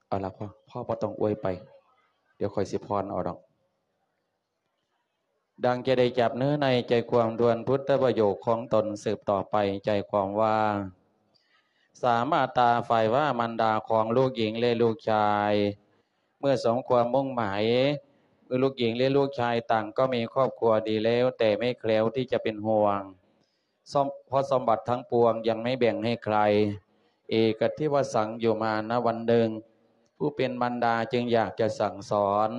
ເອົາລະ ພໍ່ ພໍ່ບໍ່ຕ້ອງອວຍໄປ ດຽວຂ້ອຍຊິຜ່ອນເອົາດອກ. ດັ່ງຈະໄດ້ຈັບເນື້ອໃນໃຈຄວາມທວນພຸດທະປະໂຫຍກຂອງຕົນສືບຕໍ່ໄປ ໃຈຄວາມວ່າ ສາມາດຕາຝ່າຍວ່າມານດາຂອງລູກຍິງ ແລະ ລູກຊາຍ ເມື່ອສົມຄວາມມຸ່ງໝາຍ ເມື່ອລູກຍິງ ແລະ ລູກຊາຍຕ່າງກໍມີຄອບຄົວດີແລ້ວ ແຕ່ແມ່ແຄວທີ່ຈະເປັນຫ່ວງ ສົມ ເພາະສົມບັດທັງປວງຍັງໄມ່ແບ່ງໃຫ້ໃຄ ເອກະທິວະສັງ ຢູ່ມານະວັນໜຶ່ງ ຜູ້ເປັນມານດາຈຶ່ງຢາກຈະສັ່ງສອນ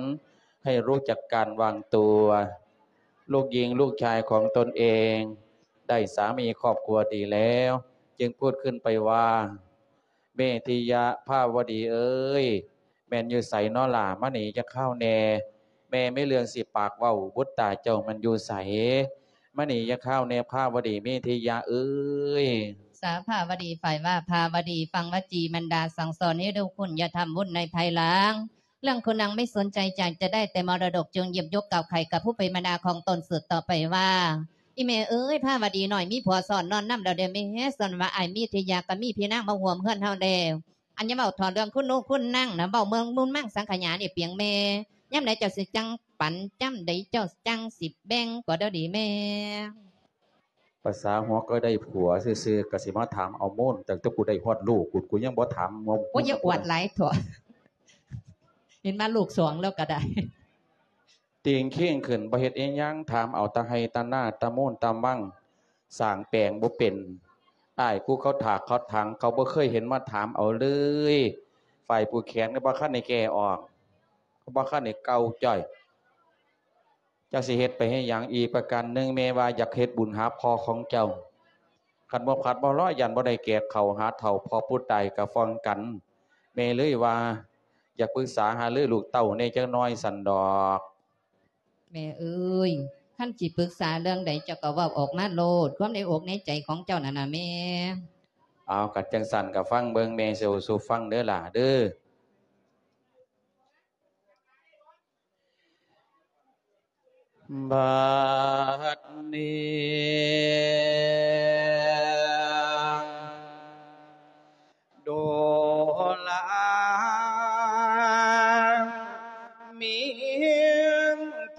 ໃຫ້ຮູ້ຈັກການວາງຕົວ ລູກຍິງລູກຊາຍຂອງຕົນເອງໄດ້ສາມີຄອບຄົວດີແລ້ວ ຈຶ່ງພູດຂຶ້ນໄປວ່າ ເມທິຍະພາວະດີເອີຍ ແມ່ນຢູ່ໃສນໍຫຼ້າ ມານີ້ຈັກຄາວແດ່ ແມ່ມີເລື່ອງຊິປາກເວົ້າ ບຸດຕາເຈົ້າມັນຢູ່ໃສ ມານີ້ຈັກຄາວແດ່ ພາວະດີເມທິຍະເອີຍ. ສາພາວະດີ ຝ່າຍວ່າພາວະດີ ຟັງວະຈີມັນດາສັ່ງສອນໃຫ້ຮູ້ຄຸນ ຢ່າທຳບຸນໃນພາຍຫຼັງ ເລື່ອງຄຸນນາງໄມ່ສົນໃຈ ຢາກຈະໄດ້ແຕ່ມໍລະດົກ ຈຶ່ງຫຍິບຍົກກ່າວໄຂກັບຜູ້ເປັນມານດາຂອງຕົນສືບຕໍ່ໄປວ່າ ອີແມ່ເອີຍ ພາວະດີນ້ອຍມີຜົວຊ້ອນນອນນຳແລ້ວເດ້ແມ່ ສ່ວນວ່າອ້າຍເມທິຍະກໍມີພີ່ນາງມາຮ່ວມເຮືອນເຮົາແລ້ວ ອັນຢ່າເວົ້າຖອດເລື່ອງຄຸນນູຄຸນນາງນະ ເວົ້າເມືອງມູນມັງສັງຂະຫຍານີ້ປຽງແມ່ ຍາມໃດເຈົ້າຊິຈັງປັນ ຍາມໃດເຈົ້າຈັ່ງຊິແບ່ງກໍເດີດີແມ່. ພາສາຫົວກໍໄດ້ຜົວຊື່ໆ ກໍຊິມາຖາມເອົາມູນ ຕັ້ງແຕ່ກູໄດ້ຮອດລູກພຸ້ນ ກູຍັງບໍ່ຖາມເອົາ. ໂອ້ຍ ຢ່າອວດຫຼາຍເຖາະ ເຫັນມາລູກສອງແລ້ວກໍໄດ້. ຕີງຄີງຂຶ້ນບໍ່ເຮັດອີ່ຫຍັງ ຖາມເອົາຕາໄຮ່ຕານາ ຕາມູນຕາມັງ ສ້າງແປງບໍ່ເປັນ. ອ້າຍກູເຂົາຖາກເຂົາຖັງ ເຂົາບໍ່ເຄີຍເຫັນມາຖາມເອົາເລີຍ. ຝ່າຍຜູ້ແຂນກໍບໍ່ທັນໄດ້ແກ່ອອກ ກໍບໍ່ທັນໄດ້ເກົ່າຈ້ອຍ. ຈັກຊິເຮັດໄປເຮັດຫຍັງ? ອີກປະການໜຶ່ງ ແມ່ວ່າຢາກເຮັດບຸນຫາພໍ່ຂອງເຈົ້າ. ຄັນບໍ່ພັດບໍ່ລອ ຢ້ານບໍ່ໄດ້ແກ່ເຂົ້າຫາເຖົ້າ ພໍ່ຜູ້ຕາຍກໍຟ້ອງກັນ. ແມ່ເລີຍວ່າ ຢາກປຶກສາຫາລືລູກເຕົ້າແດ່ຈັກໜ້ອຍຊັ້ນດອກ. ແມ່ເອີຍ ຄັນຊິປຶກສາເລື່ອງໃດ ເຈົ້າກໍເວົ້າອອກມາໂລດ ຄວາມໃນອົກໃນໃຈຂອງເຈົ້ານັ້ນນະແມ່. ເອົາ ຄັນຈັ່ງຊັ້ນກໍຟັງເບິ່ງ ແມ່ຊິເວົ້າສູ່ຟັງເດີຫຼ້າເດີ. ບັດນີ້ ໂດລາມີ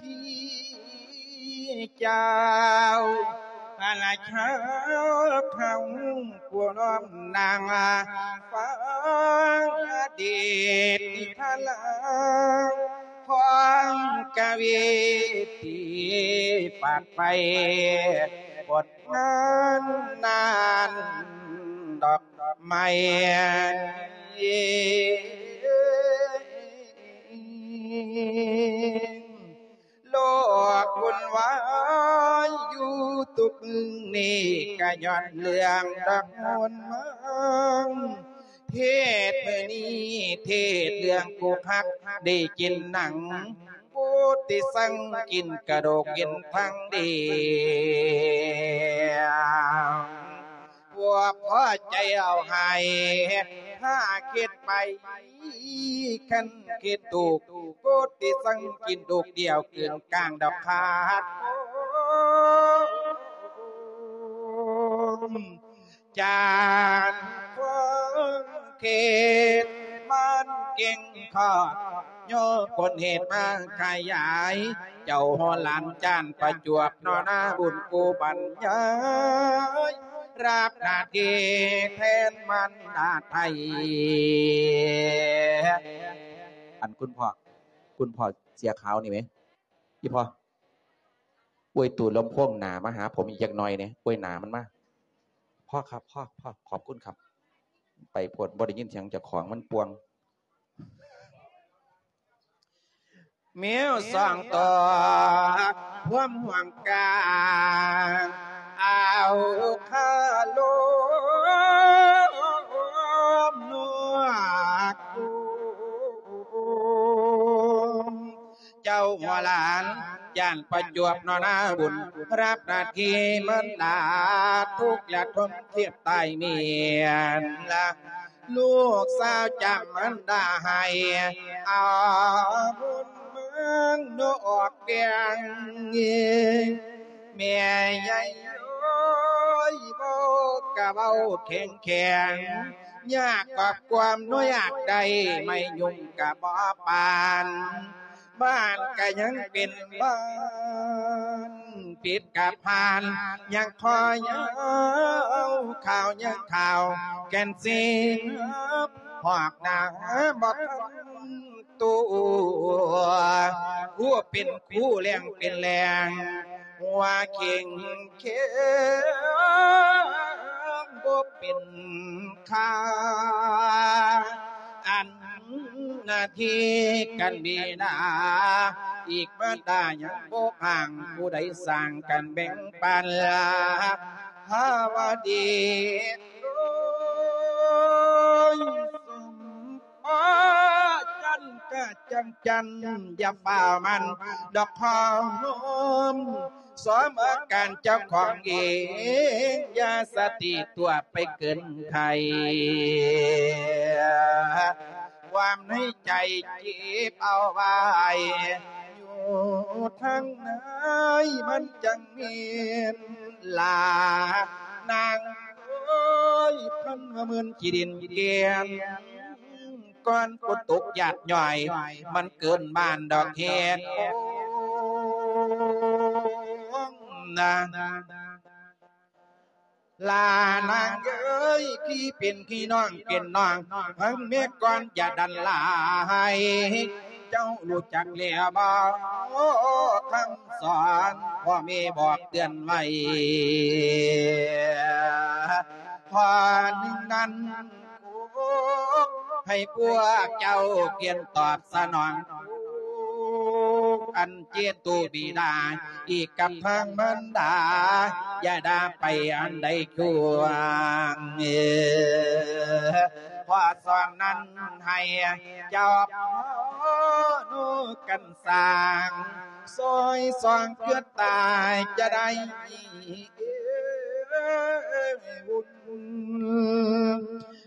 ທີ່ເຈົ້າ ພະລາຊາເຮົາ ຜູ້ນ້ອມນາງ ຟັງອະດີດນິທານລາວ ຂອງກະວີທີ່ປາກໄປ ບົດງານນານດອກໄມ້ ໂລກວຸ່ນວາຍຢູ່ທຸກມື້ນີ້ ກະຍ້ອນເລື່ອງດອກມ່ວນມັນ ເທດມື້ນີ້ ເທດເລື່ອງຜູ້ຮັກໄດ້ກິນໜັງ ຜູ້ທີ່ສັ່ງກິນກະດູກກິນທັງດຽວ ພວກພໍໃຈເອົາໃຫ້ ຖ້າຄິດໄປ ຄັນຄິດຖືກ ຜູ້ທີ່ສັ່ງກິນລູກດຽວ ກືນກ້າງດອກຂາດ ຈານຄວາມຄິດມັນເກັ່ງຂອດ ຍ້ອນຜົນເຫດມາຂະຫຍາຍ ເຈົ້າຫົວຫຼານຈານປະຈວບ ນໍນາບຸນກູບັນຍາຍ ຮັບໜ້າທີ່ແທນມານດາໄທ. ອັນຄຸນພໍ່ ຄຸນພໍ່ເສື້ອຂາວນີ້ແໝ ອີ່ພໍ່ ອວຍຕູ້ລຳໂພງໜ້າມາຫາຜົມອີກຈັກໜ່ອຍແດ່ ອວຍໜ້າມັນມາ. ພໍຄັບ ພໍ ພໍ ຂອບຄຸນຄັບ. ໄປໂພດ ບໍ່ໄດ້ຍິນສຽງເຈົ້າຂອງ ມັນປ່ວງ. ແມວສອງໂຕ ພວມຫ່ວງກາງ ເອົາຄາລົມນວກ ເຈົ້າຫົວຫຼານ ຢ້ານປະຈວບນໍນາບຸນ ຮັບໜ້າທີ່ມານດາ ທຸກລະທົນທຽບຕາຍເມຍນລະ ລູກສາວຈຳມານດາໃຫ້ ເອົາບຸນມານອອກແກງ ແມ່ໃຫຍ່ເອີຍ ເວົ້າກະເວົ້າແຂງແຂງ ຍາກກວ່າຄວາມໜ້ອຍຢາກໄດ້ ໄມ້ຍຸງກະບໍ່ປານ ບ້ານກະຍັງເປັນບ້ານ ພິດກະຜ່ານ ຍັງຄອຍເອົາ ຂ່າວຍັງຂ່າວ ແກ່ນສິນຫອກໜາບໍ່ທັນ ຕົວ ຜູ້ເປັນຄູແລ້ງເປັນແລ້ງ ຫົວເຄັ່ງເຄັ່ງ ບໍ່ເປັນຄ່າ ອັນໜ້າທີ່ກັນເວລາ ອີກມາດາຍັງບໍ່ຫ່າງ ຜູ້ໃດສ້າງກັນແບ່ງປັນ ພາວະດີ ໂອ້ຍ ສົມ ອໍ ຈັນກະຈັງຈັນ ຢ່າຟ້າວມັນດອກຄອງໂຮມ ສອມອາການເຈົ້າຂອງເອງ ຢ່າສະຕິຕົວໄປເກີນໄຂ ຄວາມໃນໃຈເກັບເອົາໄວ້ ຢູ່ທາງໃນມັນຈັ່ງແມ່ນລາ ນາງເອີຍ ພັນວ່າໝື່ນຂີ້ດິນແກ່ນ ກ່ອນຝົນຕົກຢາດຍ້ອຍ ມັນເກີນບ້ານດອກເຮັດ ໂອ້ ນາ ລານາງເອີຍ ທີ່ເປັນພີ່ນ້ອງເປັນນ້ອງ ຟັງແມ່ກ່ອນຢ່າດັນຫຼາຍ ເຈົ້າຮູ້ຈັກແລ້ວບໍ່ ຄຳສອນພໍ່ແມ່ບອກເຕືອນໄວ້ ຂໍ້ໜຶ່ງນັ້ນ ໃຫ້ພວກເຈົ້າກຽນຕອບສະໜອງ ອັນເຈໂຕບິດາ ອີກກັບທາງມານດາ ຢ່າໄດ້ໄປອັນໃດຊ່ວງ ຂໍ້ສອງນັ້ນໃຫ້ເຈົ້າພາໂນກັນສ້າງ ຊ່ອຍສ່ອງເກືອຕາຍຈະໄດ້ບຸນ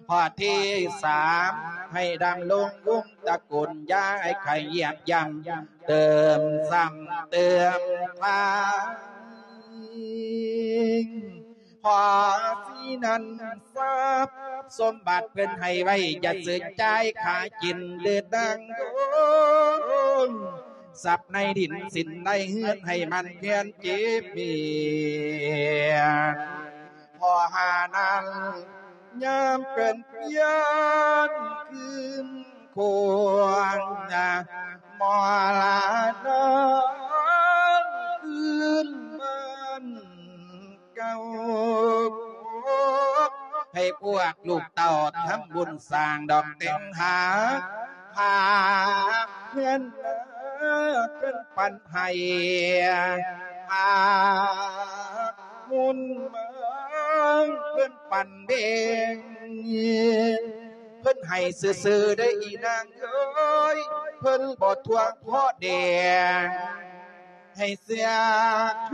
ຂໍ້ທີສາມ ໃຫ້ດຳລົງວົງຕະກຸນ ຢ່າໃຫ້ໃຜຢຽບຢ່ຳ ເຕີມຊ້ຳເຕີມທາງ ພໍສີນັ້ນຊັບສົມບັດເພິ່ນໃຫ້ໄວ້ ຢ່າຊື້ຈ່າຍຂາຍກິນເດີນາງໂດນ ຊັບໃນດິນສິນໃນເຮືອນໃຫ້ມັນພຽນເຈັບປຽນ ພໍຫ້ານັ້ນ ຍາມເປັນພຽນຄືນຄວນ ມໍລະນອນຄືນບ້ານເກົ່າ ໃຫ້ພວກລູກເຕົ້າທຳບຸນສ້າງດອກແຕ່ງຫາ ຫາເຮືອນເພິ່ນປັນໃຫ້ ຫາບຸນເມືອງເພິ່ນປັນແບ່ງ ເພິ່ນໃຫ້ຊື່ໆ ເດີອີນາງເອີຍ ເພິ່ນບໍ່ທວງພໍແດງ ໃຫ້ເສຍຄ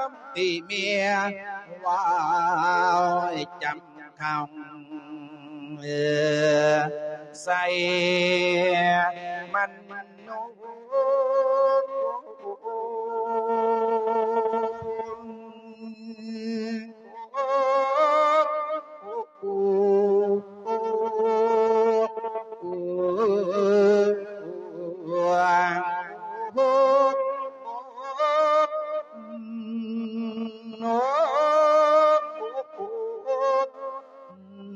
ຳຕິເມຍ ເວົ້າໃຫ້ຈຳຄຳ ໃສ່ມັນໂນ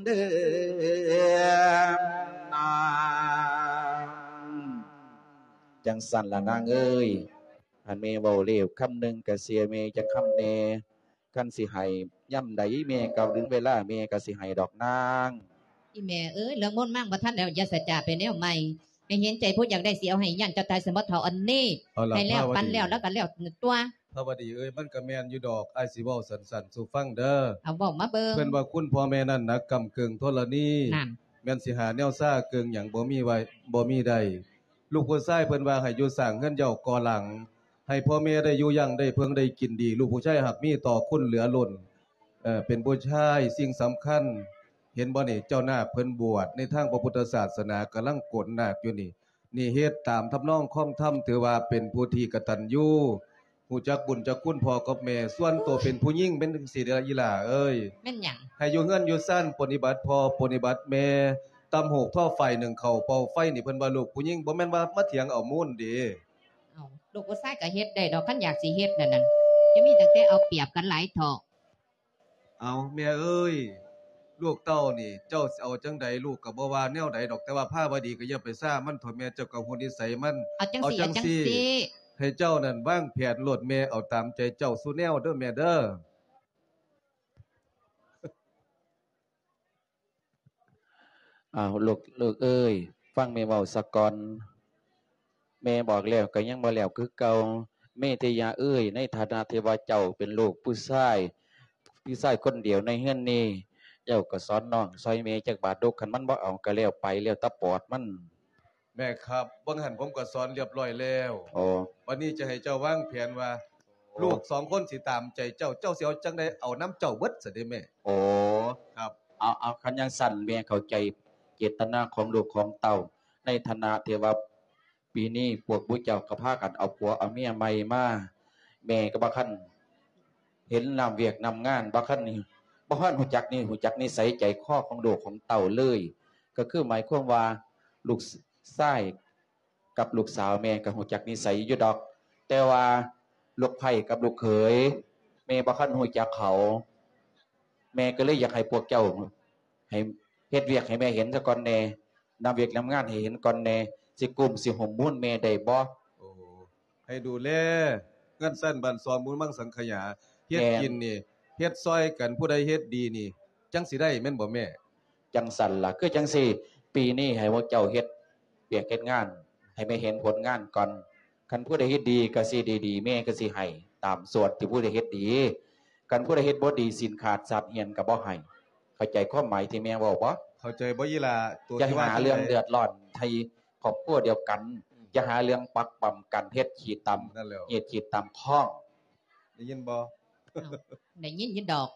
ເດີ ນາງ ຈັ່ງຊັ້ນລະນາງເອີຍ ອັນແມ່ເວົ້າແລ້ວຄຳໜຶ່ງ ກະເສຍແມ່ຈັກຄຳແດ່ ຄັນຊິໃຫ້ຍາມໃດແມ່ກໍເຖິງເວລາແມ່ກໍຊິໃຫ້ດອກນາງ. ອີແມ່ເອີຍ ເລື່ອງມົນມັງບໍ່ທັນແລ້ວ ຢ່າສະຈາໄປແນວໃໝ່ ໃຫ້ເຫັນໃຈຜູ້ຢາກໄດ້ ຊິເອົາໃຫ້ຢ້ານເຈົ້າຕາຍຊັ້ນບໍ່ເຖົ້າອັນນີ້ ໃຫ້ແລ້ວປັນແລ້ວ ແລ້ວກໍແລ້ວຕົວະ. ພາວະດີເອີຍ ມັນກໍແມ່ນຢູ່ດອກ ອ້າຍຊິເວົ້າສັ້ນໆສູ່ຟັງເດີ ເອົາເວົ້າມາເບິ່ງ. ເພິ່ນວ່າຄຸນພໍ່ແມ່ນັ້ນໜັກກຳເກີງທໍລະນີ ແມ່ນຊິຫາແນວຊາເກີງຫຍັງບໍ່ມີໄວ້ ບໍ່ມີໄດ້. ລູກຜູ້ຊາຍເພິ່ນວ່າໃຫ້ຢູ່ສ້າງເຮືອນເຍົາກໍ່ຫຼັງ ໃຫ້ພໍ່ແມ່ໄດ້ຢູ່ຢັ້ງໄດ້ເພິ່ງໄດ້ກິນດີ ລູກຜູ້ຊາຍຫາກມີຕໍ່ຄຸນເຫຼືອລົ້ນ ເອີ ເປັນຜູ້ຊາຍສິ່ງສຳຄັນ ເຫັນບໍ່ນີ້ ເຈົ້ານາກເພິ່ນບວດໃນທາງພະພຸດທະສາສະໜາ ກຳລັງກົນນາກຢູ່ນີ້ ນີ້ເຮັດຕາມທຳນອງຄອງທຳ ຖືວ່າເປັນຜູ້ທີ່ກະຕັນຍູ ຮູ້ຈັກບຸນຈັກຄຸນພໍ່ກັບແມ່. ສ່ວນໂຕເປັນຜູ້ຍິງເປັນຈັ່ງຊີ້ເດີ້ ອີ່ຫຼ້າເອີຍ. ແມ່ນຫຍັງ? ໃຫ້ຢູ່ເຮືອນຢູ່ຊານ ປະຕິບັດພໍ່ປະຕິບັດແມ່, ຕຳຫູກທໍໄຟ ໜຶ້ງເຂົ້າເປົ່າໄຟນີ້ ເພິ່ນວ່າລູກຜູ້ຍິງ ບໍ່ແມ່ນວ່າມາຖຽງເອົາມູນເດ້. ເອົ້າ ລູກຜູ້ຊາຍກໍເຮັດໄດ້ດອກ ຄັນຢາກຊິເຮັດນັ້ນນະ ຈະມີຕັ້ງແຕ່ເອົາປຽບກັນຫຼາຍເຖາະ. ເອົາ ແມ່ເອີຍ, ລູກເຕົ້ານີ້ ເຈົ້າຊິເອົາຈັ່ງໃດ ລູກກໍບໍ່ວ່າແນວໃດດອກ, ແຕ່ວ່າພາວະດີກໍຢ່າໄປຊ້າມັນເຖາະແມ່, ເຈົ້າກໍຮູ້ນິໄສມັນ. ເອົາຈັ່ງຊີ້ ເອົາຈັ່ງຊີ້ ເອົາຈັ່ງຊີ້ ໃຫ້ເຈົ້ານັ້ນວາງແຜນໂລດແມ່, ເອົາຕາມໃຈເຈົ້າສູ່ແນວເດີ້ແມ່ເດີ້. ອ້າວ ລູກ ລູກເອີຍ, ຟັງແມ່ເວົ້າສາກ່ອນ. ແມ່ບອກແລ້ວກໍຍັງບໍ່ແລ້ວຄືເກົ່າ. ເມທິຍາເອີຍ, ໃນຖານະທີ່ວ່າເຈົ້າເປັນລູກຜູ້ຊາຍ, ຜູ້ຊາຍຄົນດຽວໃນເຮືອນນີ້, ເຈົ້າກໍສອນນ້ອງຊ່ອຍແມ່ຈັກບາດດູ. ຄັນມັນບໍ່ເອົາກໍແລ້ວໄປ, ແລ້ວແຕ່ປອດມັນ. ແມ່ຄັບ, ເບິ່ງຫັ້ນ ຜົມກໍສອນລຽບຮ້ອຍແລ້ວ. ອໍ ບັດນີ້ຈະໃຫ້ເຈົ້າວາງແຜນວ່າ ອໍ ລູກສອງຄົນຊິຕາມໃຈເຈົ້າ, ເຈົ້າຊິເອົາຈັ່ງໃດ ເອົານຳເຈົ້າເບິດຊະເດ້ແມ່. ອໍ ຄັບ. ເອົາ ເອົາ ຄັນຈັ່ງຊັ້ນ ແມ່ເຂົ້າໃຈເຈດຕະນາຂອງລູກຂອງເຕົ້າ. ໃນຖານະທີ່ວ່າ ປີນີ້ພວກໝູ່ເຈົ້າກໍພາກັນເອົາຜົວເອົາເມຍໃໝ່ມາ, ແມ່ກໍບໍ່ທັນເຫັນນຳວຽກນຳງານ, ບໍ່ທັນ ບໍ່ທັນຮູ້ຈັກນິ ຮູ້ຈັກນິໄສໃຈຄໍຂອງລູກຂອງເຕົ້າເລີຍ. ກໍຄືໝາຍຄວາມວ່າ ລູກຊາຍກັບລູກສາວແມ່ກໍຮູ້ຈັກນິໄສຢູ່ດອກ, ແຕ່ວ່າລູກໃພ້ກັບລູກເຂີຍ ແມ່ບໍ່ທັນຮູ້ຈັກເຂົາ. ແມ່ກໍເລີຍຢາກໃຫ້ພວກເຈົ້າ ໃຫ້ເຮັດວຽກໃຫ້ແມ່ເຫັນຊະກ່ອນແດ່, ນຳວຽກນຳງານໃຫ້ເຫັນກ່ອນແດ່, ຊິກຸ້ມຊິຫຸ້ມມູນແມ່ໄດ້ບໍ່? ໂອ້ ໃຫ້ດູແລເຮືອນຊານບ້ານຊ່ອງ ບຸນມັງສັງຂະຍາ, ເຮັດ ແມ່ນ ກິນນີ້ ເຮັດຊ່ອຍກັນ, ຜູ້ໃດເຮັດດີນີ້ ຈັ່ງຊິໄດ້ ແມ່ນບໍ່ແມ່? ຈັ່ງຊັ້ນລະ, ຄືຈັ່ງຊີ້ ປີນີ້ໃຫ້ພວກເຈົ້າເຮັດວຽກເຮັດງານ ໃຫ້ແມ່ເຫັນຜົນງານກ່ອນ. ຄັນຜູ້ໃດເຮັດດີກໍຊິໄດ້ດີ, ແມ່ກໍຊິໃຫ້ຕາມສ່ວນທີ່ຜູ້ໃດເຮັດດີ. ຄັນຜູ້ໃດເຮັດບໍ່ດີ, ສິນຂາດສັດເຫື່ອນກໍບໍ່ໃຫ້. ເຂົ້າໃຈຄວາມໝາຍທີ່ແມ່ເວົ້າບໍ່? ເຂົ້າໃຈບໍ່ອີ່ຫຼ້າ? ໂຕ ຢ່າ ທີ່ວ່າ ຫາເລື່ອງ ຈັ່ງໃດ ເດືອດຮ້ອນໃຫ້ຄອບຄົວດຽວກັນ, ອືມ ຢ່າຫາເລື່ອງປັກປ້ຳກັນ, ເຮັດຂີ້ຕຳ ນັ້ນແຫຼ້ວ ເຮັດຂີ້ຕຳຄອງ. ໄດ້ຍິນບໍ່? ເອົ້າ ໄດ້ຍິນຢູ່ດອກ.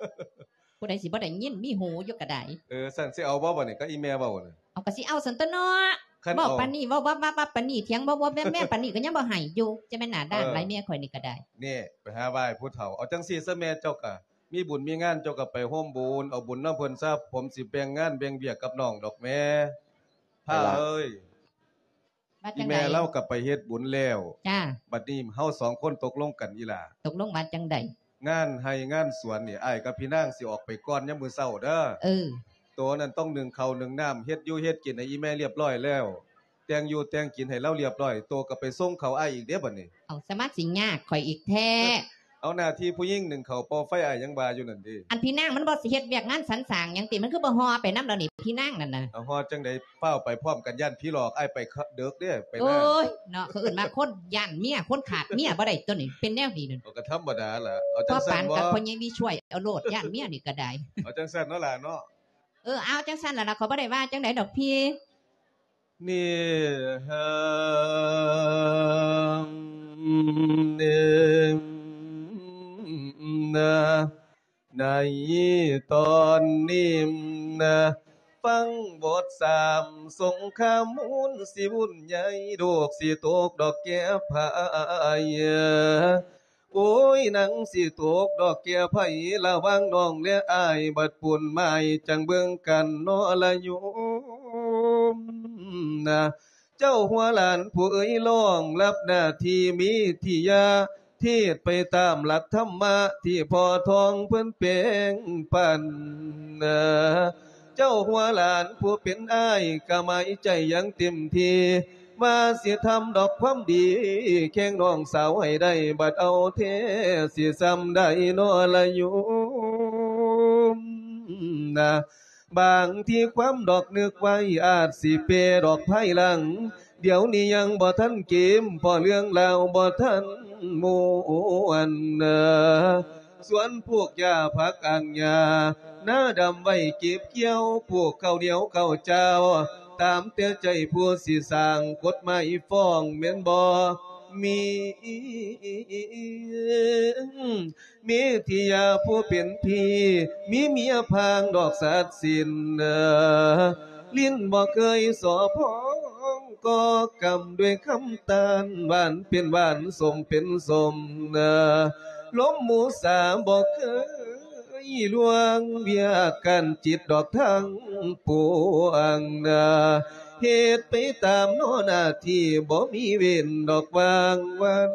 ຜູ້ໃດຊິບໍ່ໄດ້ຍິນ, ມີຫູຢູ່ກໍໄດ້. ເອີ ຊັ້ນຊິເອົາບໍ່ບັດນີ້ ກັບອີ່ແມ່ເວົ້ານະ? ເອົາ ກໍຊິເອົາຊັ້ນຕົວເນາະ. ຄັນເວົ້າ ເອົາ ປານນີ້ ເວົ້າວັບໆໆປານນີ້, ຖຽງວັບໆໆປານນີ້ ກໍຍັງບໍ່ໃຫ້ຢູ່. ຈະແມ່ນໜ້າດ້ານ ເອີ ຫຼາຍ ເມຍຂ້ອຍນີ້ກໍໄດ້. ນີ້ ໄປຫາວ່າໃຫ້ຜູ້ເຖົ້າ. ເອົາຈັ່ງຊີ້ຊະແມ່, ເຈົ້າກໍມີບຸນມີງານ ເຈົ້າກໍໄປຮ່ວມບຸນ ເອົາບຸນນຳເພິ່ນຊະ. ຜົມຊິແບ່ງງານແບ່ງວຽກກັບນ້ອງດອກແມ່. ໄປລະ ພາເອີຍ. ວ່າຈັ່ງໃດ? ອີ່ແມ່ລາວກໍໄປເຮັດບຸນແລ້ວ. ຈ້າ. ບັດນີ້ເຮົາສອງຄົນຕົກລົງກັນ ອີ່ຫຼ້າ. ຕົກລົງວ່າຈັ່ງໃດ? ງານໄຮ່ງານສວນນີ້ ອ້າຍກັບພີ່ນາງຊິອອກໄປກ່ອນຍາມມື້ເຊົ້າເດີ້. ເອີ. ໂຕນັ້ນຕ້ອງໜຶ້ງເຂົ້າໜຶ້ງນ້ຳ, ເຮັດຢູ່ເຮັດກິນໃຫ້ອີ່ແມ່ລຽບຮ້ອຍແລ້ວ. ແຕ່ງຢູ່ແຕ່ງກິນໃຫ້ລາວລຽບຮ້ອຍ, ໂຕກໍໄປສົ່ງເຂົ້າອ້າຍອີກເດ້ບັດນີ້. ເອົາ ສະມາຊິຍາກຂ້ອຍອີກແທ້. ເອົາ ໜ້າທີ່ຜູ້ຍິງໜຶ້ງເຂົ້າເປົ່າໄຟ ອ້າຍຍັງວ່າຢູ່ນັ້ນເດ້. ອັນພີ່ນາງມັນບໍ່ຊິເຮັດວຽກງານສັນສ້າງຫຍັງຕິ? ມັນຄືບໍ່ຫໍ່ໄປນຳດຽວນີ້ ພີ່ນາງນັ້ນນະ? ເອົາ ຫໍ່ຈັ່ງໃດ? ຟ້າວໄປພ້ອມກັນ ຢ້ານຜີຫຼອກ. ອ້າຍໄປເດິກເດ້ ໄປນາ. ໂອ້ຍເນາະ, ເຂົາເອີ້ນວ່າຄົນຢ້ານເມຍ, ຄົນຂາດເມຍບໍ່ໄດ້ຕົວນີ້. ເປັນແນວນີ້ນັ້ນ ເອົາ ກໍທຳມະດາລະ. ເອົາ ຈັ່ງຊັ້ນ ພໍປານກັບພໍ່ໃຫຍ່ວິຊ່ວຍເອົາໂລດ, ຢ້ານເມຍນີ້ກໍໄດ້. ເອົາ ຈັ່ງຊັ້ນເນາະຫຼ້າເນາະ. ເອີ ເອົາ ຈັ່ງຊັ້ນລະລະ, ຂ້ອຍບໍ່ໄດ້ວ່າຈັ່ງໃດດອກພີ່. ນີ້ ເອີ ນີ້ ນະ ໃນຕອນນີ້ນະ ຟັງບົດສາມສົງຄາມມູນ ຊິວຸ້ນໃຫຍ່ ລູກຊິຕົກດອກແກ້ໄພ. ໂອ້ຍ ນາງຊິຕົກດອກແກ້ໄພ ລະຫວ່າງນ້ອງແລະອ້າຍ ບັດປູນໝາຍ ຈັ່ງເບິ່ງກັນເນາະລະໂຍມນະ. ເຈົ້າຫົວຫຼານຜູ້ເອີຍ ລອງຮັບໜ້າທີ່ເມທິຍາ ເທດໄປຕາມຫຼັກທຳມະ ທີ່ພໍ່ທອງເພິ່ນແບ່ງປັນນະ. ເຈົ້າຫົວຫຼານຜູ້ເປັນອ້າຍ ກະໝາຍໃຈຢ່າງເຕັມທີ່ ວ່າຊິທຳດອກຄວາມດີ ແຂ່ງນ້ອງສາວໃຫ້ໄດ້ ບັດເອົາແທ້ຊິຊ່ຳໃດນໍລະໂຍມນະ. ບາງທີຄວາມດອກນຶກໄວ້ ອາດຊິເປດອກພາຍຫຼັງ ດຽວນີ້ຍັງບໍ່ທັນເກມ ເພາະເລື່ອງລາວບໍ່ທັນມ່ວນນະ. ສວນປູກຫຍ້າຜັກອ່າງຫຍ້າ ນາດຳໄວ້ເກັບກ່ຽວ ປູກເຂົ້າໜຽວເຂົ້າຈ້າວ ຕາມແຕ່ໃຈຜູ້ຊິສ້າງກົດໝາຍຟ້ອງແມ່ນບໍ່ມີ ເມທິຍາຜູ້ເປັນພີ່ ມີເມຍພາງດອກສັດສິນ ເອີ ຫຼິ້ນບໍ່ເຄີຍສໍ້ພອງ ກໍ່ກຳດ້ວຍຄຳຕ້ານ ຫວານເປັນຫວານ ສົ້ມເປັນສົ້ມນາ ລົມໝູສາບໍ່ເຄີຍລ່ວງ ວຽກການຈິດດອກທັງປວງນາ ເຮັດໄປຕາມໜ້າທີ່ ບໍ່ມີເວັ້ນດອກວ່າງວັນ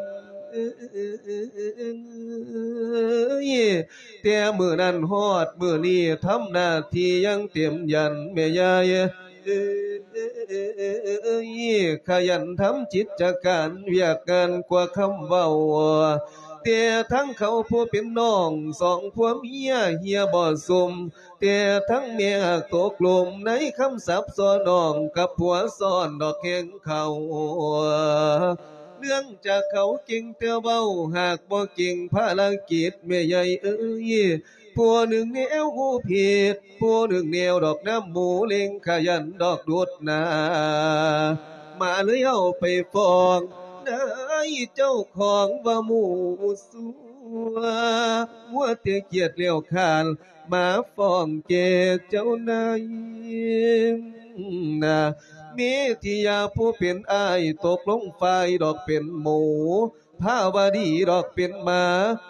ແຕ່ມື້ນັ້ນຮອດມື້ນີ້ ທຳໜ້າທີ່ຢ່າງເຕັມຢັນ ແມ່ຍາຍເອີຍ ຂະຫຍັນທຳກິດຈະການວຽກງານກວ່າຄຳເວົ້າ ແຕ່ທັງເຂົາຜູ້ເປັນນ້ອງ ສອງຜົວເມຍເຮຍບໍ່ຊຸ່ມ ແຕ່ທັງແມ່ຫາກຕົກຫຼົມ ໃນຄຳສັບສໍ້ນ້ອງກັບຜົວຊ້ອນດອກແຮງເຂົາ ເນື່ອງຈາກເຂົາເກັ່ງແຕ່ເວົ້າ ຫາກບໍ່ເກັ່ງພາລະກິດແມ່ໃຫຍ່ເອີຍ ຜູ້ໜຶ່ງແນວຫູຜິດ ຜູ້ໜຶ່ງແນວດອກນ້ຳໝູເລັ່ງ ຂະຫຍັນດອກດຸດໜ້າ ມາເລີຍເອົາໄປຟ້ອງນາຍເຈົ້າຂອງວ່າໝູຊົ່ວ ມົວແຕ່ກຽດແລ້ວຄານ ມາຟ້ອງແກ່ເຈົ້ານາຍນາ ເມທິຍາຜູ້ເປັນອ້າຍ ຕົກລົງຝ່າຍດອກເປັນໝູ ພາວະດີດອກເປັນໝາ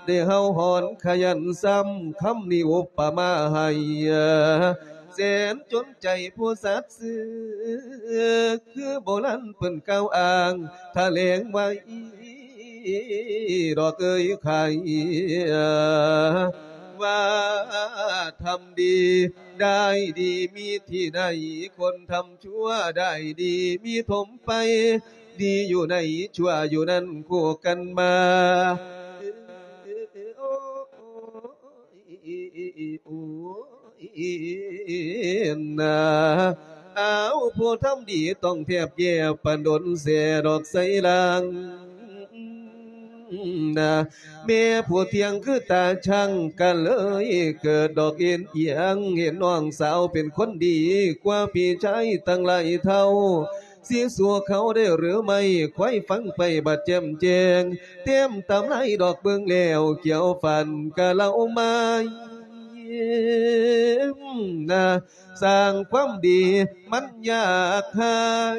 ໄດ້ເຫົ່າຫອນຂະຫຍັນຊ້ຳ ຄຳນີ້ອຸປະມາໃຫ້ ແສນຈົນໃຈຜູ້ສັດຊື່ ຄືໂບລານເພິ່ນກ່າວອ້າງ ຖະແຫຼງໄວ້ ດອກເອີຍໄຂ ວ່າທຳດີໄດ້ດີມີທີ່ໃດ ຄົນທຳຊົ່ວໄດ້ດີມີຖົມໄປ ດີຢູ່ໃນຊົ່ວຢູ່ນັ້ນຄູ່ກັນມາ ນາ ອ້າວ ຜູ້ທຳດີຕ້ອງແທບແຍ່ປານດົນແຊ່ດອກໄຊລາງນາ ແມ່ຜູ້ທ່ຽງຄືຕາຊ່າງ ກະເລີຍເກີດດອກເອັນອຽງ ເຫັນນ້ອງສາວເປັນຄົນດີກວ່າພີ່ຊາຍຕັ້ງຫຼາຍເທົ່າ ຊິສູ້ເຂົາໄດ້ຫຼືໄມ່ ຄວາຍຟັງໄປບັດແຈ່ມແຈ້ງ ແຕ້ມຕຳລາຍດອກເບິ່ງແລ້ວ ກ່ຽວຟັນກະເລົ່າມາ ນາ ສ້າງຄວາມດີມັນຢາກຫາຍ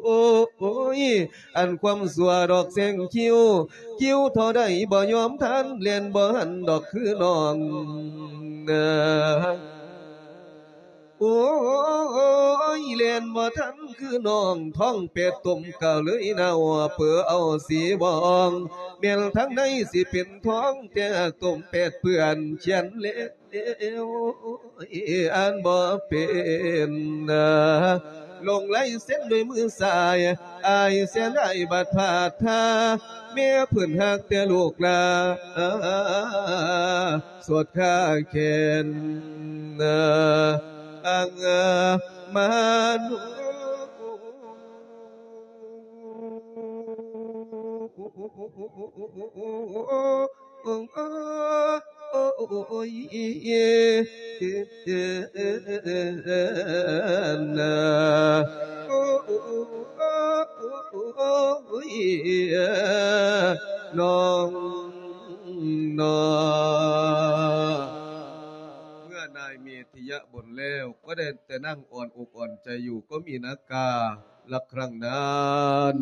ໂອ້ຍ ອັນຄວາມຊົ່ວດອກແຊງຄິວ ຄິວເທົ່າໃດບໍ່ຍອມທັນ ແລ່ນບໍ່ທັນດອກຄືນ້ອງ ໂອ້ຍ ແລ່ນບໍ່ທັນຄືນ້ອງ ທ້ອງແປດຕົ້ມກະເລີຍເນົ່າ ເປີເອົາສີບອງ ແມ່ນທາງໃນຊິເປັນທອງ ແຕ່ຕົ້ມແປດເປື້ອນຂຽນແລ້ວ ອ່ານບໍ່ເປັນ ລົງລາຍເຊັນດ້ວຍມືຊ້າຍ ອ້າຍເສຍດາຍບາດພາດທ່າ ແມ່ເພິ່ນຮັກແຕ່ລູກຫຼາ ສວດຄາແຂນ ອັງມານຸ ໂອ້ຍ ນາ ໂອ້ຍ ນ້ອງນາ ເມື່ອນາຍເມ ທິຍະບົນແລ້ວ ກໍໄດ້ແຕ່ນັ່ງອ່ອນອົກອ່ອນໃຈຢູ່ ກໍມີນາກາລະຄັ້ງນັ້ນ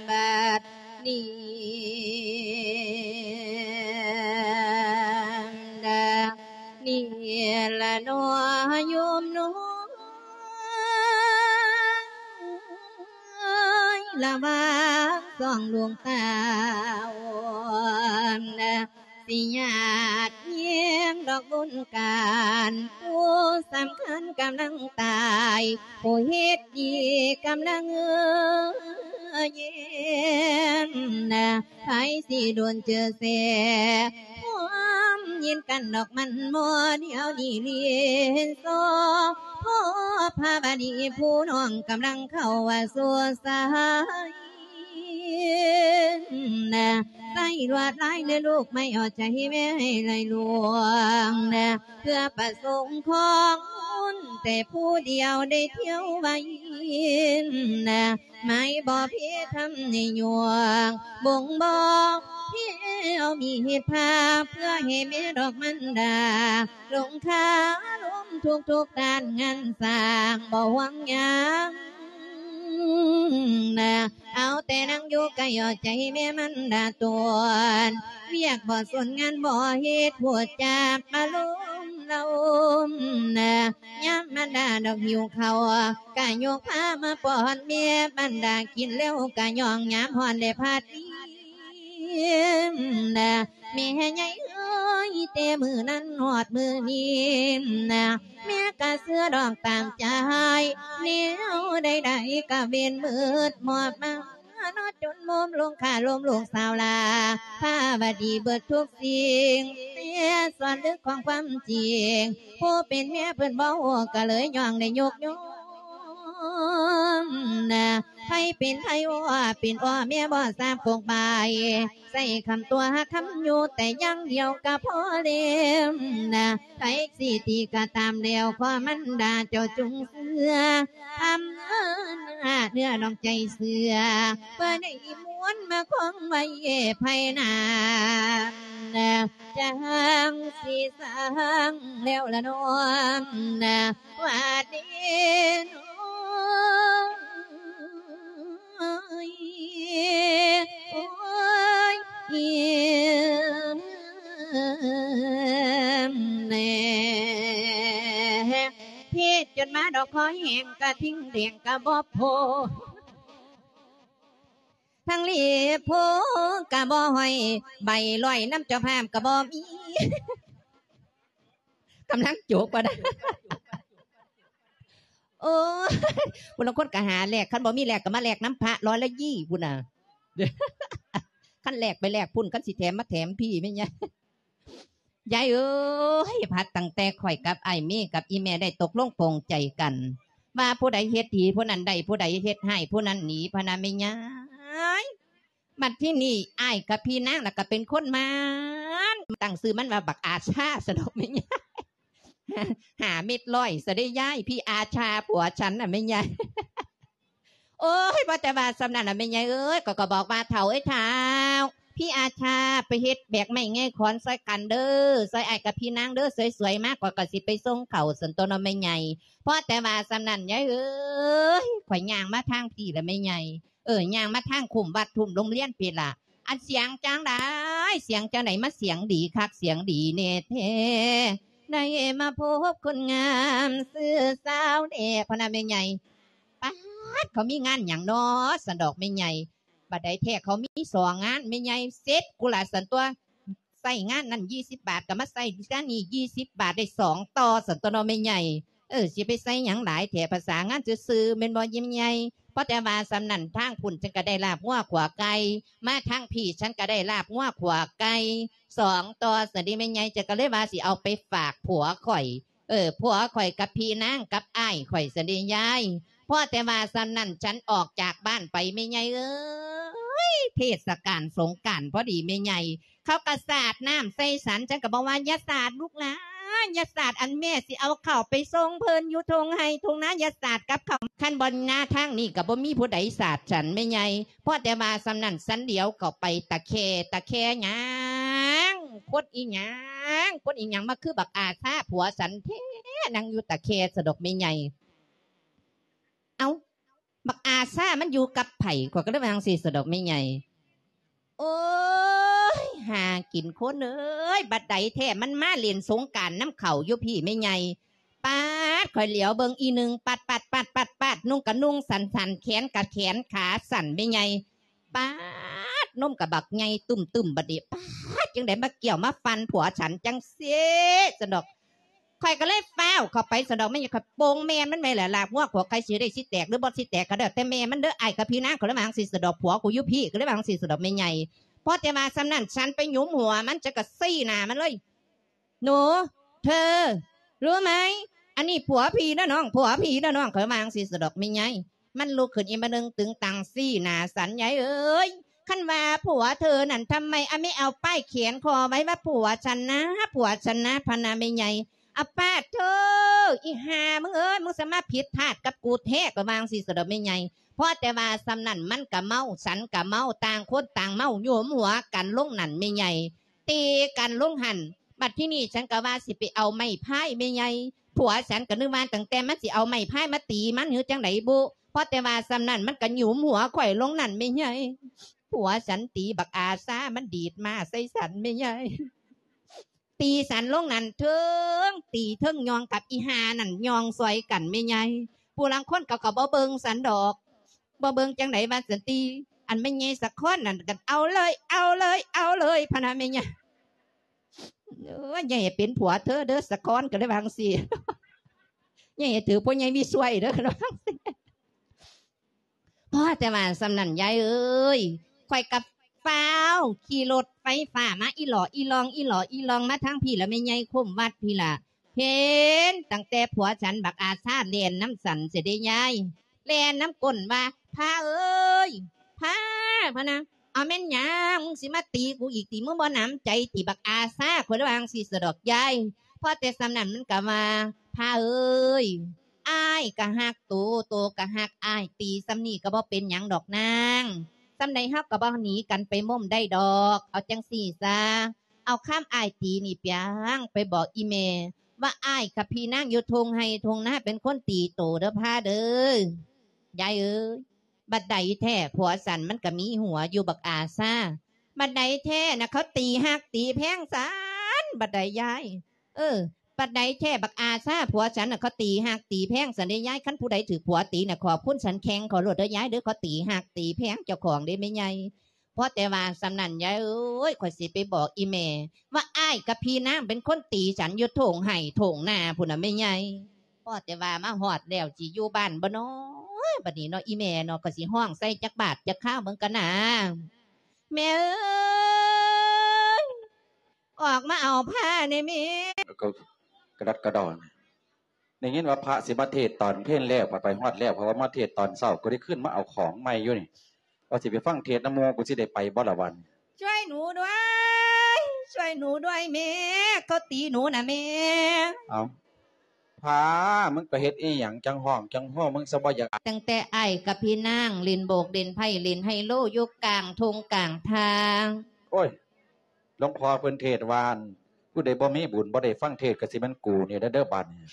ບັດນີ້ ດາ ນີ້ລະໜໍໂຍມນ້ອຍ ລະຫວ່າງສອງດວງຕາ ຊິຍາດແຍງດອກບຸນການ ຜູ້ສຳຄັນກຳລັງຕາຍ ຜູ້ເຮັດດີກຳລັງແຍງ ໃຜຊິດົນເຈີແຊ ຄວາມຍິນກັນດອກມັນໝໍ ດຽວນີ້ລີນຊໍ ພໍພາບານີຜູ້ນ້ອງກຳລັງເຂົ້າວ່າສູ່ສາຍ ໃຊ້ລວດລາຍ ແລະລູກໄມ້ເອົາໃຈແມ່ໃຫ້ໄຫຼຫຼວງນະ ເພື່ອປະສົງຂອງບຸນແຕ່ຜູ້ດຽວໄດ້ທ່ຽວໄວນະ ໄມ້ບໍ່ເພທຳໃຫ້ຍວງ ບົ່ງບອກເພເອົາມີດພາ ເພື່ອໃຫ້ແມ່ດອກມັນດາ ລົງຄາລົມທຸກໆດ້ານງານສ້າງບໍ່ຫວງຫຍັງນະ ເອົາແຕ່ນັ່ງຢູ່ໃກ້ເອົາໃຈແມ່ມັນດາຕົວນ ວຽກບໍ່ສົນງານບໍ່ເຮັດ ໂພດຈາກອາລົມລະອົມນະ ຍາມມັນດາດອກຫິວເຂົ້າ ກະຍົກພາມາປ້ອນແມ່ ມັນດາກິນແລ້ວກະຍ່ອງ ຍາມຮ້ອນແລະພັດອີ່ມນະ ແມ່ໃຫຍ່ເອີຍ ແຕ່ມື້ນັ້ນຮອດມື້ນີ້ນະ ແມ່ກະເຊື່ອດອກຕາມໃຈ ແນວໃດໆກະເວັນມືດມອບມາ ເນາະ ຈົນໂມມລົງຄາລົມລູກສາວຫຼ້າ ພາວະດີເບິດທຸກສິ່ງ ແຕ່ສ່ວນເລິກຂອງຄວາມຈິງ ຜູ້ເປັນແມ່ເພິ່ນບໍ່ຮູ້ ກະເລີຍຍ້ອງໄດ້ຍົກຍອມນະ ໃຜເປັນໃຜອໍ ເປັນອໍແມ່ບໍ່ຊາບກົກບາຍ ໃຊ້ຄຳຕົວະຄຳຢູ່ແຕ່ຢ່າງດຽວກະພໍແລ້ວນະ ໃຜຊິຕິກະຕາມແລ້ວ ຂໍມັນດາເຈົ້າຈົ່ງເຊື່ອ ທຳເນີນາເນື້ອນ້ອງໃຈເຊື່ອ ເພື່ອໄດ້ມ້ວນມາຄອງໄວ້ພາຍໜ້າ ຈາງຊິສ້າງແລ້ວລະນ້ອງນະ ວ່າດີນ້ອງ ໂອ້ຍ ແນ່ ເພດຈົນມາດອກຄໍແຫ້ງ ກະທິ່ງແດງກະບໍ່ໂພ ທັງລີບໂພກະບໍ່ຫ້ອຍ ໃບລອຍນຳເຈົ້າພາບກະບໍ່ມີ ກຳລັງໂຈກວ່ານະ ໂອ້ຍ ຜູ້ລາງຄົນກະຫາແລກ ຄັນບໍ່ມີແລກກະມາແລກນຳພະລອຍລະຢີພຸ້ນນະ ຄັນແລກໄປແລກພຸ້ນ ຄັນຊິແຖມມາແຖມພີ້ ແມ່ນຫຍັງ ຍາຍເອີຍ ພັດຕັ້ງແຕ່ຂ້ອຍກັບອ້າຍເມກັບອີ່ແມ່ໄດ້ຕົກລົງປົງໃຈກັນ ວ່າຜູ້ໃດເຮັດດີຜູ້ນັ້ນໄດ້ ຜູ້ໃດເຮັດຮ້າຍຜູ້ນັ້ນໜີ ພະນະແມ່ຍາຍ. ບັດທີນີ້ອ້າຍກັບພີ່ນາງລະກະເປັນຄົນໝານ ຕັ້ງຊື່ມັນວ່າບັກອາຊາຊະດອກແມ່ຍາຍ ຫ້າເມັດຮ້ອຍຊະເດ້ຍາຍ ພີ່ອາຊາຜົວສັນນະແມ່ຍາຍ. ໂອ້ຍ ບໍ່ແຕ່ວ່າສ່ຳນັ້ນນະແມ່ໃຫຍ່ເອີຍ ຂ້ອຍກໍບອກວ່າ ເຖົ້າເອີຍເຖົ້າ ພີ່ອາຊາໄປເຮັດແບກໄມ້ແງ່ຂອນຊ່ອຍກັນເດີ້ ຊ່ອຍອ້າຍກັບພີ່ນາງເດີ້ ສວຍໆມາ ຂ້ອຍກໍຊິໄປສົ່ງເຂົ້າ ຊັ້ນຕົວະເນາະແມ່ໃຫຍ່. ພໍແຕ່ວ່າສ່ຳນັ້ນຍາຍເອີຍ ຂ້ອຍຍ່າງມາທາງພີ້ລະແມ່ໃຫຍ່ ເອີ ຍ່າງມາທາງຄຸ້ມວັດທຸ່ມໂຮງຮຽນພີ້ລະ ອັນສຽງຈັ່ງໃດ ສຽງຈັ່ງໃດ ມາສຽງດີຄັກສຽງດີແນ່ແທ້ ໄດ້ມາພົບຄົນງາມຊື່ສາວແດ່ ພະນະແມ່ໃຫຍ່. ປາດ ເຂົາມີງານຫຍັງນໍ ຊັ້ນດອກແມ່ໃຫຍ່. ບັດໃດແທ້ ເຂົາມີສອງງານແມ່ໃຫຍ່ ເສັດກູລະຊັ້ນຕົວະ ໃຊ້ງານນັ້ນຍີ່ສິບບາດ ກໍມາໃຊ້ງານນີ້ຍີ່ສິບບາດ ໄດ້ສອງຕໍ່ຊັ້ນຕົວະເນາະແມ່ໃຫຍ່. ເອີ ຊິໄປໃສ່ຫຍັງຫຼາຍແທ້ ພາສາງານຊື່ໆ ແມ່ນບໍ່ແມ່ໃຫຍ່? ພໍແຕ່ວ່າສ່ຳນັ້ນ ທາງພຸ້ນ ສັນກໍໄດ້ລາບງົວຂົ້ວໄກ່ ມາທາງພີ້ ສັນກໍໄດ້ລາບງົວຂົ້ວໄກ່ ສອງຕໍ່ຊັ້ນເດແມ່ໃຫຍ່ ຈັກກໍເລີຍວ່າຊິເອົາໄປຝາກຜົວຂ້ອຍ ເອີ ຜົວຂ້ອຍກັບພີ່ນາງກັບອ້າຍຂ້ອຍຊັ້ນເດຍາຍ. ພໍແຕ່ວ່າສ່ຳນັ້ນ ສັນອອກຈາກບ້ານໄປແມ່ໃຫຍ່ເອີຍ ເທດສະການສົງການພໍດີແມ່ໃຫຍ່ ເຂົາກໍສາດນ້ຳໃສ່ສັນ ສັນກໍບອກວ່າ ຢ່າສາດລູກຫຼານ ຢ່າສາດ ອັນແມ່ຊິເອົາເຂົ້າໄປສົ່ງເພິ່ນຢູ່ທົ່ງໄຮ່ທົ່ງນາ ຢ່າສາດກັບເຂົາ ຄັນບໍ່ມາທາງນີ້ກໍບໍ່ມີຜູ້ໃດສາດສັນແມ່ໃຫຍ່. ພໍແຕ່ວ່າສ່ຳນັ້ນ ສັນຫຼຽວເຂົ້າໄປຕະແຄ ຕະແຄຫຍັງ ຄົນອີຫຍັງ ຄົນອີຫຍັງມາຄືບັກອາຊາຜົວສັນແທ້ ນັ່ງຢູ່ຕະແຄຊັ້ນດອກແມ່ໃຫຍ່. ເອົ້າ ບັກອາຊາມັນຢູ່ກັບໃຜ ຂ້ອຍກໍເລີຍວ່າຈັ່ງຊີ້ຊັ້ນດອກແມ່ໃຫຍ່. ໂອ້ຍ ຫາກິນຄົນເອີຍ ບັດໃດແທ້ ມັນມາຫຼິ້ນສົງການນຳເຂົາຢູ່ພີ້ແມ່ໃຫຍ່. ປາດ ຂ້ອຍຫຼຽວເບິ່ງອີໜຶ່ງ ປັດໆໆໆ ນຸ່ງກະນຸ່ງສັ້ນໆ ແຂນກະແຂນຂາສັ້ນແມ່ໃຫຍ່. ປາດ ນົມກະບັກໃຫຍ່ຕຸ້ມໆ ບັດນີ້ ປາດ ຈັ່ງໃດມາກ່ຽວມາຟັ່ນຜົວສັນຈັ່ງຊີ້ຊັ້ນດອກ. ຂ້ອຍກໍເລີຍຟ້າວເຂົ້າໄປຊັ້ນດອກແມ່ໃຫຍ່ ຂ້ອຍໂປ່ງແມ່ນມັນແມ່ນແຫຼະ ລາບງົວຂົ້ວໄກ່ຊິໄດ້ຊິແຕກ ຫຼືບໍ່ຊິແຕກກໍແລ້ວແຕ່ແມ່ມັນເດີ້ ອ້າຍກັບພີ່ນາງ ຂ້ອຍເລີຍວ່າຈັ່ງຊີ້ຊັ້ນດອກ ຜົວກູຢູ່ພີ້ ກໍເລີຍວ່າຈັ່ງຊີ້ຊັ້ນດອກແມ່ໃຫຍ່. ພໍແຕ່ວ່າສ່ຳນັ້ນ ສັນໄປຫຍຸມຫົວມັນ ສັນກໍຊີ້ໜ້າມັນເລີຍ ໜູ ເທີ ຮູ້ໄໝ ອັນນີ້ຜົວພີ່ນະນ້ອງ ຜົວພີ່ນະນ້ອງ ຂ້ອຍວ່າຈັ່ງຊີ້ຊັ້ນດອກແມ່ໃຫຍ່. ມັນລຸກຂຶ້ນອີກບາດໜຶ່ງ ຕຶງຕັງຊີ້ໜ້າສັນ ຍາຍເອີຍ ຄັນວ່າຜົວເທີນັ້ນ ທຳໄມອາແມ່ເອົາປ້າຍແຂວນຄໍໄວ້ວ່າຜົວສັນນາ ຜົວສັນນາ ພະນາແມ່ໃຫຍ່. ອາປາດເທີ ອີຫ່າມຶງເອີຍ ມຶງສາມາດຜິດພາດກັບກູແທ້ ກໍວ່າຈັ່ງຊີ້ສະດອກແມ່ໃຫຍ່. ພໍແຕ່ວ່າສ່ຳນັ້ນມັນກະເມົາ ສັນກະເມົາ ຕ່າງຄົນຕ່າງເມົາ ໂຍມຫົວກັນລົງນັ້ນແມ່ໃຫຍ່ ຕີກັນລົງຫັ້ນ. ບັດທີນີ້ສັນກະວ່າຊິໄປເອົາໄມ້ພາຍແມ່ໃຫຍ່ ຜົວສັນກະນຶກວ່າຕັ້ງແຕ່ມັນຊິເອົາໄມ້ພາຍມາຕີມັນ ຫຼື ຈັ່ງໃດບຸ ພໍແຕ່ວ່າສ່ຳນັ້ນມັນກະໂຍມຫົວຂ້ອຍລົງນັ້ນແມ່ໃຫຍ່. ຜົວສັນຕີບັກອາຊາ ມັນດີດມາໃສ່ສັນແມ່ໃຫຍ່. ຕີສັນລົງນັ້ນ ເທິງຕີເທິງຍ່ອງກັບອີ່ຫ່ານັ້ນຍ່ອງຊ່ອຍກັນແມ່ໃຫຍ່. ຜູ້ລາງຄົນເຂົາກໍບໍ່ເບິ່ງສັນດອກ ບໍ່ເບິ່ງຈັ່ງໃດວ່າສັນຕິ ອັນແມ່ໃຫຍ່ສະຄອນນັ້ນກໍເອົາເລີຍ ເອົາເລີຍ ເອົາເລີຍ ພະນະແມ່ໃຫຍ່. ເອີຍ ຢ່າໃຫ້ເປັນຜົວເທີເດີ ສະຄອນ ກໍເລີຍວ່າຈັ່ງຊີ້ ຢ່າໃຫ້ຖືກພໍ່ໃຫຍ່ມີຊ່ວຍເດີ ກໍວ່າຈັ່ງຊີ້. ພໍແຕ່ວ່າສ່ຳນັ້ນຍາຍເອີຍ ຂ້ອຍກໍຟ້າວຂີ່ລົດໄຟຟ້າມາອີ່ຫຼໍ່ອີ່ຫຼອງ ອີ່ຫຼໍ່ອີ່ຫຼອງມາທາງພີ້ລະ ແມ່ໃຫຍ່ຄຸ້ມວັດພີ້ລະ. ເຫັນຕັ້ງແຕ່ຜົວສັນບັກອາຊາແລ່ນນຳສັນເສຍເດ້ຍາຍ ແລ່ນນຳກົ້ນວ່າ ພາເອີຍ ພາ ພະນະ ເອົາແມ່ນຫຍັງ ມຶງຊິມາຕີກູອີກຕິ ມຶງບໍ່ໜຳໃຈຕິ ບັກອາຊາ ຂ້ອຍເລີຍວ່າຈັ່ງຊີ້ສະດອກຍາຍ. ພໍແຕ່ສ່ຳນັ້ນມັນກໍວ່າ ພາເອີຍ ອ້າຍກໍຮັກໂຕ ໂຕກໍຮັກອ້າຍ ຕີສ່ຳນີ້ກໍບໍ່ເປັນຫຍັງດອກນາງ ສ່ຳໃດເຮົາກໍບໍ່ໜີກັນໄປມົ້ມໄດ້ດອກ. ເອົາຈັ່ງຊີ້ຊະ ເອົາຄຳອ້າຍຕີນີ້ປຽງໄປບອກອີ່ແມ່ວ່າ ອ້າຍກັບພີ່ນາງຢູ່ທົ່ງໄຮ່ທົ່ງນາເປັນຄົນຕີໂຕເດີພາເດີ ຍາຍເອີຍ. ບັດໃດແທ້ ຜົວສັນມັນກໍມີຫົວຢູ່ບັກອາຊາ ບັດໃດແທ້ນະ ເຂົາຕີຮັກຕີແພງສັນ ບັດໃດຍາຍ ເອີ ບັດໃດແທ້ບັກອາຊາ ຜົວສັນນະ ເຂົາຕີຮັກຕີແພງສັນເດ້ຍາຍ. ຄັນຜູ້ໃດຖືກຜົວຕີນະ ຂອບຄຸນສັນແຂ້ງເຂົາໂລດເດີຍາຍເດີ ເຂົາຕີຮັກຕີແພງເຈົ້າຂອງເດ້ແມ່ໃຫຍ່. ພໍແຕ່ວ່າສ່ຳນັ້ນຍາຍເອີຍ ຂ້ອຍຊິໄປບອກອີ່ແມ່ວ່າ ອ້າຍກັບພີ່ນາງເປັນຄົນຕີສັນຢູ່ທົ່ງໄຮ່ທົ່ງນາພຸ້ນນະແມ່ໃຫຍ່. ພໍແຕ່ວ່າມາຮອດແລ້ວ ຊິຢູ່ບ້ານບໍ່ນໍ ບັດນີ້ເນາະ ອີ່ແມ່ເນາະ ຂ້ອຍຊິຮ້ອງໃສ່ຈັກບາດຈັກຄາວເບິ່ງກ່ອນນາ. ແມ່ເອີຍ ອອກມາເອົາພາແດ່ແມ່. ກໍກະດັດກະດໍ ໄດ້ຍິນວ່າພະຊິມາເທດຕອນເພນແລ້ວ ໄປຮອດແລ້ວ ເພາະວ່າມາເທດຕອນເຊົ້າ ກໍໄດ້ຂຶ້ນມາເອົາຂອງໃໝ່ຢູ່ນີ້ ວ່າຊິໄປຟັງເທດນຳໝູ່ ກູຊິໄດ້ໄປບໍ່ລະບັດນີ້? ຊ່ວຍໜູດ້ວຍ ຊ່ວຍໜູດ້ວຍແມ່ ເຂົາຕີໜູນະແມ່. ເອົ້າ ພາ ມຶງໄປເຮັດອີ່ຫຍັງ ຈັ່ງຮ້ອງຈັ່ງໂຮ ມຶງຊະບໍ່ຢາກອາຍ. ຕັ້ງແຕ່ອ້າຍກັບພີ່ນາງຫຼິ້ນໂບກຫຼິ້ນໄພ້ຫຼິ້ນໄຮໂລຢູ່ກາງທົ່ງກາງທາງ. ໂອ້ຍ ຫຼວງພໍ່ເພິ່ນເທດວ່າ ຜູ້ໃດບໍ່ມີບຸນບໍ່ໄດ້ຟັງເທດ ກໍຊິແມ່ນກູນີ້ແຫຼະເດີບາດນີ້.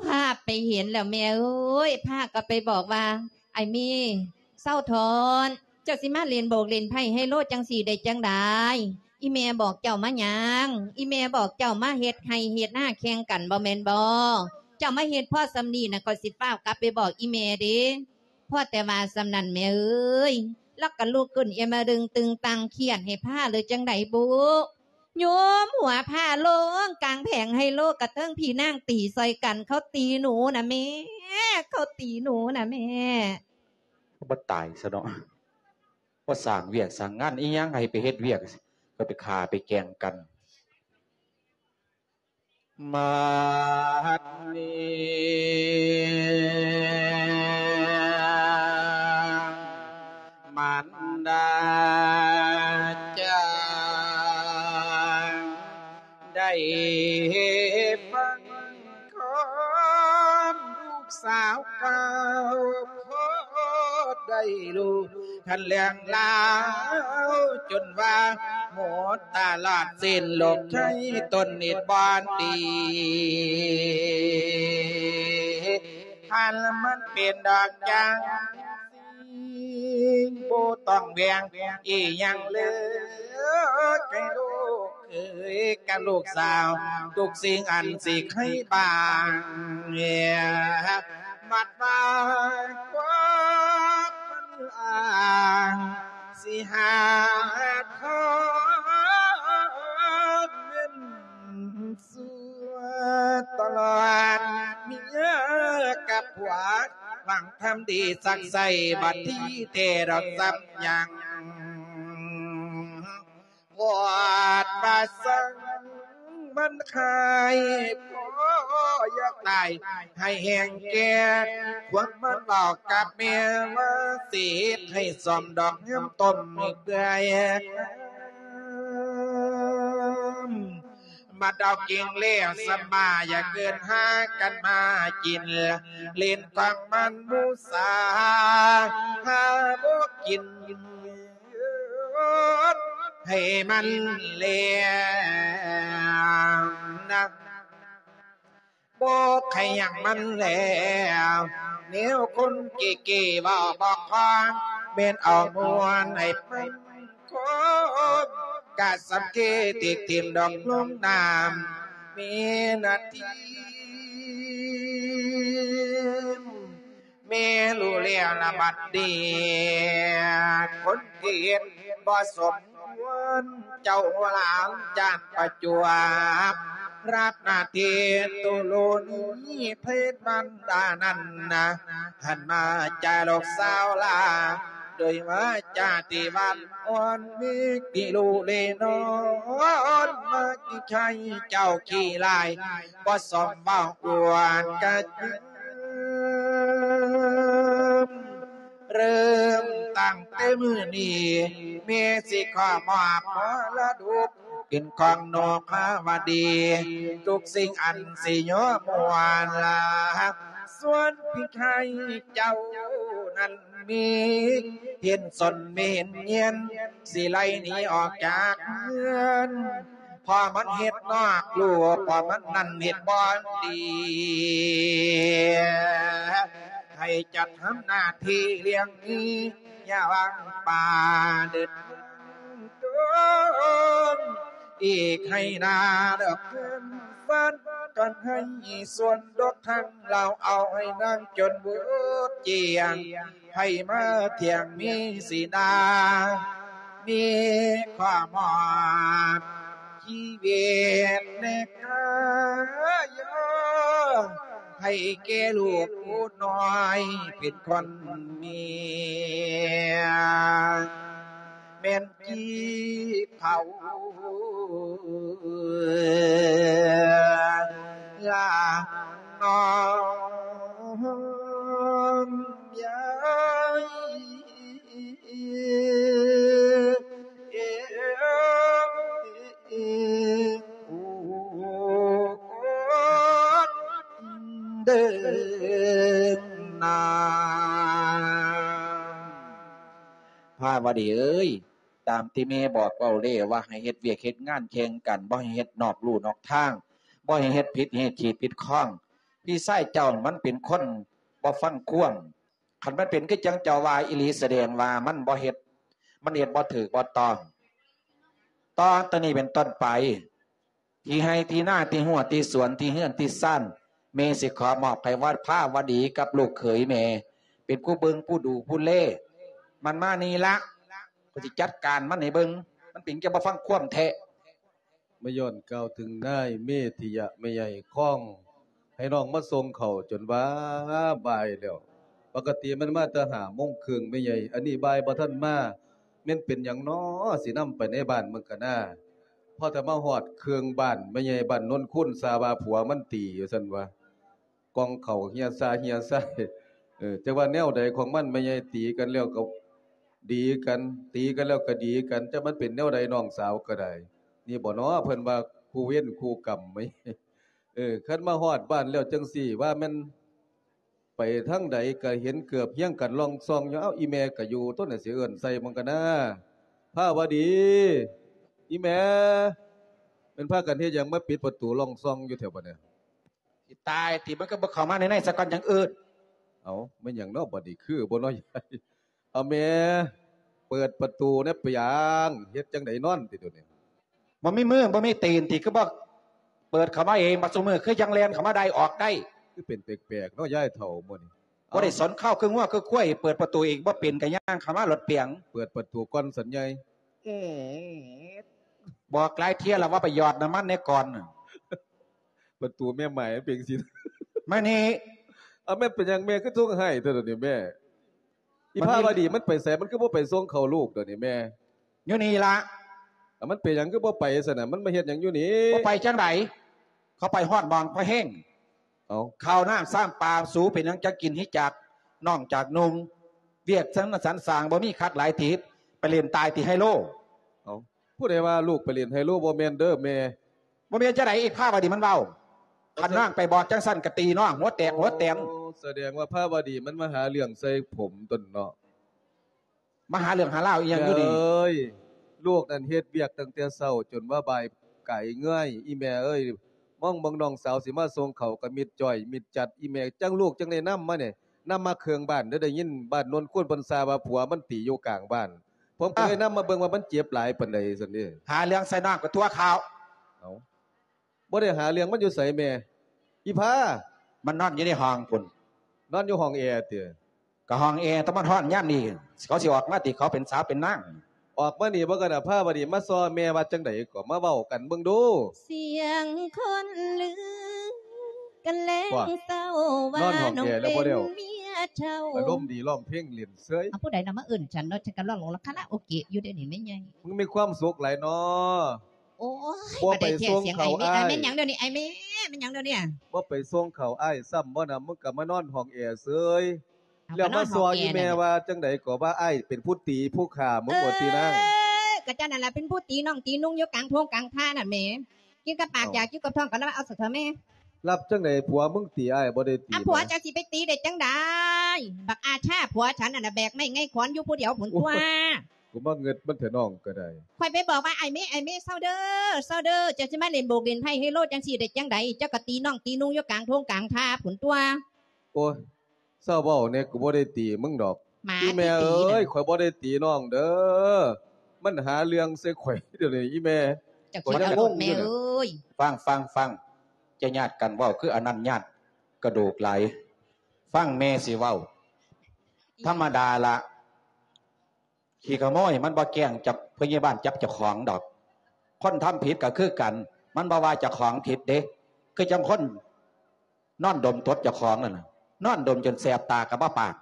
ພາໄປເຫັນແລ້ວແມ່ເອີຍ ພາກໍໄປບອກວ່າ ອ້າຍມີ ເຊົາຖອນ ເຈົ້າຊິມາຫຼິ້ນໂບກຫຼິ້ນໄພ້ໄຮໂລຈັ່ງຊີ້ໄດ້ຈັ່ງໃດ? ອີ່ແມ່ບອກເຈົ້າມາຫຍັງ? ອີ່ແມ່ບອກເຈົ້າມາເຮັດໄຮ່ເຮັດນາແຂ່ງກັນບໍ່ແມ່ນບໍ່? ເຈົ້າມາເຮັດພໍສ່ຳນີ້ນະ ຂ້ອຍຊິຟ້າວກັບໄປບອກອີ່ແມ່ເດ້. ພໍແຕ່ວ່າສ່ຳນັ້ນແມ່ເອີຍ ລາວກໍລຸກຂຶ້ນເອມະດຶງຕຶງຕັງ ຄຽດໃຫ້ພາເລີຍຈັ່ງໃດບຸ ໂຍມຫົວພາລົງກາງແຜງໄຮໂລ ກະເທິງພີ່ນາງຕີຊ່ອຍກັນ ເຂົາຕີໜູນະແມ່ ເຂົາຕີໜູນະແມ່. ບໍ່ຕາຍຊະເນາະ ບໍ່ສ້າງວຽກສ້າງງານອີ່ຫຍັງ ໃຫ້ໄປເຮັດວຽກ ກໍໄປຂ້າໄປແກ່ງກັນ. ບັດນີ້ມານດາຈະໄດ້ຟັງຄວາມລູກສາວກ່າວ ພໍໄດ້ຮູ້ ຄັນເລື່ອງລາວຈົນວ່າໝົດຕະຫຼາດເສັ້ນໂລກໄທ ຕົນນິດບອນຕີ ຄັນມັນເປັນດອກຈັງຊີ້ ບໍ່ຕ້ອງແຫວງອີ່ຫຍັງເລີຍ ໃຫ້ລູກເອີຍກັບລູກສາວ ທຸກສິ່ງອັນຊິໃຫ້ບາງ ມັດວ່າຄວາມມັນອາງ ຊິຫາທອດເງິນສວດຕະຫຼອດເມຍກັບຜົວ ຫວັງທຳດີສັກໃສ່ ບັດທີແທ້ດອກສ່ຳຫຍັງ ວອດວ່າສັງ ມັນຄາຍພໍຢາກຕາຍໃຫ້ແຮງແກ່ ຄວາມມັນເວົ້າກັບແມ່ວ່າ ຊິເຮັດໃຫ້ສ້ອມດອກຍາມຕົ້ມເປື່ອຍ ມາດອກກິ່ງແລ້ວສະມາ ຢ່າເກີນຫາກັນມາກິນ ຫຼິ້ນຂອງມັນໝູສາ ຫາບໍ່ກິນ ໃຫ້ມັນແລ້ວນະ ບໍ່ໃຫ້ຫຍັງມັນແລ້ວ ແນວຄົນເກເກເວົ້າບໍ່ຄອງ ແມ່ນເອົາມ່ວນໃຫ້ມັນຄອບ ກະສຳເທຕິກຖິ້ມດອກລົງນ້ຳ ແມ່ນນະທີມ ແມ່ຮູ້ແລ້ວລະບັດນີ້ ຄົນທີ່ເຮັດບໍ່ສົມຄວນ ເຈົ້າຫຼານຈານປະຈວບ ຮັບໜ້າທີ່ຕຸໂລນີເພດບັນດານັ້ນນະ ຫັນມາຈາລູກສາວລາ ໂດຍວາຈາທີ່ຫວານອ່ອນ ມີກິລູເລນອນ ມາກິໃຊ້ເຈົ້າຂີ້ລາຍ ບໍ່ສົມເວົ້າອວດກະຈຶງ ເລີ່ມຕັ້ງແຕ່ມື້ນີ້ ແມ່ຊິຂໍມອບມໍລະດົກ ເປັນຂອງນກພາວະດີ ທຸກສິ່ງອັນຊິຍໍມ່ວນລາ ສ່ວນພີ່ຊາຍເຈົ້ານັ້ນມີ ເຫັນສົນມີເຫັນຍຽນ ຊິໄລ່ໜີອອກຈາກເຮືອນ ເພາະມັນເຮັດນອກລູກ ເພາະມັນນັ້ນເຮັດບໍ່ດີ ໃຫ້ຈັດທຳໜ້າທີ່ລ້ຽງໝີ ຢ່າຫວັງປາເດີດຕົ້ນ ອີກໃຫ້ນາດອກເຮືອນຟັນ ກັນໃຫ້ສ່ວນດອກທັງລາວ ເອົາໃຫ້ນາງຈົນເບີດຈຽງ ໃຫ້ມາທ່ຽງມີສີໜ້າ ມີຄວາມຮອດ ຊີວິດແນກາຍ ໃຫ້ແກ່ລູກຜູ້ນ້ອຍເປັນຄົນເມຍ ແມ່ນຈີບເຂົາລານ້ອມຍາຍ. ເດີນນາ ພາວະດີເອີຍ ຕາມທີ່ແມ່ບອກເວົ້າແລ້ວວ່າ ໃຫ້ເຮັດວຽກເຮັດງານແຂ່ງກັນ ບໍ່ໃຫ້ເຮັດນອກลู่ນອກທາງ ບໍ່ໃຫ້ເຮັດຜິດຮີດຂີດຜິດຄອງ. ພີ່ຊາຍເຈົ້າມັນເປັນຄົນບໍ່ຟັງຄວາມ ຄັນມັນເປັນຄືຈັ່ງເຈົ້າວ່າອີ່ຫຼີ ສະແດງວ່າມັນບໍ່ເຮັດ ມັນເຮັດບໍ່ຖືກບໍ່ຕ້ອງ. ຕໍ່ແຕ່ນີ້ເປັນຕົ້ນໄປ ທີ່ໄຮ່ທີ່ນາ ທີ່ຮົ້ວທີ່ສວນ ທີ່ເຮືອນທີ່ຊານ ແມ່ຊິຂໍມອບໃຫ້ວັດພາວະດີກັບລູກເຂີຍແມ່ ເປັນຜູ້ເບິ່ງຜູ້ດູຜູ້ແລ. ມັນມານີ້ລະ ຂ້ອຍຊິຈັດການມັນໃຫ້ເບິ່ງ ມັນເປັນຈັ່ງບໍ່ຟັງຄວາມແທ້. ມາຍ້ອນກ່າວເຖິງນາຍເມທິຍະແມ່ໃຫຍ່ຄອງ ໃຫ້ນ້ອງມາສົ່ງເຂົ້າຈົນວ່າບ່າຍແລ້ວ. ປົກກະຕິມັນມາແຕ່ຫ້າໂມງເຄິ່ງແມ່ໃຫຍ່ ອັນນີ້ບ່າຍບໍ່ທັນມາ ແມ່ນເປັນຫຍັງນໍ ຊິນຳໄປໃນບ້ານເບິ່ງກະນາ. ພໍແຕ່ມາຮອດເຄື່ອງບ້ານ ແມ່ໃຫຍ່ບ້ານໂນນຄູນຊາວ່າຜົວມັນຕີ ວ່າຊັ້ນວ່າ ກ່ອງເຂົ້າເຮຍຊາເຮຍຊາຍ. ເອີ ຈັກວ່າແນວໃດຂອງມັນ ແມ່ໃຫຍ່ ຕີກັນແລ້ວກໍດີກັນ ຕີກັນແລ້ວກໍດີກັນ ຈັກມັນເປັນແນວໃດ ນ້ອງສາວກໍໄດ້. ນີ້ບໍ່ນໍ ເພິ່ນວ່າຄູ່ເວນຄູ່ກຳ. ເອີ ຄັນມາຮອດບ້ານແລ້ວຈັ່ງຊີ້ ວ່າແມ່ນໄປທາງໃດກໍເຫັນເກືອບຮຽງກັນລ່ອງຊ່ອງຢູ່. ເອົ້າ ອີ່ແມ່ກໍຢູ່ຕົວະ ຊິເອີ້ນໃສ່ມັນກະນາ. ພາວະດີ ອີ່ແມ່ ແມ່ນພາກັນເຮັດຫຍັງມາປິດປະຕູລ່ອງຊ່ອງຢູ່ແຖວບັດນີ້? ຊິຕາຍຕິ ມັນກໍບໍ່ເຂົ້າມາໃນໃນຊະກ່ອນຈັ່ງເອີ້ນ. ເອົ້າ ແມ່ນຫຍັງເນາະບັດນີ້ ຄືບໍ່ເນາະຍາຍ? ເອົາແມ່ ເປີດປະຕູແດ່ ເປັນຫຍັງ ເຮັດຈັ່ງໃດນອນຕິດຽວນີ້? ບໍ່ມີມືບໍ່ມີຕີນຕິ ຄືບໍ່ເປີດເຂົ້າມາເອງ? ບັດຊຸມື້ຄືຍັງແລ່ນເຂົ້າມາໄດ້ອອກໄດ້ ຄືເປັນແປກໆເນາະຍາຍເຖົ້າມື້ນີ້. ບໍ່ໄດ້ສົນເຄົ້າຄືງົວຄືຄວາຍ ເປີດປະຕູເອງບໍ່ເປັນ ກໍຍ່າງເຂົ້າມາໂລດປຽງ. ເປີດປະຕູກ່ອນສັນໃຫຍ່. ອືມ ບອກຫຼາຍເທື່ອແລ້ວວ່າໄປຫຍອດນ້ຳມັນແດ່ກ່ອນ. ປະຕູແມ່ໝາຍມັນເປັນຈັ່ງຊີ້. ມານີ້ ເອົາ ແມ່ນເປັນຫຍັງແມ່ຄືສົ່ງໃຫ້ເທື່ອດຽວນີ້ແມ່? ອີພາວະດີມັນໄປໃສ? ມັນຄືບໍ່ໄປສົ່ງເຂົ້າລູກດຽວນີ້ແມ່? ຢູ່ນີ້ລະ. ແລ້ວມັນເປັນຫຍັງຄືບໍ່ໄປຊັ້ນນະ? ມັນມາເຮັດຫຍັງຢູ່ນີ້? ບໍ່ໄປຈັ່ງໃດ? ເຂົາໄປຮອດໝ່ອງພະແຮງ. ເອົ້າ ເຂົ້ານ້ຳຊາມປາ ສູເປັນຫຍັງຈັ່ງກິນ ຮີຈັກນ້ອງຈາກນຸ່ງ? ວຽກສັນນະສັນສ້າງ ບໍ່ມີຄັກຫຼາຍຕິ ໄປຫຼິ້ນຕາຍຕິໄຮໂລ. ເອົ້າ ຜູ້ໃດວ່າລູກໄປຫຼິ້ນໄຮໂລ? ບໍ່ແມ່ນເດີແມ່. ບໍ່ແມ່ນຈັ່ງໃດ? ອີພາວະດີມັນເວົ້າ. ຄັນນາງໄປບອກຈັ່ງຊັ້ນ ກະຕີນ້ອງຫົວແຕກຫົວແຕນ. ໂອ້ ສະແດງວ່າພາວະດີມັນມາຫາເລື່ອງໃສ່ຜົມຕົນເນາະ. ມາຫາເລື່ອງຫາລາວອີ່ຫຍັງຢູ່ນີ້? ເອີຍ ລູກນັ້ນເຮັດວຽກຕັ້ງແຕ່ເຊົ້າຈົນວ່າບ່າຍກາຍເງືອຍ. ອີ່ແມ່ເອີຍ ມອງເບິ່ງນ້ອງສາວຊິມາສົ່ງເຂົ້າກະມິດຈ້ອຍມິດຈັດ. ອີ່ແມ່ຈັ່ງລູກຈັ່ງໄດ້ນຳມານີ້ ນຳມາເຄື່ອງບ້ານເດີ. ໄດ້ຍິນບ້ານໂນນຄູນເພິ່ນຊາວ່າຜົວມັນຕີຢູ່ກາງບ້ານ. ຜົມກໍເລີຍນຳມາເບິ່ງວ່າມັນເຈັບຫຼາຍປານໃດຊັ້ນເດ. ຫາເລື່ອງໃສ່ນ້ອງກະຕົວະເຂົ້າ. ເອົ້າ ບໍ່ໄດ້ຫາເລື່ອງ. ມັນຢູ່ໃສແມ່? ອີພາ ມັນນອນຢູ່ໃນຫ້ອງພຸ້ນ. ນອນຢູ່ຫ້ອງແອຕິ? ກະຫ້ອງແອ ແຕ່ມັນຮ້ອນຍາມນີ້ ເຂົາຊິອອກມາຕິ? ເຂົາເປັນສາວເປັນນາງ. ອອກມານີ້ບໍ່ກະນະ ພາວະດີມາຊໍແມ່ວ່າຈັ່ງໃດກໍມາເວົ້າກັນເບິ່ງດູ. ສຽງຄົນລືກັນແລງເຊົ້າວ່າ ນອນຫ້ອງແອແລ້ວບໍ່ແລ້ວ ນ້ອງເປັນເມຍເຖົ້າ ອາລົມດີ ຮ້ອງເພງຫຼິ້ນເສີຍ. ເອົາ ຜູ້ໃດນະມາເອີ້ນສັນເນາະ? ສັນກະຮ້ອງລະຄາຣາໂອເກະຢູ່ເດນີ້ແມ່ໃຫຍ່. ມຶງມີຄວາມສຸກຫຼາຍເນາະ. ໂອ້ຍ ບໍ່ໄປສົ່ງເຂົ້າອ້າຍ. ແມ່ນຫຍັງດຽວນີ້ ອ້າຍແມ່? ແມ່ນຫຍັງດຽວນີ້? ບໍ່ໄປສົ່ງເຂົ້າອ້າຍຊ້ຳບໍ່ນະ? ມຶງກະມານອນຫ້ອງແອເສີຍ. ແລ້ວມາຊໍອີ່ແມ່ວ່າຈັ່ງໃດກໍວ່າອ້າຍເປັນຜູ້ຕີຜູ້ຂ້າມຶງວ່າຕິນາງ. ເອີ ກະເຈົ້ານັ້ນລະເປັນຜູ້ຕີນ້ອງຕີນຸ່ງຢູ່ກາງທົ່ງກາງທ່ານັ້ນແໝ. ກິນກັບປາກ ຢາກຢູ່ກັບທ້ອງກະລະວ່າເອົາຊະເຖາະແມ່. ລັບຈັ່ງໃດ? ຜົວມຶງຕີອ້າຍບໍ່ໄດ້ຕີ. ອາ ຜົວເຈົ້າຊິໄປຕີໄດ້ຈັ່ງໃດ? ບັກອາຊາຜົວສັນນັ້ນນະ ແບກໄມ້ໄງຂອນຢູ່ຜູ້ດຽວພຸ້ນຕົວະ. ໂອ້ຍ ກູມາເງິດມັນແທ້ນ້ອງກະໄດ້. ຂ້ອຍໄປບອກວ່າ ອ້າຍເມ ອ້າຍເມ ເຊົາເດີ ເຊົາເດີ ເຈົ້າຊິມາຫຼິ້ນໂບກຫຼິ້ນໄພ້ໄຮໂລຈັ່ງຊີ້ໄດ້ຈັ່ງໃດ? ເຈົ້າກະຕີນ້ອງຕີນຸ່ງຢູ່ກາງທົ່ງກາງທ່າພຸ້ນຕົວະ. ໂອ້ຍ ເຊົາເວົ້າແດ່ ກູບໍ່ໄດ້ຕີມຶງດອກ. ອີ່ແມ່ເອີຍ ຂ້ອຍບໍ່ໄດ້ຕີນ້ອງເດີ. ມັນຫາເລື່ອງໃສ່ຂ້ອຍດຽວນີ້ ອີ່ແມ່. ເຈົ້າຄິດເອົາໂລດແມ່ເອີຍ. ຟັງ ຟັງ ຟັງ ຈະຍາດກັນເວົ້າຄືອັນນັ້ນຍາດກະດູກຫຼາຍ. ຟັງແມ່ຊິເວົ້າ. ທຳມະດາລະ ຂີ້ຂະໂມຍມັນບໍ່ແກ້ງຈັບພະຍາບານຈັບເຈົ້າຂອງດອກ. ຄົນທຳຜິດກະຄືກັນ ມັນບໍ່ວ່າເຈົ້າຂອງຜິດເດ້. ຄືຈັ່ງຄົນນອນດົມຕົດເຈົ້າຂອງນັ້ນນະ ນອນດົມຈົນແສບຕາກະບໍ່ປາກ.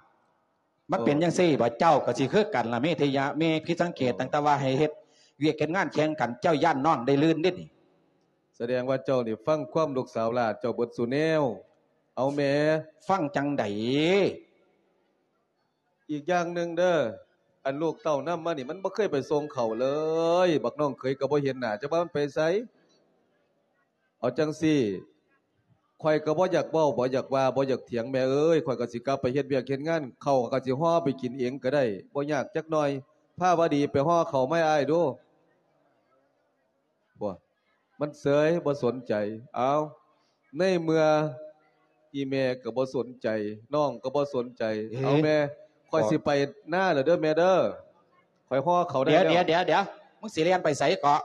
ມັນເປັນຈັ່ງຊີ້ບໍ່? ເຈົ້າກະຊິຄືກັນລະ ເມທິຍະ. ແມ່ຜິດສັງເກດຕັ້ງແຕ່ວ່າໃຫ້ເຮັດວຽກເຮັດງານແຂ່ງກັນ ເຈົ້າຢ້ານນ້ອງໄດ້ລື່ນເດ້ນີ້. ສະແດງວ່າເຈົ້ານີ້ຟັງຄວາມລູກສາວຫຼ້າເຈົ້າເບິດສູ່ແນວ. ເອົາແມ່ ຟັງຈັ່ງໃດ? ອີກຢ່າງໜຶ່ງເດີ ອັນລູກເຕົ້ານຳມານີ້ ມັນບໍ່ເຄີຍໄປສົ່ງເຂົ້າເລີຍ. ບັກນ້ອງເຂີຍກໍບໍ່ເຫັນໜ້າ ຈັກວ່າມັນໄປໃສ. ເອົາຈັ່ງຊີ້ ຂ້ອຍກໍບໍ່ຢາກເວົ້າ ບໍ່ຢາກວ່າ ບໍ່ຢາກຖຽງແມ່ເອີຍ. ຂ້ອຍກໍຊິກັບໄປເຮັດວຽກເຮັດງານ ເຂົ້າຂ້ອຍກໍຊິຫໍ່ໄປກິນເອງກໍໄດ້ ບໍ່ຍາກຈັກໜ້ອຍ. ພາວະດີ ໄປຫໍ່ເຂົ້າມາໃຫ້ອ້າຍດູ. ບໍ່ ມັນເສີຍ ບໍ່ສົນໃຈ. ເອົາ ໃນເມື່ອອີ່ແມ່ກໍບໍ່ສົນໃຈ ນ້ອງກໍບໍ່ສົນໃຈ. ເອີ ເອົາແມ່ ຂ້ອຍຊິໄປນາແລ້ວເດີແມ່ເດີ. ຂ້ອຍຫໍ່ເຂົ້າໄດ້ແລ້ວ. ດຽວ ດຽວ ດຽວ ມຶງຊິແລ່ນໄປໃສເກາະ?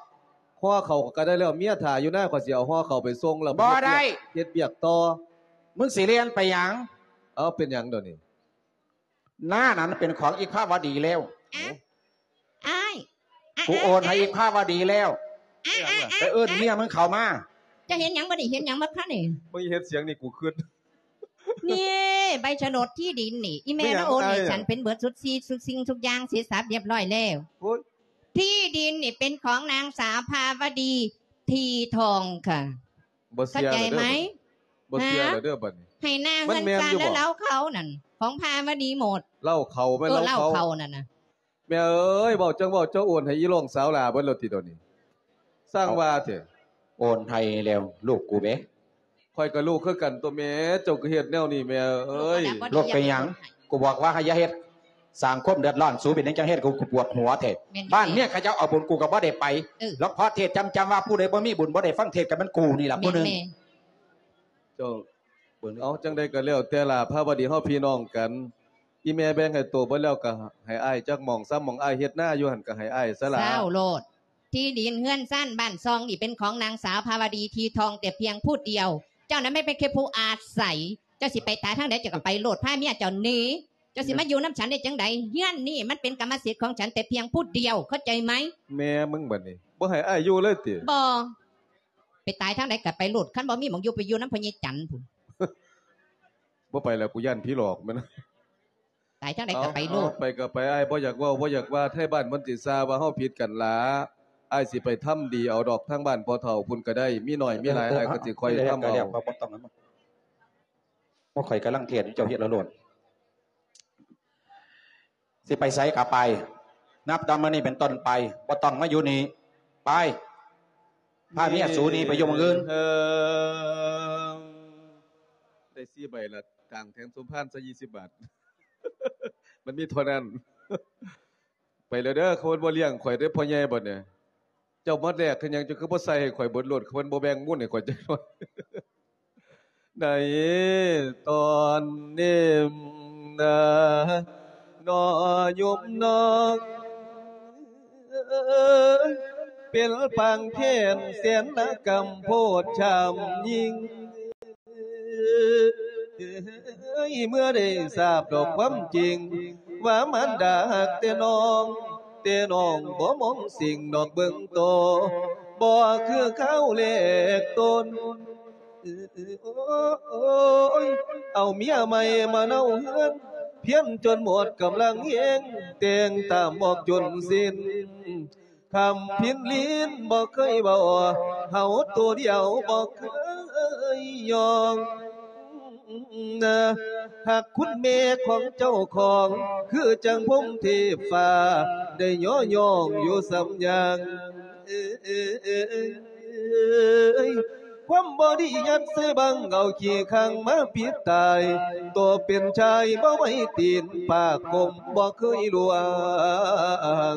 ຫໍ່ເຂົ້າກໍໄດ້ແລ້ວ ເມຍຖ້າຢູ່ນາ ຂ້ອຍຊິເອົາຫໍ່ເຂົ້າໄປສົ່ງແລ້ວ. ບໍ່ໄດ້ ເຮັດວຽກຕໍ່. ມຶງຊິແລ່ນໄປຫຍັງ? ເອົາ ເປັນຫຍັງດຽວນີ້? ນານັ້ນເປັນຂອງອີພາວະດີແລ້ວ. ອ້າຍ ອ້າຍ ອ້າຍ ກູໂອນໃຫ້ອີພາວະດີແລ້ວ. ອ້າຍ ອ້າຍ ອ້າຍ ໄປເອີ້ນເມຍມຶງເຂົ້າມາ. ເຈົ້າເຫັນຫຍັງບໍ່ນີ້? ເຫັນຫຍັງບໍ່ຄະນີ້? ມຶງເຮັດສຽງນີ້ກູຄຶດ ນີ້ ໃບສະໜົດທີ່ດິນນີ້ ອີແມ່ມາໂອນໃຫ້ສັນເປັນເບິດຊຸດຊີ ຊຸດສິ່ງທຸກຢ່າງເສັດສັບລຽບຮ້ອຍແລ້ວ. ໂອ້ຍ ທີ່ດິນນີ້ເປັນຂອງນາງສາວພາວະດີ ທີທອງ ຄ່ະ. ບໍ່ເຊື່ອແລ້ວເດີ ເຂົ້າໃຈໄໝ? ບໍ່ເຊື່ອແລ້ວເດີບັດນີ້. ໃຫ້ໜ້າເຮືອນຊານແລະເລົ້າເຂົ້ານັ້ນ ຂອງພາວະດີໝົດ. ເລົ້າເຂົ້າແມ່ນ ເອີ ເລົ້າເຂົ້າ ເລົ້າເຂົ້ານັ້ນນະ. ແມ່ເອີຍ ເວົ້າຈັ່ງເວົ້າ ເຈົ້າໂອນໃຫ້ອີນ້ອງສາວຫຼ້າເບິດແລ້ວຕິດຽວນີ້? ສ້າງວ່າແທ້. ໂອນໃຫ້ແລ້ວລູກກູເດ. ຂ້ອຍກໍລູກຄືກັນຕົວະແມ່ ເຈົ້າກໍເຮັດແນວນີ້ແມ່ເອີຍ. ລູກເປັນຫຍັງ? ກູບອກວ່າໃຫ້ຢ່າເຮັດ ສ້າງຄວາມເດືອດຮ້ອນ. ສູເປັນຫຍັງຈັ່ງເຮັດ ກູ ກູປວດຫົວແທ້. ບ້ານເມຍເຂົາເຈົ້າເອົາບຸນ ກູກໍບໍ່ໄດ້ໄປ. ຫຼວງພໍ່ເທດຈຳໆວ່າ ຜູ້ໃດບໍ່ມີບຸນບໍ່ໄດ້ຟັງເທດກໍແມ່ນກູນີ້ລະຜູ້ໜຶ່ງ. ເຈົ້າ ເອົາ ຈັ່ງໃດກໍແລ້ວແຕ່ລະ ພາວະດີເຮົາພີ່ນ້ອງກັນ. ອີແມ່ແບ່ງໃຫ້ໂຕເບິດແລ້ວ ກໍໃຫ້ອ້າຍຈັກໝ່ອງສາມໝ່ອງ. ອ້າຍເຮັດນາຢູ່ຫັ້ນ ກໍໃຫ້ອ້າຍຊະລະ. ເຊົາໂລດ. ທີ່ດິນເຮືອນຊານບ້ານຊ່ອງນີ້ ເປັນຂອງນາງສາວພາວະດີ ທີທອງ ແຕ່ພຽງຜູ້ດຽວ. ເຈົ້ານັ້ນແມ່ນເປັນແຄ່ຜູ້ອາໄສ. ເຈົ້າຊິໄປຕາຍທາງໃດ ເຈົ້າກໍໄປໂລດ ພາເມຍເຈົ້າໜີ. ເຈົ້າຊິມາຢູ່ນຳສັນໄດ້ຈັ່ງໃດ? ເຮືອນນີ້ມັນເປັນກຳມະສິດຂອງສັນແຕ່ພຽງຜູ້ດຽວ ເຂົ້າໃຈໄໝ? ແມ່ມຶງບັດນີ້ ບໍ່ໃຫ້ອ້າຍຢູ່ເລີຍຕິ? ບໍ່. ໄປຕາຍທາງໃດກໍໄປໂລດ ຄັນບໍ່ມີໝ່ອງຢູ່ ໄປຢູ່ນຳພໍ່ໃຫຍ່ຈັນພຸ້ນ. ບໍ່ໄປແລ້ວ ກູຢ້ານຜີຫຼອກແມ່ນ. ຕາຍທາງໃດກໍໄປໂລດ. ເອົາ ໄປກໍໄປ ອ້າຍບໍ່ຢາກເວົ້າ ບໍ່ຢາກວ່າ ໄທບ້ານມັນຊິຊາວ່າເຮົາຜິດກັນລະ. ອ້າຍຊິໄປທຳດີເອົາດອກ ທາງບ້ານພໍ່ເຖົ້າພຸ້ນກໍໄດ້ ມີໜ້ອຍມີຫຼາຍ ເອີ ເອີ ອ້າຍກໍຊິຄ່ອຍທຳເອົາ ບໍ່ຕ້ອງ ບໍ່ ຂ້ອຍກຳລັງເທດ ເຈົ້າເຮັດເອົາໂລດ. ຊິໄປໃສກໍໄປ ນັບແຕ່ມື້ນີ້ເປັນຕົ້ນໄປ ບໍ່ຕ້ອງມາຢູ່ນີ້ ໄປ ພາເມຍສູໜີໄປຢູ່ໝ່ອງອື່ນ. ໄດ້ສີ່ໃບລະ ຈ້າງແທນສົມພານຊະ ຊາວບາດ ມັນມີເທົ່ານັ້ນ. ໄປແລ້ວເດີ ເຂົາບໍ່ລ້ຽງຂ້ອຍເດີພໍ່ໃຫຍ່ ບັດນີ້ ເຈົ້າມາແລກຄືຫຍັງ ເຈົ້າຄືບໍ່ໃສ່ໃຫ້ຂ້ອຍເບິດໂລດ ເຂົາບໍ່ແບ່ງມູນໃຫ້ຂ້ອຍຈັກໜ້ອຍ. ໃນຕອນນີ້ນາ ນ້ອຍໂຍມນ້ອງເອີຍ ເປັນປາງແຄ້ນແສນລະກຳໂພດຊຳຍິ່ງ ເມື່ອໄດ້ຊາບດອກຄວາມຈິງ ວ່າມານດາຮັກແຕ່ນ້ອງ ແຕ່ນ້ອງບໍ່ມອງສິ່ງດອກເບິ່ງໂຕ ບໍ່ຄືຄາວແລກຕົ້ນ. ໂອ້ຍ ເອົາເມຍໃໝ່ມາເນົາເຮືອນ ພຽນຈົນໝົດກຳລັງແຮງ ແຕ່ງຕາມອອກຈົນສິ້ນ ຄຳພິນລີນບໍ່ເຄີຍເວົ້າ ເຮົາໂຕດຽວບໍ່ເຄີຍຍອມ. ຮັກຄຸນແມ່ຂອງເຈົ້າຂອງ ຄືຈັ່ງພົມເທບຟ້າ ໄດ້ຍໍຍ້ອງຢູ່ສ່ຳຢ່າງ. ຄວາມບໍ່ດີຍັດໃສ່ບັງ ເອົາຂີ້ຂັງມາປິດຕາຍ ໂຕເປັນຊາຍບໍ່ໄຫວຕີນ ປາກກົມບໍ່ເຄີຍລ່ວງ.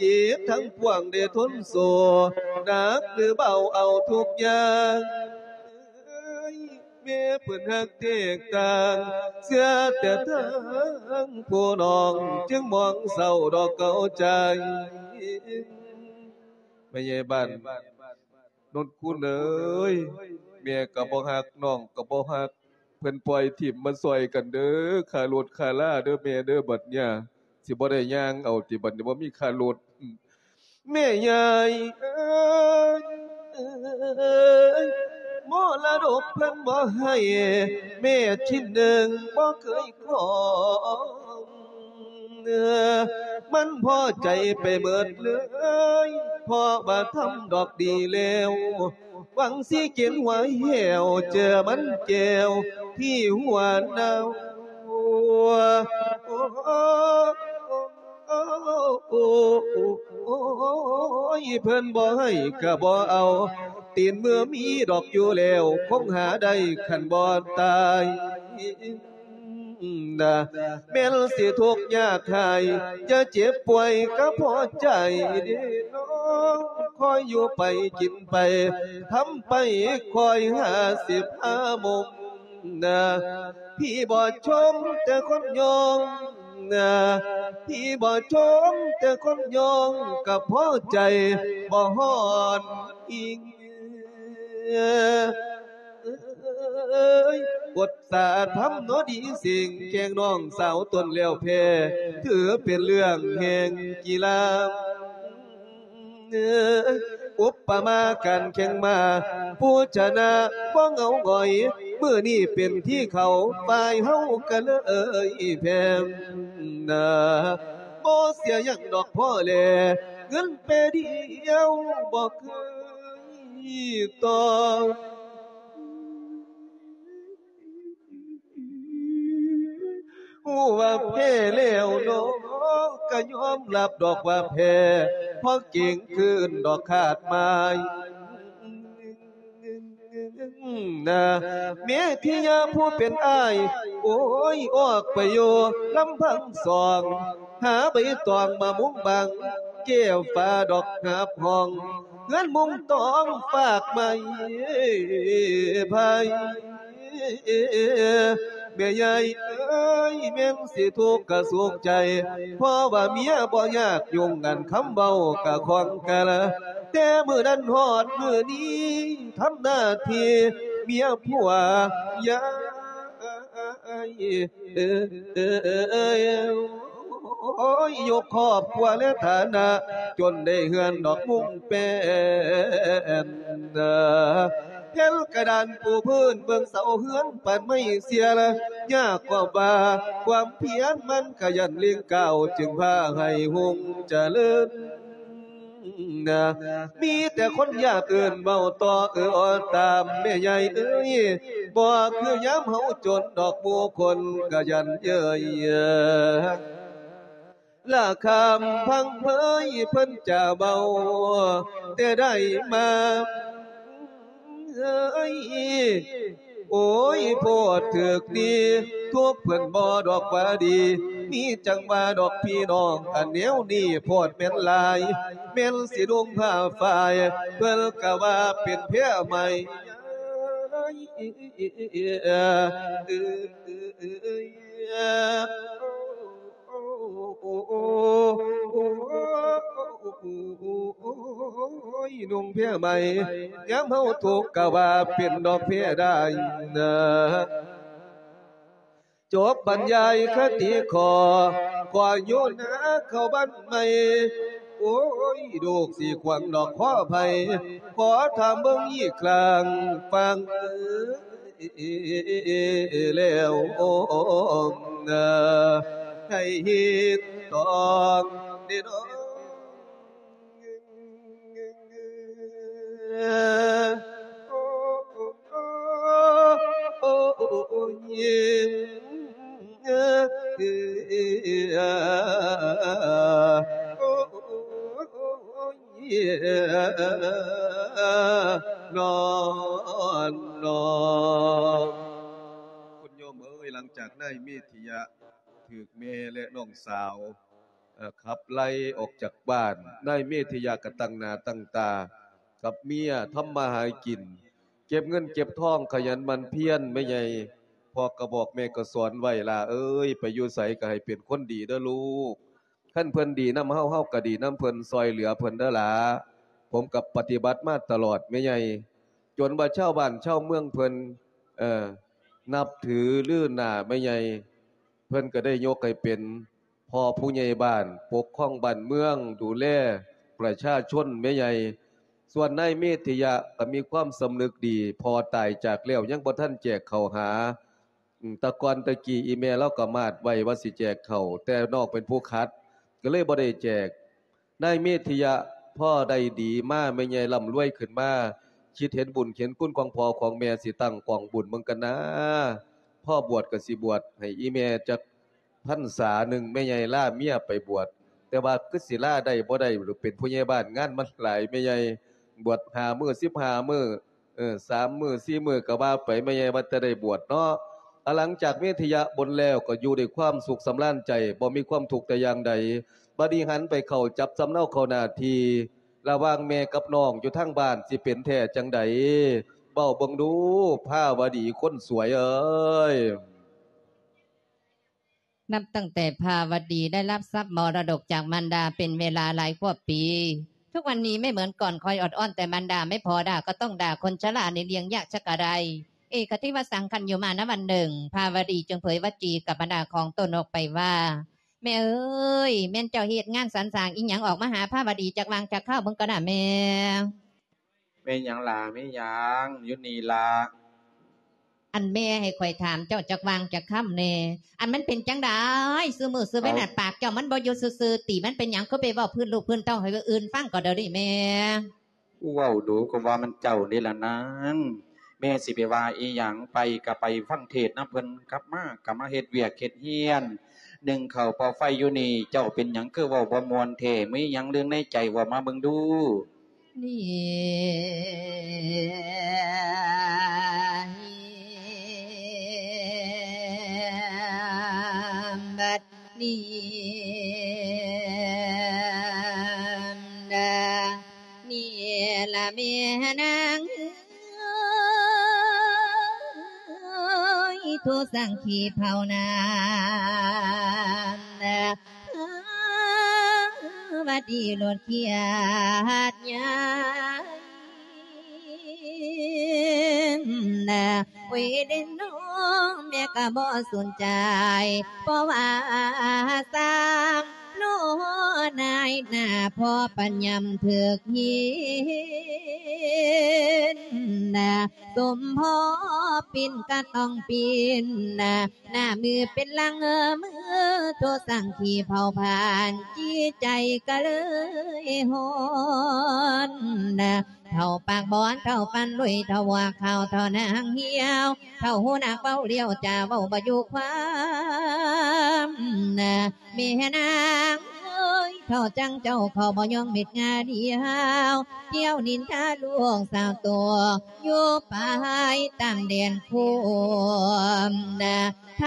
ຈິດທັງປວງໄດ້ທົນໂຊ ໜັກຫຼືເບົາເອົາທຸກຢ່າງ. ແມ່ເພິ່ນຮັກແຕກຕ່າງ ເຊື່ອແຕ່ທາງຜູ້ນ້ອງ ຈຶ່ງມອງເສົ້າດອກເກົາໃຈ. ແມ່ໃຫຍ່ບ້ານ ນົນຄູນເອີຍ ແມ່ກໍບໍ່ຮັກ ນ້ອງກໍບໍ່ຮັກ ເພິ່ນປ່ອຍຖິ້ມມາຊ່ອຍກັນເດີ ຄ່າລົດຄ່າລາເດີແມ່ເດີ ບັດເນີ້ຍ ຊິບໍ່ໄດ້ຍ່າງເອົາຕິ ບັດນີ້ບໍ່ມີຄ່າລົດ. ແມ່ໃຫຍ່ເອີຍ ມໍລະດົກເພິ່ນບໍ່ໃຫ້ ແມ່ຊິນໜຶ່ງບໍ່ເຄີຍຂອງ. ມັນພໍໃຈໄປເໝິດເລີຍ ເພາະວ່າທຳດອກດີແລ້ວ ຫວັງຊິກິນຫົວແຫ້ວ ເຈີມັນແກ້ວທີ່ຫົວເນົ່າ. ໂອ້ຍ ເພິ່ນບໍ່ໃຫ້ກໍບໍ່ເອົາ ຕີນມືມີດອກຢູ່ແລ້ວ ຄົງຫາໄດ້ຄັນບໍ່ຕາຍ. ນະ ແມ່ນຊິທຸກຍາກໄຮ້ ຢ່າເຈັບປ່ວຍກໍພໍໃຈເດ້ນ້ອງ ຄອຍຢູ່ໄປກິນໄປ ທຳໄປຄອຍຫາສິບຫາມຸມນະ. ພີ່ບໍ່ຊົມແຕ່ຄົນຍ້ອງນະ ພີ່ບໍ່ຊົມແຕ່ຄົນຍ້ອງ ກໍພໍໃຈບໍ່ຮອດອີກ. ບົດສາທຳເນາະດີເສັງ ແກ່ງນ້ອງສາວຕົນແລ້ວແພ້ ຖືເປັນເລື່ອງແຫ່ງກິລາ. ອຸປະມາການແຂ່ງມ້າ ຜູ້ຊະນະບໍ່ເຫງົາຫງອຍ ມື້ນີ້ເປັນທີ່ເຂົາ ຝ່າຍເຮົາກໍເລີຍແພ້ນະ. ບໍ່ເສຍຫຍັງດອກພໍ່ແລ ເງິນແປດຽວບໍ່ເຄີຍຕໍ່. ຮູ້ວ່າແພ້ແລ້ວເນາະ ກໍຍອມຮັບດອກວ່າແພ້ ເພາະເກງຄືນດອກຂາດໝາຍນະ. ແມ່ທິຍາຜູ້ເປັນອ້າຍ ໂອ້ຍ ອອກໄປຢູ່ລຳພັງສອງ ຫາໃບຕອງມາມຸງບັງ ແກ້ວຟ້າດອກຫາບຫ້ອງ ເຮືອນມຸງຕອງຟາກໄມ້ໄຜ່. ແມ່ໃຫຍ່ເອີຍ ແມ່ນຊິທຸກກະສຸກໃຈ ເພາະວ່າເມຍບໍ່ຍາກ ຍຸ່ງອັນຄຳເວົ້າກະຂອງກະລະ ແຕ່ມື້ນັ້ນຮອດມື້ນີ້ ທຳໜ້າທີ່ເມຍຜົວຢາຍ ເອີ ໂອ້ຍ ຍົກຄອບຄົວແລະຖານະ ຈົນໄດ້ເຮືອນດອກມຸງແປ້ນ ແຜ່ນກະດານປູພື້ນເບິ່ງເສົາເຮືອນ ປານໄມ້ເສຍລະ ຍາກຄວາມວ່າ ຄວາມພຽນມັນຂະຫຍັນເລັ່ງກ້າວ ຈຶ່ງພາໃຫ້ຮຸ່ງຈະເລີນ. ນະ ມີແຕ່ຄົນຢາກເອີ້ນເວົ້າຕໍ່ເອີ່ອຕາມແມ່ໃຫຍ່ເອີຍ ບໍ່ຄືຍາມເຮົາຈົນດອກ ໝູ່ຄົນກະຢັນເຍີ້ຍ ລະຄຳພັງເຜີຍເພິ່ນຈະເວົ້າແຕ່ໃດມາ ເອີຍ ໂອ້ຍ ໂພດຖືກດີ ທຸກເພິ່ນບໍ່ດອກວ່າດີ ມີຈັ່ງວ່າດອກພີ່ນ້ອງ ອັນແນວນີ້ໂພດແມ່ນຫຼາຍ ແມ່ນຊິນຸ່ງຜ້າຝ້າຍ ເພິ່ນກະວ່າເປັນແພໃໝ່ ໂອ້ຍ ນຸ່ງແພໃໝ່ ຍາມເຮົາທຸກກະວ່າເປັນດອກແພໄດ້ນະ. ຈົບບັນຍາຍຄະຕິຂໍ ຂໍຢູ່ນາເຂົ້າບ້ານໃໝ່ ໂອ້ຍ ລູກຊິຂວັງດອກຂໍໄພ ຂໍຖາມເບິ່ງອີກຄັ້ງ ຟັງ ແລ້ວ ໃຫ້ເຮັດຕ້ອງເດ້ນ້ອງ ໂອ້ຍ ນອນ ນອນ ຄຸນໂຍມເອີຍ ຫຼັງຈາກນາຍເມທິຍະຖືກແມ່ ແລະ ນ້ອງສາວ ເອີ ຂັບໄລ່ອອກຈາກບ້ານ, ນາຍເມທິຍະກໍຕັ້ງໜ້າຕັ້ງຕາກັບເມຍ ທຳມາຫາກິນ ເກັບເງິນເກັບທອງ ຂະຫຍັນໝັ່ນພຽນ ແມ່ໃຫຍ່ ພໍ່ກໍບອກ ແມ່ກໍສອນໄວ້ ຫຼ້າເອີຍ ໄປຢູ່ໃສກໍໃຫ້ເປັນຄົນດີເດີລູກ. ຄັນເພິ່ນດີນຳເຮົາ ເຮົາກໍດີນຳເພິ່ນ ຊ່ອຍເຫຼືອເພິ່ນເດີຫຼ້າ. ຜົມກໍປະຕິບັດມາຕະຫຼອດແມ່ໃຫຍ່ ຈົນວ່າຊາວບ້ານຊາວເມືອງເພິ່ນ ເອີ ນັບຖືລືໜ້າແມ່ໃຫຍ່ ເພິ່ນກໍໄດ້ຍົກໃຫ້ເປັນພໍ່ຜູ້ໃຫຍ່ບ້ານ ປົກຄອງບ້ານເມືອງ ດູແລປະຊາຊົນແມ່ໃຫຍ່. ສ່ວນນາຍເມທິຍະກໍມີຄວາມສຳນຶກດີ ພໍ່ຕາຍຈາກແລ້ວຍັງບໍ່ທັນແຈກເຂົ້າຫາ. ອືມ ແຕ່ກ່ອນແຕ່ກີ້ອີ່ແມ່ລາວກໍມາດໄວ້ວ່າຊິແຈກເຂົ້າ ແຕ່ນ້ອງເປັນຜູ້ຂັດ ກໍເລີຍບໍ່ໄດ້ແຈກ. ນາຍເມທິຍະພໍໄດ້ດີມາ ແມ່ໃຫຍ່ລ່ຳລວຍຂຶ້ນມາ ຄິດເຫັນບຸນເຫັນຄຸນຂອງພໍ່ຂອງແມ່ ຊິຕັ້ງກອງບຸນເບິ່ງກັນນາ. ພໍບວດກໍຊິບວດໃຫ້ອີ່ແມ່ຈັກພັນສາໜຶ່ງ ແມ່ໃຫຍ່ລາເມຍໄປບວດ ແຕ່ວ່າຄືຊິລາໄດ້ບໍ່ໄດ້ ເປັນຜູ້ໃຫຍ່ບ້ານງານມັນຫຼາຍແມ່ໃຫຍ່ ບວດຫ້າມື້ ສິບຫ້າມື້ ເອີ ສາມມື້ສີ່ມື້ກໍວ່າໄປ ແມ່ໃຫຍ່ວ່າແຕ່ໄດ້ບວດເນາະ. ອາ ຫຼັງຈາກເມທິຍະບົນແລ້ວ ກໍຢູ່ດ້ວຍຄວາມສຸກສຳລານໃຈ ບໍ່ມີຄວາມທຸກແຕ່ຢ່າງໃດ. ບັດນີ້ຫັນໄປເຂົ້າຈັບສຳເນົາເຂົ້າໜ້າທີ່ ລະຫວ່າງແມ່ກັບນ້ອງຢູ່ທາງບ້ານ ຊິເປັນແທ້ຈັ່ງໃດ? ເວົ້າເບິ່ງດູ ພາວະດີຄົນສວຍເອີຍ. นับตั้งแต่ภาวดีได้รับทรัพย์มรดกจากมารดาเป็นเวลาหลายกว่าปี ทุกวันนี้ไม่เหมือนก่อน คอยออดอ้อนแต่มารดาไม่พอด่าก็ต้องด่า คนชรานี่เลี้ยงยากชักกะไร เอ คติวสัง คันอยู่มาณวันหนึ่ง ภาวดีจึงเผยวจีกับบรรดาของตนออกไปว่า แม่เอ๋ย แม่นเจ้าเฮ็ดงานสรรสร้างอิหยังออกมาหาภาวดีจักว่างจักคาวเบิ่งก่อนน่าแม่ แม่นหยังหล่า แม่นหยัง อยู่นี่ล่ะ อันแม่ให้ข้อยถามเจ้าจักว่างจักคำแหน่ อันมันเป็นจั่งใดซุมื้อซุเว็น เอ้า น่ะ ปากเจ้ามันบ่อยู่ซื่อๆติ มันเป็นหยังคือไปเว้าพื้นลูกพื้นเต้าให้ผู้อื่นฟังก็เดี๋ยวนี้แม่ เว้าดูก็ว่ามันเจ้านี่ล่ะนาง แม่สิไปว่าอีหยัง ไปก็ไปฟังเทศน์นำเพิ่น กลับมาก็มาเฮ็ดเวียกเฮ็ดเฮียน นึ่งข้าวเป่าไฟอยู่นี่ เจ้าเป็นหยังคือเว้าบ่ม่วนแท้ มีหยังเรื่องในใจเว้ามาเบิ่งดู นี่ บัดนี้ นี่ละแม่นางเอ้ย โทสังขีเผานา ว่าดีโลดเขียดยาย เวยเด้น้องแม่ก็บ่สนใจ เพราะว่าสามโลนายหน้าพ่อปัญญำเถือกหิน ສົມພໍປິ່ນກະຕ້ອງປິ່ນ ໜ້າມືເປັນຫຼັງມື ໂທສັງຄີເຜົາຜານ ຈິດໃຈກະເລີຍຮ້ອນ. ເຖົ້າປາກບອນ ເຖົ້າຟັນລຸຍ ເຖົ້າຫົວຂາວ ເຖົ້າໜາງຫ່ຽວ ເຖົ້າຫູໜາກເວົ້າຫຼຽວ ຈາເວົ້າບໍ່ຢູ່ຄວາມ. ແມ່ນາງເອີຍ ເຖົ້າຈັ່ງເຈົ້າ ເຂົາບໍ່ຍອມເມັດງາດຽວ ທ່ຽວນິນທາລູກສາວໂຕ ຢູ່ໄປຕາມແດນໂຄມນະ ໄທ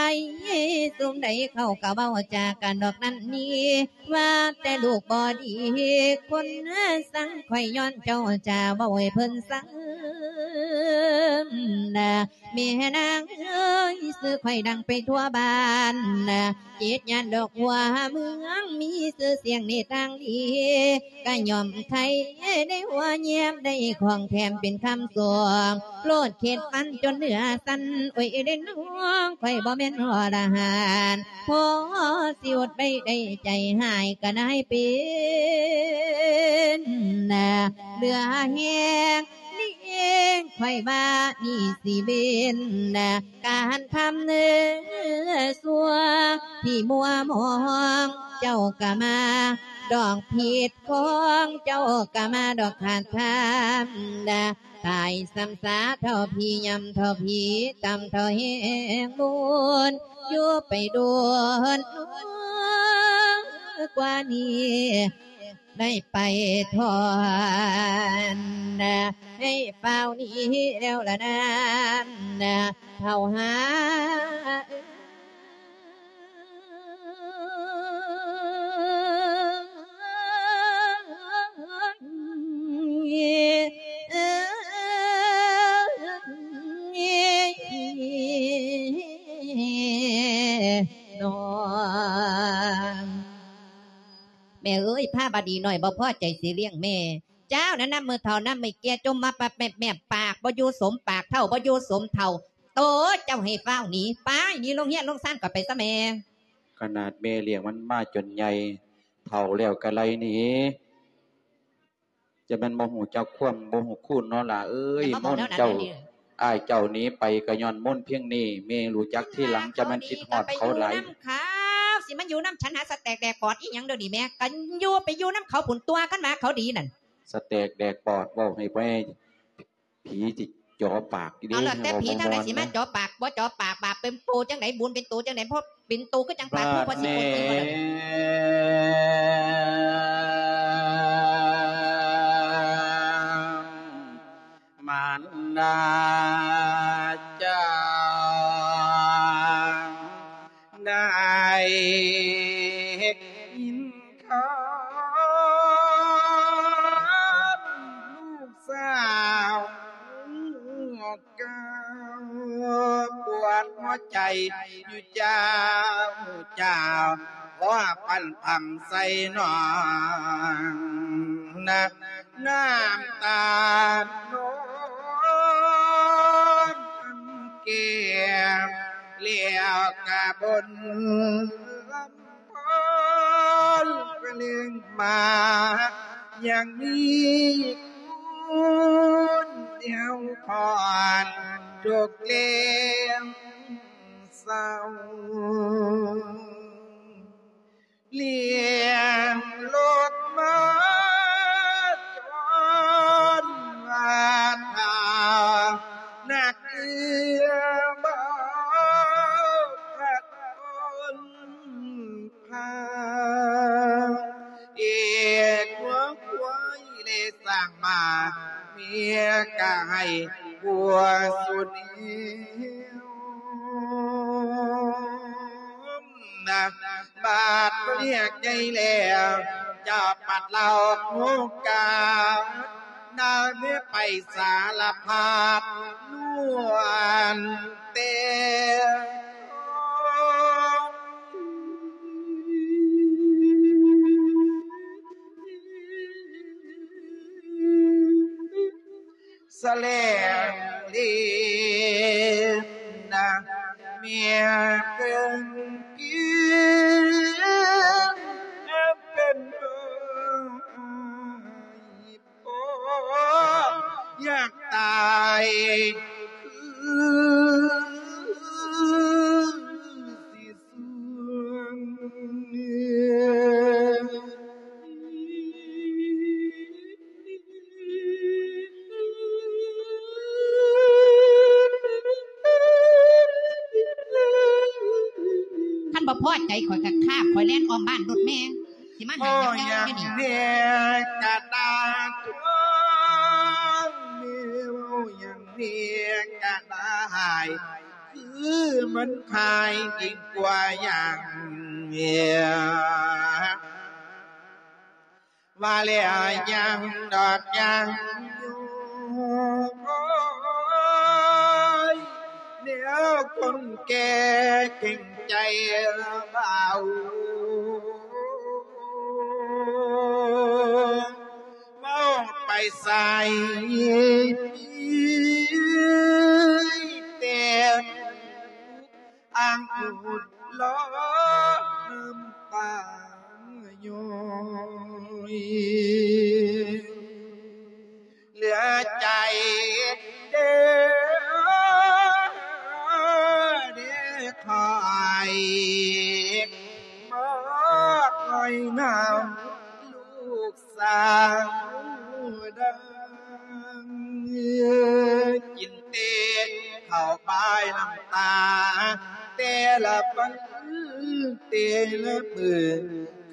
ຊຸມໃດເຂົາກະເວົ້າຈາກັນດອກນັ້ນນີ້ ວ່າແຕ່ລູກບໍ່ດີ ຄົນສັງ ຂ້ອຍຍ້ອນເຈົ້າຈາເວົ້າໃຫ້ເພິ່ນສັງນະ. ແມ່ນາງເອີຍ ຊື່ຂ້ອຍດັງໄປທົ່ວບ້ານນະ ເຈັດຍ່ານດອກຫົວເມືອງ ມີຊື່ສຽງໃນທາງດີ ກະຍ້ອນໃຜໄດ້ຫົວແຍ້ມ ໄດ້ຂອງແຖມເປັນຄຳສອງ ໂລດເຂດຟັນຈົນເນື້ອສັ່ນ ໂອ້ຍເດ້ນ້ອງ ຂ້ອຍບໍ່ແມ່ນອໍລະຫັນ ພໍຊິອົດໄວ້ໄດ້ໃຈຮ້າຍກະນາຍເປັນນະ ເຫຼືອແຮງນີ້ເອງ ຂ້ອຍວ່ານີ້ຊິເປັນນະ ການທຳເນີຊົ່ວທີ່ມົວມອງ ເຈົ້າກະມາດອກຜິດຂອງ ເຈົ້າກະມາດອກຂາດທຳນະ ຕາຍຊ້ຳຊາເທົ່າຜີ ຍ່ຳເທົ່າຜີ ຕ່ຳເທົ່າແຮງບຸນ ຢູ່ໄປດົນກວ່ານີ້ ໄດ້ໄປທ່ອນນະ ໃຫ້ຟ້າວໜີແລ້ວລະນານນະ ເຖົ້າຫາ ນ້ອງ ແມ່ເອີຍ ພາບະດີນ້ອຍບໍ່ພໍໃຈຊິລ້ຽງແມ່ ເຈົ້ານະ ນຳມື້ເຖົ້ານຳມື້ແກ່ ຈົ່ມມາປັບແມບໆ ປາກບໍ່ຢູ່ສົມປາກ ເຖົ້າບໍ່ຢູ່ສົມເຖົ້າ ໂຕເຈົ້າໃຫ້ຟ້າວໜີ ໄປໜີລົງເຮືອນລົງຊານກໍໄປຊະແມ່. ຂະໜາດແມ່ລ້ຽງມັນມາຈົນໃຫຍ່ ເຖົ້າແລ້ວກໍໄລ່ໜີ ຈະແມ່ນບໍ່ຮູ້ຈັກຄວາມ ບໍ່ຮູ້ຄູນເນາະຫຼ້າເອີຍ. ແມ່ນບໍ່ເວົ້າແນວນັ້ນ ເຈົ້າ ເດ ອ້າຍເຈົ້າໜີໄປກໍຍ້ອນມົນພຽງນີ້ ແມ່ຮູ້ຈັກທີຫຼັງ ຈະແມ່ນຄິດຮອດເຂົາຫຼາຍ. ນຳເຂົາ ຊິມາຢູ່ນຳ ຫາສະແຕກແດກປອດອີ່ຫຍັງດຽວນີ້ແມ່ ກໍຢູ່ໄປຢູ່ນຳເຂົາພຸ້ນ ຕົວະກັນວ່າເຂົາດີນັ້ນ ສະແຕກແດກປອດ ເວົ້າໃຫ້ແມ່ ຜີຊິເຈາະປາກອີ່ເດ. ເອົາ ແລ້ວແຕ່ຜີທາງໃດຊິມາເຈາະປາກ ບໍ່ເຈາະປາກ ບາບເປັນໂຕຈັ່ງໃດ ບຸນເປັນໂຕຈັ່ງໃດ ເພາະເປັນໂຕຄືຈັ່ງປາກ ຄືບໍ່ຊິຄົນອື່ນບໍ່ລະ ມານດາເຈົ້າ ໄດ້ຍິນຂ່າວ ລູກສາວເກົ່າ ປວດຫົວໃຈຢູ່ເຈົ້າ ເຈົ້າ ຂໍປັນຄຳໃສ່ນ້ອງນະ ນ້ຳຕານອງແກ້ມ ແລ້ວກະບົນລຳພອນກະເລື່ອງມາ ຍັງມີຄູນແນວພອນທຸກແລງເສົ້າ ລ້ຽງລູກມາຈົນວ່າເຖົ້ານັກເອື້ອບໍ່ພັກຄົນພາ ເອກຫົວຄວາຍເລສ້າງມາ ເມຍກະໃຫ້ບົວສຸດເຫວ ນະ ບາດເມຍໃຫຍ່ແລ້ວ ເຈົ້າປັດເລົ່າໂຄງການ ນາເມຍໄປສາລະພັດນວນແຕ່ ສະແຫຼງເລນນະ ເມຍເປັນເປັນ ໂອ້ ຢາກຕາຍ ພໍໃຈຂ້ອຍກະຄາບ ຂ້ອຍແລ່ນອ້ອມບ້ານໂລດແມ່ ຊິມາໃຫ້ເວົ້າຫຍັງແນວນີ້ ເວົ້າຫຍັງແນກະດາທວງ ແມ່ເວົ້າຫຍັງແນກະດາຫາຍ ຄືມັນຄາຍຍິ່ງກວ່າຫຍັງ ວ່າແລ້ວຍັງດອກຍັງຢູ່ ໂອ້ຍ ແນວຄົນແກ່ເກັ່ງໃຈເວົ້າ ເວົ້າໄປໃສ ແຕ່ ອ້າງອຸດລໍນ້ຳຕາຍ້ອຍ ເຫຼືອໃຈເດີ ເດີຂ້ອຍ ມາຄອຍນຳລູກ ສາວດັງ ກິນແຕ່ເຂົ້າປາຍນ້ຳຕາ ແຕ່ລະວັນແຕ່ລະມື້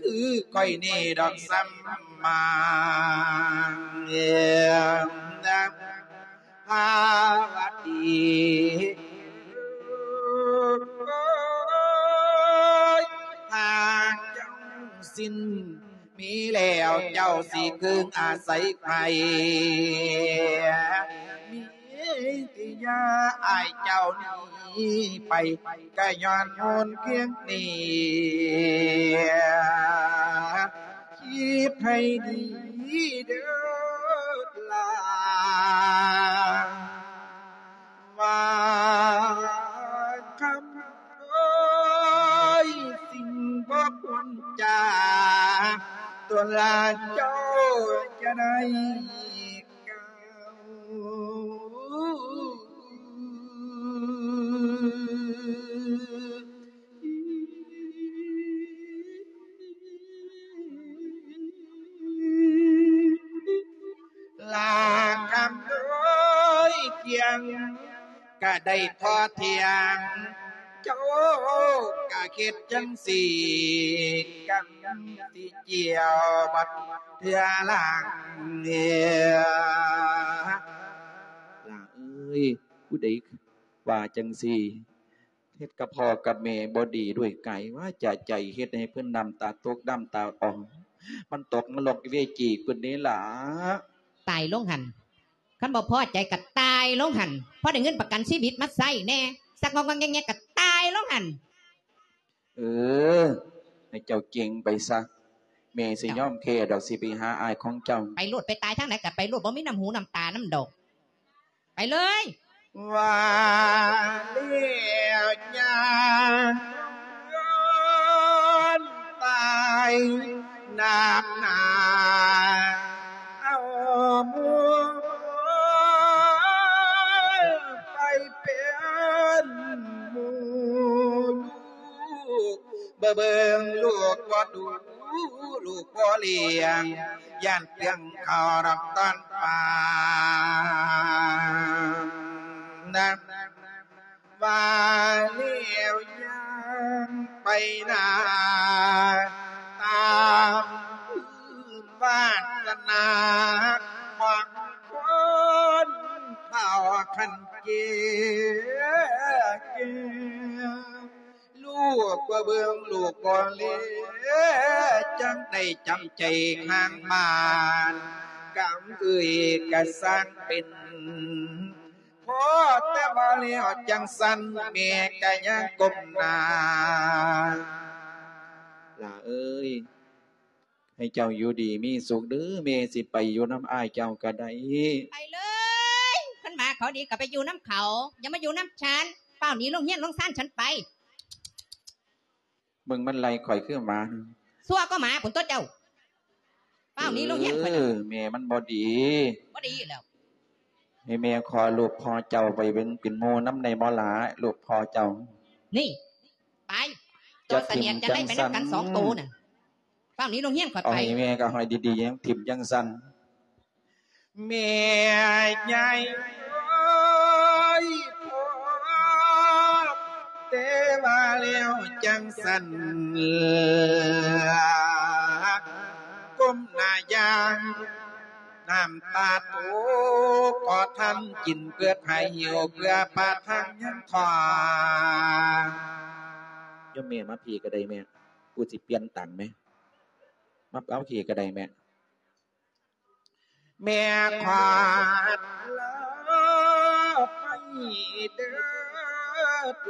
ຄືຂ້ອຍນີ້ດອກສຳມາ ພາວະຕີ ຫາກຈັ່ງຊີ້ນ ມີແລ້ວເຈົ້າຊິເຄິ່ງອາໄສໃຜ ມີທີ່ຢ່າອ້າຍເຈົ້າໜີໄປ ກະຍ້ອນໂຫນຄຽງນີ້ ຄິດໃຫ້ດີເດີຫຼ້າ ວ່າຄຳເອີຍ ສິ່ງບໍ່ຄວນຈາ ຕົວລະເຈົ້າຈະໄດ້ກ່າວ ລາຄຳໂດຍທຽງ ກະໄດ້ພໍຖຽງ ເຈົ້າກະເຮັດຈັ່ງຊີ້ ກຳຊິຈຽວບັດເທື່ອຫຼັງ ຫຼ້າເອີຍ ຜູ້ໃດວ່າຈັ່ງຊີ້ ເຮັດກັບພໍ່ກັບແມ່ບໍ່ດີດ້ວຍກາຍວາຈາໃຈ ເຮັດໃຫ້ເພິ່ນນ້ຳຕາຕົກນ້ຳຕາອອກ ມັນຕົກນະລົກເວຈີພຸ້ນເດ້ຫຼ້າ. ຕາຍລົງຫັ້ນ ຄັນບໍ່ພໍໃຈກະຕາຍລົງຫັ້ນ ພໍໄດ້ເງິນປະກັນຊີວິດມາໃຊ້ແດ່ ຊັກງອກໆແງກໆກະຕາຍລົງຫັ້ນ. ເອີ ໃຫ້ເຈົ້າເກັ່ງໄປຊະ ແມ່ຊິຍອມແພ້ດອກ ຊິໄປຫາອ້າຍຂອງເຈົ້າ. ໄປໂລດ ໄປຕາຍທາງໃດກະໄປໂລດ ບໍ່ມີນ້ຳຫູນ້ຳຕານຳດອກ. ໄປເລີຍ ວ່າແລ້ວຍ່າງຍ້ອນຕາຍໜັກໜາ ເອົາໝູ່ໄປເປັນໝູ່ ລູກບໍ່ເບິ່ງ ລູກບໍ່ດູ ລູກບໍ່ລ້ຽງ ຢ້ານເປືອງເຂົ້າດອກຕອນປານນະ ວ່າແລ້ວຍ່າງໄປໜ້າ ຕາມພື້ນວາສະໜາຂອງຄົນເຖົ້າຄັນແກ່ ແກ່ ລູກບໍ່ເບິ່ງ ລູກບໍ່ແລ ຈັ່ງໄດ້ຈຳໃຈຫ້າງໝານ ກຳເອີຍກະຊ່າງເປັນ ພໍແຕ່ວ່າແລ້ວຈັ່ງຊັ້ນ ແມ່ກະຍັງກົ້ມໜ້າ ຫຼ້າເອີຍ ໃຫ້ເຈົ້າຢູ່ດີມີສຸກເດີ ແມ່ຊິໄປຢູ່ນຳອ້າຍເຈົ້າກະໄດ້. ໄປເລີຍ ຄັນໝາເຂົາດີກະໄປຢູ່ນຳເຂົາ ຢ່າມາຢູ່ນຳສັນ ຟ້າວໜີໂຮງຮຽນໂຮງຊານສັນໄປ. ເບິ່ງມັນໄລ່ຂ້ອຍຄືໝາ ຊົ່ວກວ່າໝາພຸ້ນຕົວະເຈົ້າ ຟ້າວໜີໂຮງຮຽນຂ້ອຍນະ. ເອີ ແມ່ມັນບໍ່ດີ ບໍ່ດີແລ້ວ ໃຫ້ແມ່ຂໍລູກພໍ່ເຈົ້າໄປເປັນ ເປັນໝູ່ນຳໄດ້ບໍ່ຫຼ້າ ລູກພໍ່ເຈົ້າ. ນີ້ ໄປ ຕົວສະໜຽດຈະໄດ້ໄປນຳກັນສອງໂຕນະ ຟ້າວໜີໂຮງຮຽນຂ້ອຍໄປ. ເອົາໃຫ້ແມ່ກະຫ້ອຍດີໆ ຍັງຖິ້ມຈັ່ງຊັ້ນ ແມ່ໃຫຍ່ເອີຍ ພໍແຕ່ວ່າ ແລ້ວຈັ່ງຊັ້ນ ກົ້ມໜ້າຢ່າງ ນ້ຳຕາຕົກ ກໍທັນກິນເບີດໃຫ້ຫິວເພື່ອປະທັງຍັງທ້ອງ. ໂຍມແມ່ມາພີ້ກໍໄດ້ແມ່ ກູຊິປ່ຽນຕັງແມ່ ມາເອົາພີ້ກໍໄດ້ແມ່. ແມ່ຂໍລາໄປເດີ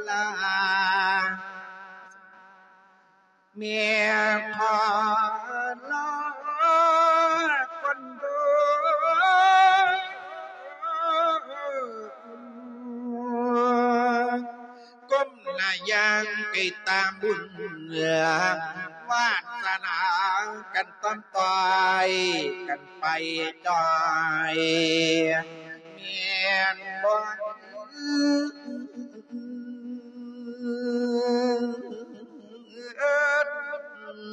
ລາ ແມ່ຂໍລາກ່ອນເດີ ກົ້ມໜ້າຢ່າງໄກຕາມບຸນ ວາດສະໜາກັນຕ້ອມຕ່ອຍກັນໄປຈ່ອຍ ແມ່ນບໍ່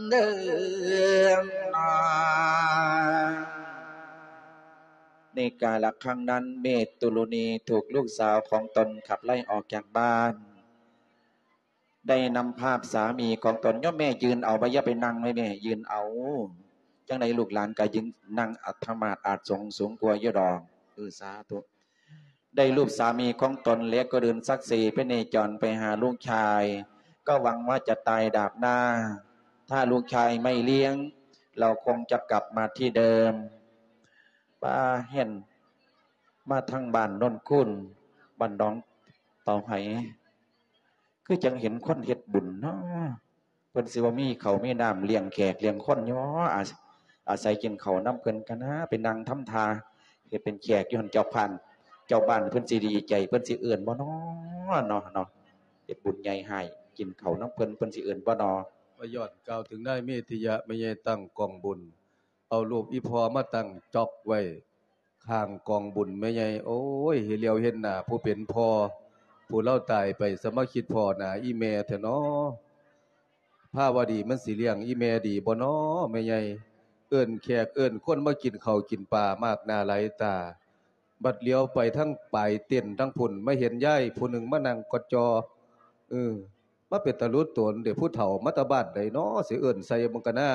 ເດີນາ. ໃນກາລະຄັ້ງນັ້ນ ເມຕຸລຸນີຖືກລູກສາວຂອງຕົນຂັບໄລ່ອອກຈາກບ້ານ. ໄດ້ນຳພາບສາມີຂອງຕົນ ໂຍມແມ່ຢືນເອົາ ບໍ່ ຢ່າໄປນັ່ງໄວ້ແມ່ ຢືນເອົາ ຈັ່ງໃດລູກຫຼານກໍຢືນນັ່ງອາດຕະມາດອາດສົງສູງກວ່າຢູ່ດອກ. ເອີ ສາທຸ. ໄດ້ຮູບສາມີຂອງຕົນ ແລະກໍເດີນສັກເຊພະເນຈອນໄປຫາລູກຊາຍ ກໍຫວັງວ່າຈະຕາຍດາບໜ້າ ຖ້າລູກຊາຍໄມ່ລ້ຽງ ລາວຄົງຈະກັບມາທີ່ເດີມ. ປ້າ ເຫັນມາທາງບ້ານໂນນຄູນ ບ້ານໜອງເຕົາໄຫ ຄືຈັ່ງເຫັນຄົນເຮັດບຸນເນາະ ເພິ່ນຊິບໍ່ມີເຂົ້າມີນ້ຳລ້ຽງແຂກລ້ຽງຄົນຢູ່ບໍ? ອາ ອາໄສກິນເຂົ້ານຳເພິ່ນກັນນາ ໄປນັ່ງທຳທ່າເຮັດເປັນແຂກຢູ່ຫັ້ນ ເຈົ້າພານ ເຈົ້າບ້ານເພິ່ນຊິດີໃຈ ເພິ່ນຊິເອີ້ນບໍ່ນໍເນາະ ເນາະ ເນາະ ເຮັດບຸນໃຫຍ່ໃຫ້ ກິນເຂົ້ານຳເພິ່ນ ເພິ່ນຊິເອີ້ນບໍ່ນໍ? ວ່າຍ້ອນກ່າວເຖິງນາຍເມທິຍະ ແມ່ໃຫຍ່ຕັ້ງກອງບຸນ ເອົາຮູບອີ່ພໍ່ມາຕັ້ງຈອກໄວ້ຂ້າງກອງບຸນແມ່ໃຫຍ່. ໂອ້ຍ ໃຫ້ຫຼຽວເຫັນໜ້າຜູ້ເປັນພໍ່ ຜູ້ລາວຕາຍໄປ ສະມາຄິດພໍ້ໜ້າອີ່ແມ່ແທ້ເນາະ. ພາວະດີມັນຊິລ້ຽງອີ່ແມ່ດີບໍ່ນໍແມ່ໃຫຍ່? ເອີ້ນແຂກເອີ້ນຄົນມາກິນເຂົ້າກິນປາມາກໜ້າຫຼາຍຕາ ບັດຫຼຽວໄປທາງປາຍເຕັນທາງພຸ້ນ ມາເຫັນຍາຍຜູ້ໜຶ່ງມານັ່ງກອດຈໍ່. ເອີ ມາເປັນຕາຫຼຸດຕົນເດ ຜູ້ເຖົ້າມາແຕ່ບ້ານໃດນໍ ຊິເອີ້ນໃສ່ເບິ່ງກະນາ.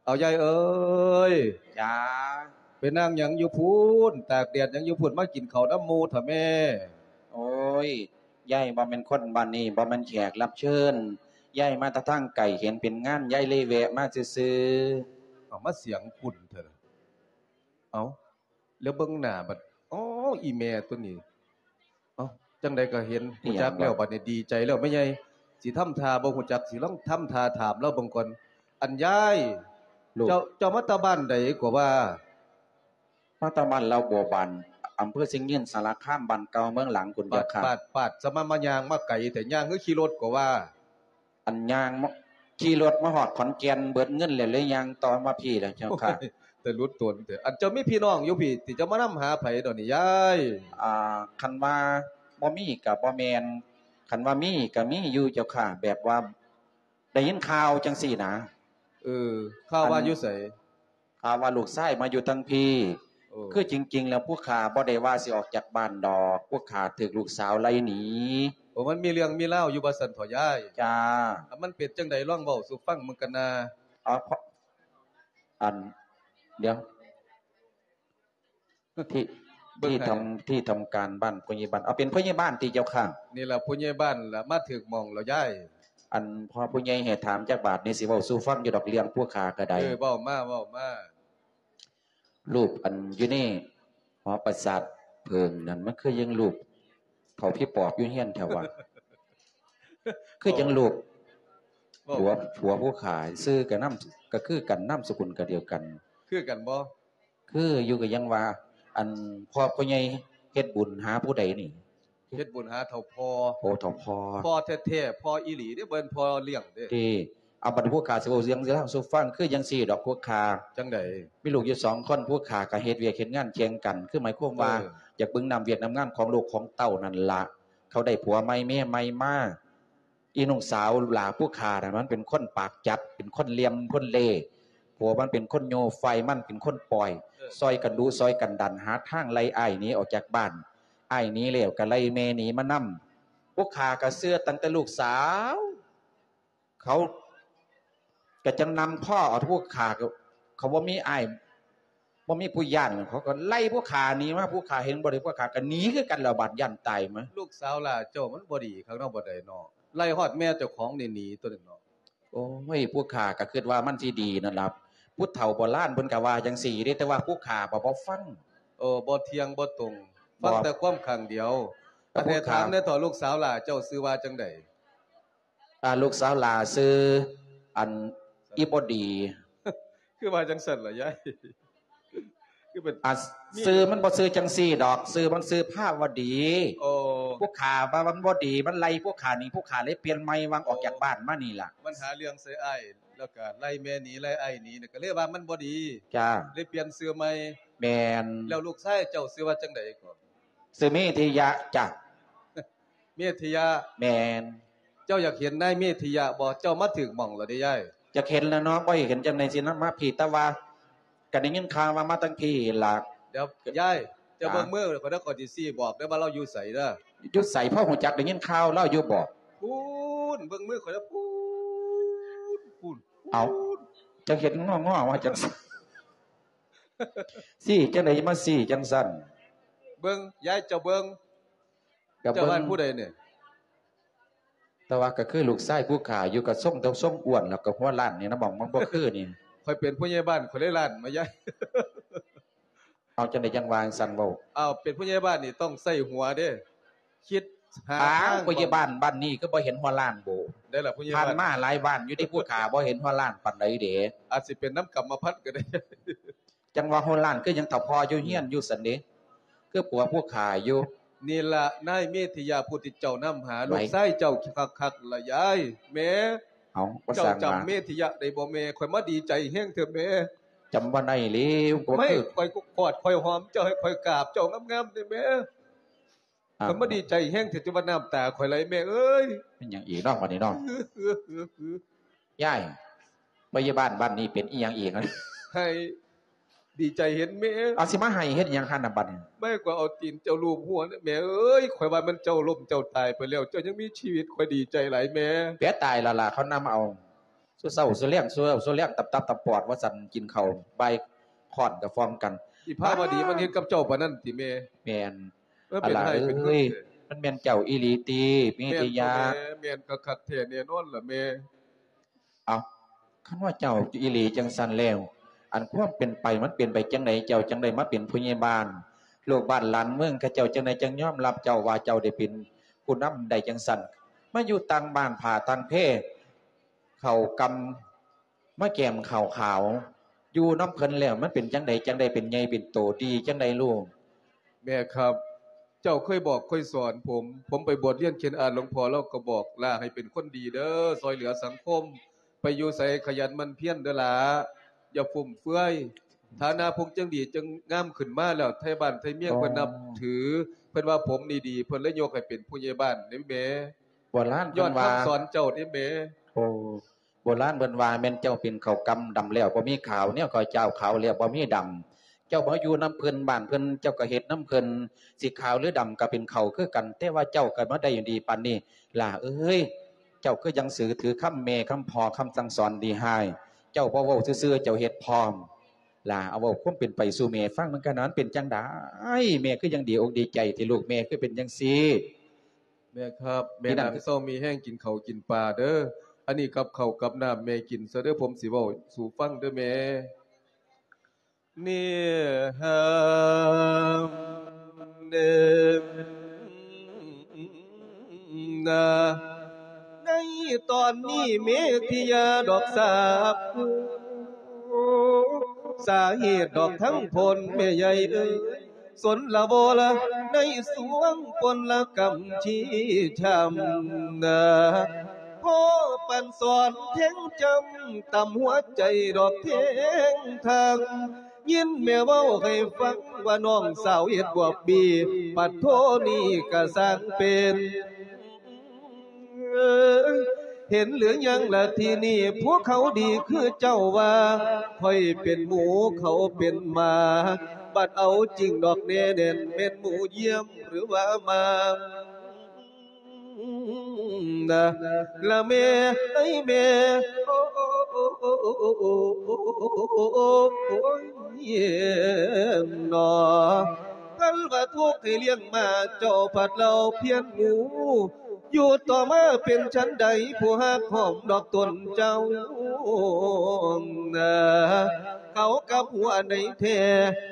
ເອົາ ຍາຍເອີຍ. ຈ້າ. ໄປນັ່ງຫຍັງຢູ່ພຸ້ນ ຕາກແດດຫຍັງຢູ່ພຸ້ນ ມາກິນເຂົ້ານຳໝູ່ເຖາະແມ່. ໂອ້ຍ ຍາຍບໍ່ແມ່ນຄົນບ້ານນີ້ ບໍ່ແມ່ນແຂກຮັບເຊີນ ຍາຍມາແຕ່ທາງໄກ ເຫັນເປັນງານ ຍາຍເລີຍແວະມາຊື່ໆ. ເອົາ ມາສຽງຂຸ້ນເຖາະ. ເອົາ ແລ້ວເບິ່ງໜ້າບັດ ອໍ ອີ່ແມ່ຕົວນີ້. ເອົ້າ ຈັ່ງໃດກໍເຫັນ ຮູ້ຈັກແລ້ວ ບັດນີ້ດີໃຈແລ້ວແມ່ໃຫຍ່ ຊິທຳທ່າບໍ່ຮູ້ຈັກ ຊິລອງທຳທ່າຖາມລາວເບິ່ງກ່ອນ. ອັນຍາຍ ລູກ ເຈົ້າ ເຈົ້າມາແຕ່ບ້ານໃດກໍວ່າ? ມາແຕ່ບ້ານລາວບົວບານ ອຳເພີຊຽງຍືນ ສາລະຄາມ ບ້ານເກົ່າເມືອງຫຼັງພຸ້ນເຈົ້າຂ້າ. ປາດ ປາດ ສະມາມາຍ່າງມາໄກແທ້ ຍ່າງຄືຂີ່ລົດກໍວ່າ? ອັນຍ່າງມາ ຂີ່ລົດມາຮອດຂອນແກ່ນ ເບິດເງິນແລ້ວ ເລີຍຍ່າງຕໍ່ມາພີ້ແລ້ວເຈົ້າຂ້າ. ໂອ້ຍ ແຕ່ຫຼຸດຕົນແທ້. ອັນເຈົ້າມີພີ່ນ້ອງຢູ່ພີ້ຕິ ເຈົ້າມານຳຫາໃຜດອກນີ້ຍາຍ? ອ່າ ຄັນວ່າບໍ່ມີກໍບໍ່ແມ່ນ ຄັນວ່າມີກໍມີຢູ່ເຈົ້າຂ້າ ແບບວ່າໄດ້ຍິນຂ່າວຈັ່ງຊີ້ນະ. ເອີ ຂ່າວວ່າຢູ່ໃສ? ຂ່າວວ່າລູກຊາຍມາຢູ່ທາງພີ້. ເອີ ຄືຈິງໆແລ້ວຜູ້ຂ້າບໍ່ໄດ້ວ່າຊິອອກຈາກບ້ານດອກ ຜູ້ຂ້າຖືກລູກສາວໄລ່ໜີ. ໂອ້ ມັນມີເລື່ອງມີລາວຢູ່ວ່າຊັ້ນເຖາະຍາຍ? ຈ້າ. ມັນເປັນຈັ່ງໃດ ລອງເວົ້າສູ່ຟັງເບິ່ງກັນນາ. ເອົາ ອັນ ດຽວ ທີ່ ເບິ່ງໃຫ້ ທີ່ທຳ ທີ່ທຳການບ້ານ ຜູ້ໃຫຍ່ບ້ານ. ເອົາ ເປັນຜູ້ໃຫຍ່ບ້ານຕິເຈົ້າຂ້າ? ນີ້ລະຜູ້ໃຫຍ່ບ້ານລະ ມາຖືກໝ່ອງແລ້ວຍາຍ. ອັນພໍ່ຜູ້ໃຫຍ່ໃຫ້ຖາມຈັກບາດນີ້ ຊິເວົ້າສູ່ຟັງຢູ່ດອກ ເລື່ອງຜູ້ຂ້າກໍໄດ້. ເອີ ເວົ້າມາ ເວົ້າມາ. ຮູບອັນຢູ່ໃນຫໍປາສາດເຜິ້ງນັ້ນ ມັນຄືຍັງຮູບເຖົ້າຜີປອບຢູ່ເຮືອນແທ້ວະ? ຄືຈັ່ງລູກ ເວົ້າ ຜົວ ຜົວຜູ້ຂ້າ ຊື່ກໍນາມ ກໍຄືກັນ ນາມສະກຸນກໍດຽວກັນ. ຄືກັນບໍ່? ຄືຢູ່ ກໍຍັງວ່າ ອັນພໍ່ ພໍ່ໃຫຍ່ເຮັດບຸນຫາຜູ້ໃດນີ້? ເຮັດບຸນຫາເຖົ້າພໍ່. ໂອ້ ເຖົ້າພໍ່ ພໍ່ແທ້ໆ ພໍ່ອີ່ຫຼີເດ້ ບໍ່ແມ່ນພໍ່ລ້ຽງເດ້. ຕິ ເອົາ ບັດຜູ້ຂ້າຊິເວົ້າເລື່ອງລາວສູ່ຟັງ ຄືຈັ່ງຊີ້ດອກຜູ້ຂ້າ. ຈັ່ງໃດ? ມີລູກຢູ່ສອງຄົນ ຜູ້ຂ້າກໍເຮັດວຽກເຮັດງານແຂ່ງກັນ ຄືໝາຍຄວາມວ່າ ເອີ ຢາກເບິ່ງນ້ຳວຽກນ້ຳງານຂອງລູກຂອງເຕົ້ານັ້ນລະ. ເຂົາໄດ້ຜົວໃໝ່ເມຍໃໝ່ມາ ອີນ້ອງສາວຫຼ້າຜູ້ຂ້ານັ້ນ ມັນເປັນຄົນປາກຈັດ ເປັນຄົນຫຼ່ຽມຄົນເລ່ ຜົວມັນເປັນຄົນໂຍໄຟ ມັນເປັນຄົນປ່ອຍ. ເອີ ຊ່ອຍກັນດຸຊ່ອຍກັນດັນ ຫາທາງໄລ່ອ້າຍໜີອອກຈາກບ້ານ. ອ້າຍໜີແລ້ວກໍໄລ່ແມ່ໜີມານຳ. ພວກຂ້າກໍເຊື່ອຕັ້ງແຕ່ລູກສາວ ເຂົາກໍຈັ່ງນຳພໍເອົາຜູ້ຂ້າ ເຂົາບໍ່ມີອ້າຍ ບໍ່ມີຜູ້ຢ້ານ ເຂົາກໍໄລ່ຜູ້ຂ້າໜີມາ ຜູ້ຂ້າເຫັນບໍ່ໄດ້ ຜູ້ຂ້າກໍໜີຄືກັນແລ້ວ ບາດຢ້ານຕາຍມາ. ລູກສາວຫຼ້າເຈົ້າມັນບໍ່ດີຄັກເນາະ ບໍ່ໄດ້ເນາະ ໄລ່ຮອດແມ່ເຈົ້າຂອງນີ້ໜີຕົວນັ້ນເນາະ. ໂອ້ຍ ຜູ້ຂ້າກໍຄິດວ່າມັນຊິດີນັ້ນລະ ຜູ້ເຖົ້າໂບລານເພິ່ນກໍວ່າຈັ່ງຊີ້ເດ້ ແຕ່ວ່າຜູ້ຂ້າບໍ່ ບໍ່ຟັງ. ເອີ ບໍ່ທ່ຽງບໍ່ຕົງ ບໍ່ ຟັງແຕ່ຄວາມຂ້າງດຽວ. ແຕ່ຜູ້ຂ້າ ອັນໃດຖາມແດ່ເຖາະ ລູກສາວຫຼ້າເຈົ້າຊື່ວ່າຈັ່ງໃດ? ອ່າ ລູກສາວຫຼ້າຊື່ ອັນ ອີບໍ່ດີ. ຄືວ່າຈັ່ງຊັ້ນລະຍາຍ? ຄືເປັນ ອ່າ ມີ ຊື່ມັນບໍ່ຊື່ຈັ່ງຊີ້ດອກ ຊື່ມັນຊື່ພາວະດີ. ໂອ້ ຜູ້ຂ້າວ່າມັນບໍ່ດີ ມັນໄລ່ຜູ້ຂ້າໜີ ຜູ້ຂ້າເລີຍປ່ຽນໃໝ່ ຫວ່າງອອກຈາກ ໂອ້ ບ້ານມານີ້ລະ. ມັນຫາເລື່ອງໃສ່ອ້າຍ ແລ້ວກໍໄລ່ແມ່ໜີ ໄລ່ອ້າຍໜີ ກໍເລີຍວ່າມັນບໍ່ດີ. ຈ້າ ເລີຍປ່ຽນຊື່ໃໝ່. ແມ່ນ. ແລ້ວລູກຊາຍເຈົ້າຊື່ວ່າຈັ່ງໃດກໍ? ຊື່ເມທິຍະຈ້າ. ເມທິຍະ? ແມ່ນ. ເຈົ້າຢາກເຫັນນາຍເມທິຍະບໍ່? ເຈົ້າມາຖືກໝ່ອງແລ້ວເດ້ຍາຍ. ຢາກເຫັນແລ້ວເນາະ ບໍ່ໃຫ້ເຫັນຈັ່ງໃດຊິນຳມາພີ້ ແຕ່ວ່າກໍໄດ້ຍິນຂ່າວວ່າມາທາງພີ້ລະ. ດຽວຍາຍ ເຈົ້າ ອ່າ ເບິ່ງມືຂ້ອຍເດີ ຂ້ອຍຊິຊີ້ບອກເດີວ່າລາວຢູ່ໃສເດີ. ຢູ່ໃສ? ພໍຮູ້ຈັກໄດ້ຍິນຂ່າວລາວຢູ່ບໍ່? ພຸ້ນ ເບິ່ງມືຂ້ອຍເດີ ພຸ້ນ ພຸ້ນ. ເອົ້າ ເຈົ້າເຮັດງໍໆວ່າຈັ່ງຊັ້ນ ຊີ້ຈັ່ງໃດ ມາຊີ້ຈັ່ງຊັ້ນ? ເບິ່ງ ຍາຍ ເຈົ້າເບິ່ງ ກໍເບິ່ງ ເຈົ້າວ່າຜູ້ໃດນີ້? ແຕ່ວ່າກໍຄືລູກຊາຍຜູ້ຂ້າຢູ່ ກໍຊົງ ແຕ່ຊົງອ້ວນ ແລ້ວກໍຫົວລ້ານນີ້ນະ ໝ່ອງມັນບໍ່ຄືນີ້. ຂ້ອຍເປັນຜູ້ໃຫຍ່ບ້ານ ຂ້ອຍເລີຍລ້ານມາ ຍາຍ. ເອົາ ຈັ່ງໃດຈັ່ງວ່າຈັ່ງຊັ້ນເວົ້າ? ເອົາ ເປັນຜູ້ໃຫຍ່ບ້ານນີ້ຕ້ອງໃຊ້ຫົວເດ້ ຄິດຫາ ອ້າວ ທາງ ຜູ້ໃຫຍ່ບ້ານບ້ານນີ້ຄືບໍ່ເຫັນຫົວລ້ານໂບ? ໄດ້ລະຜູ້ໃຫຍ່ ຜ່ານ ບ້ານ ມາຫຼາຍບ້ານຢູ່ເດ້ ຜູ້ຂ້າບໍ່ເຫັນຫົວລ້ານປານໃດເດ້. ອາດຊິເປັນນຳກຳມະພັນກໍໄດ້. ຈັ່ງວ່າຫົວລ້ານຄືຫຍັງ ຖ້າພໍ່ຢູ່ເຮືອນຢູ່ຊັ້ນເດ້ ຄືຜົວຜູ້ຂ້າຢູ່. ນີ້ລະນາຍເມທິຍະຜູ້ທີ່ເຈົ້ານຳຫາ ໄວ້ ລູກຊາຍເຈົ້າຄັກໆລະຍາຍ. ແມ່ ເອົາ ບໍ່ ເຈົ້າ ຊ່າງ ຈຳວ່າ ເມທິຍະໄດ້ບໍ່ແມ່? ຂ້ອຍມາດີໃຈແຮງເທື່ອແມ່. ຈຳບໍ່ໄດ້ແລ້ວ ກໍ ໄມ່ ຄື ຂ້ອຍກໍກອດຂ້ອຍຫອມເຈົ້າ ໃຫ້ຂ້ອຍກາບເຈົ້າງາມໆເດ້ແມ່. ອ່າ ຂ້ອຍມາດີໃຈແຮງແທ້ ຈົນວ່ານ້ຳຕາຂ້ອຍໄຫຼແມ່ເອີຍ. ເປັນຫຍັງອີກເນາະບັດນີ້ເນາະ? ຍາຍ ພະຍາບານບ້ານນີ້ເປັນອີ່ຫຍັງອີກ? ໃຫ້ດີໃຈເຫັນແມ່. ເອົາ ຊິມາໄຫ້ເຮັດຫຍັງຫັ້ນນະບັດນີ້? ແມ່ ຂ້ອຍເອົາຕີນເຈົ້າລູບຫົວນະແມ່ເອີຍ. ຂ້ອຍວ່າແມ່ນເຈົ້າລົ້ມເຈົ້າຕາຍໄປແລ້ວ ເຈົ້າຍັງມີຊີວິດ ຂ້ອຍດີໃຈຫຼາຍແມ່. ແປະຕາຍແລ້ວລະ ເຂົານຳເອົາ. ສູ່ເຊົ້າສູ່ແລງ ສູ່ເຊົ້າສູ່ແລງ ຕັບຕັບຕະປອດວ່າຊັ້ນ ກິນເຂົ້າບ່າຍຄ້ອນກະຟອມກັນ. ອີພາວະດີມັນເຮັດກັບເຈົ້າປານນັ້ນຕິແມ່? ແມ່ນ. ເອີ ເປັນຮ້າຍເປັນເງິນແທ້. ມັນແມ່ນເຈົ້າອີ່ຫຼີຕິ ເມທິຍະ? ແມ່ນ ແມ່ນຄັກໆແທ້ແນ່ນອນລະແມ່. ເອົ້າ ຄັນວ່າເຈົ້າອີ່ຫຼີຈັ່ງຊັ້ນແລ້ວ ອັນຄວາມເປັນໄປມັນເປັນໄປຈັ່ງໃດ? ເຈົ້າຈັ່ງໄດ້ມາເປັນຜູ້ໃຫຍ່ບ້ານ ລູກບ້ານຫຼານເມືອງ ເຂົາເຈົ້າຈັ່ງໃດຈັ່ງຍອມຮັບເຈົ້າວ່າເຈົ້າໄດ້ເປັນຜູ້ນຳໄດ້ຈັ່ງຊັ້ນ? ມາຢູ່ຕ່າງບ້ານຜ້າຕ່າງແພ ເຂົ້າກຳມາແກ້ມເຂົ້າຂາວ ຢູ່ນຳເພິ່ນແລ້ວມັນເປັນຈັ່ງໃດ ຈັ່ງໄດ້ເປັນໃຫຍ່ເປັນໂຕ ດີຈັ່ງໃດລູກ? ແມ່ຄັບ ເຈົ້າເຄີຍບອກເຄີຍສອນຜົມ ຜົມໄປບວດຮຽນເຂດອາດ ຫຼວງພໍ່ລາວກໍບອກຫຼ້າໃຫ້ເປັນຄົນດີເດີ ຊ່ອຍເຫຼືອສັງຄົມ ໄປຢູ່ໃສຂະຫຍັນໝັ່ນພຽນເດີຫຼ້າ ຢ່າຟຸມເຟືອຍ. ຖານະຜົມຈັ່ງດີຈັ່ງງາມຂຶ້ນມາແລ້ວ ໄທບ້ານໄທເມືອງເພິ່ນນັບຖື ເພິ່ນວ່າຜົມນີ້ດີ ເພິ່ນເລີຍຍົກໃຫ້ເປັນຜູ້ໃຫຍ່ບ້ານເດ້ແມ່. ໂບລານເພິ່ນວ່າ ຍ້ອນຄຳສອນເຈົ້າເດ້ແມ່. ໂອ້ ໂບລານເພິ່ນວ່າແມ່ນເຈົ້າເປັນເຂົ້າກຳດຳແລ້ວບໍ່ມີຂາວ ແນວເຂົ້າເຈົ້າຂາວແລ້ວບໍ່ມີດຳ. ເຈົ້າມາຢູ່ນຳເພິ່ນ ບ້ານເພິ່ນ ເຈົ້າກໍເຮັດນຳເພິ່ນ ຊິຂາວຫຼືດຳກໍເປັນເຂົ້າຄືກັນ ແຕ່ວ່າເຈົ້າກໍມາໄດ້ດີປານນີ້ ຫຼ້າເອີຍ. ເຈົ້າຄືຍັງຖືຄຳແມ່ ຄຳພໍ່ ຄຳສັ່ງສອນດີຮ້າຍ ເຈົ້າບໍ່ເວົ້າຊື່ໆ ເຈົ້າເຮັດພ້ອມ. ຫຼ້າ ເອົາເວົ້າຄວາມເປັນໄປສູ່ແມ່ຟັງນຳກັນ ມັນເປັນຈັ່ງໃດ? ແມ່ຄືຍັງດີອົກດີໃຈແທ້ລູກ ແມ່ຄືເປັນຈັ່ງຊີ້? ແມ່ຄັບ ແມ່ນັ່ງເຊົາມີແຮງກິນເຂົ້າກິນປາເດີ. ອັນນີ້ກັບເຂົ້າກັບນ້ຳແມ່ກິນຊະເດີ ຜົມຊິເວົ້າສູ່ຟັງເດີແມ່. ເນຫາເນນາ ໃນຕອນນີ້ເມທິຍາດອກສາບ ສາເຫດດອກທັງພົນແມ່ໃຫຍ່ເອີຍ ສົນລະບໍ່ລະໃນສວງພົນລະກຳຊີ້ຊ້ຳນາ ພໍປັນສອນແທງຈ້ຳ ຕຳຫົວໃຈດອກແທງທາງ ຍິນແມ່ເວົ້າໃຫ້ຟັງວ່ານ້ອງສາວເຮັດບວບບີ ປັດໂທນີ້ກະຊ່າງເປັນ. ເຫັນຫຼືຍັງລະທີນີ້ ພວກເຂົາດີຄືເຈົ້າວ່າ ຂ້ອຍເປັນໝູ ເຂົາເປັນໝາ ບັດເອົາຈິງດອກແນ່ແໜ້ນ ແມ່ນໝູຢ້ຽມຫຼືວ່າໝາ? ນະ ລະແມ່ເອີຍແມ່ ໂອ້ຍເນາະ ຄັນວ່າທຸກໃຫ້ລ້ຽງມາ ເຈົ້າພັດເລົ່າພຽນໝູ ຢູ່ຕໍ່ມາເປັນຈັ່ງໃດ ຜູ້ຮັກຫອມດອກຕົນເຈົ້ານະ ເຂົາກັບຫົວໃນແທ້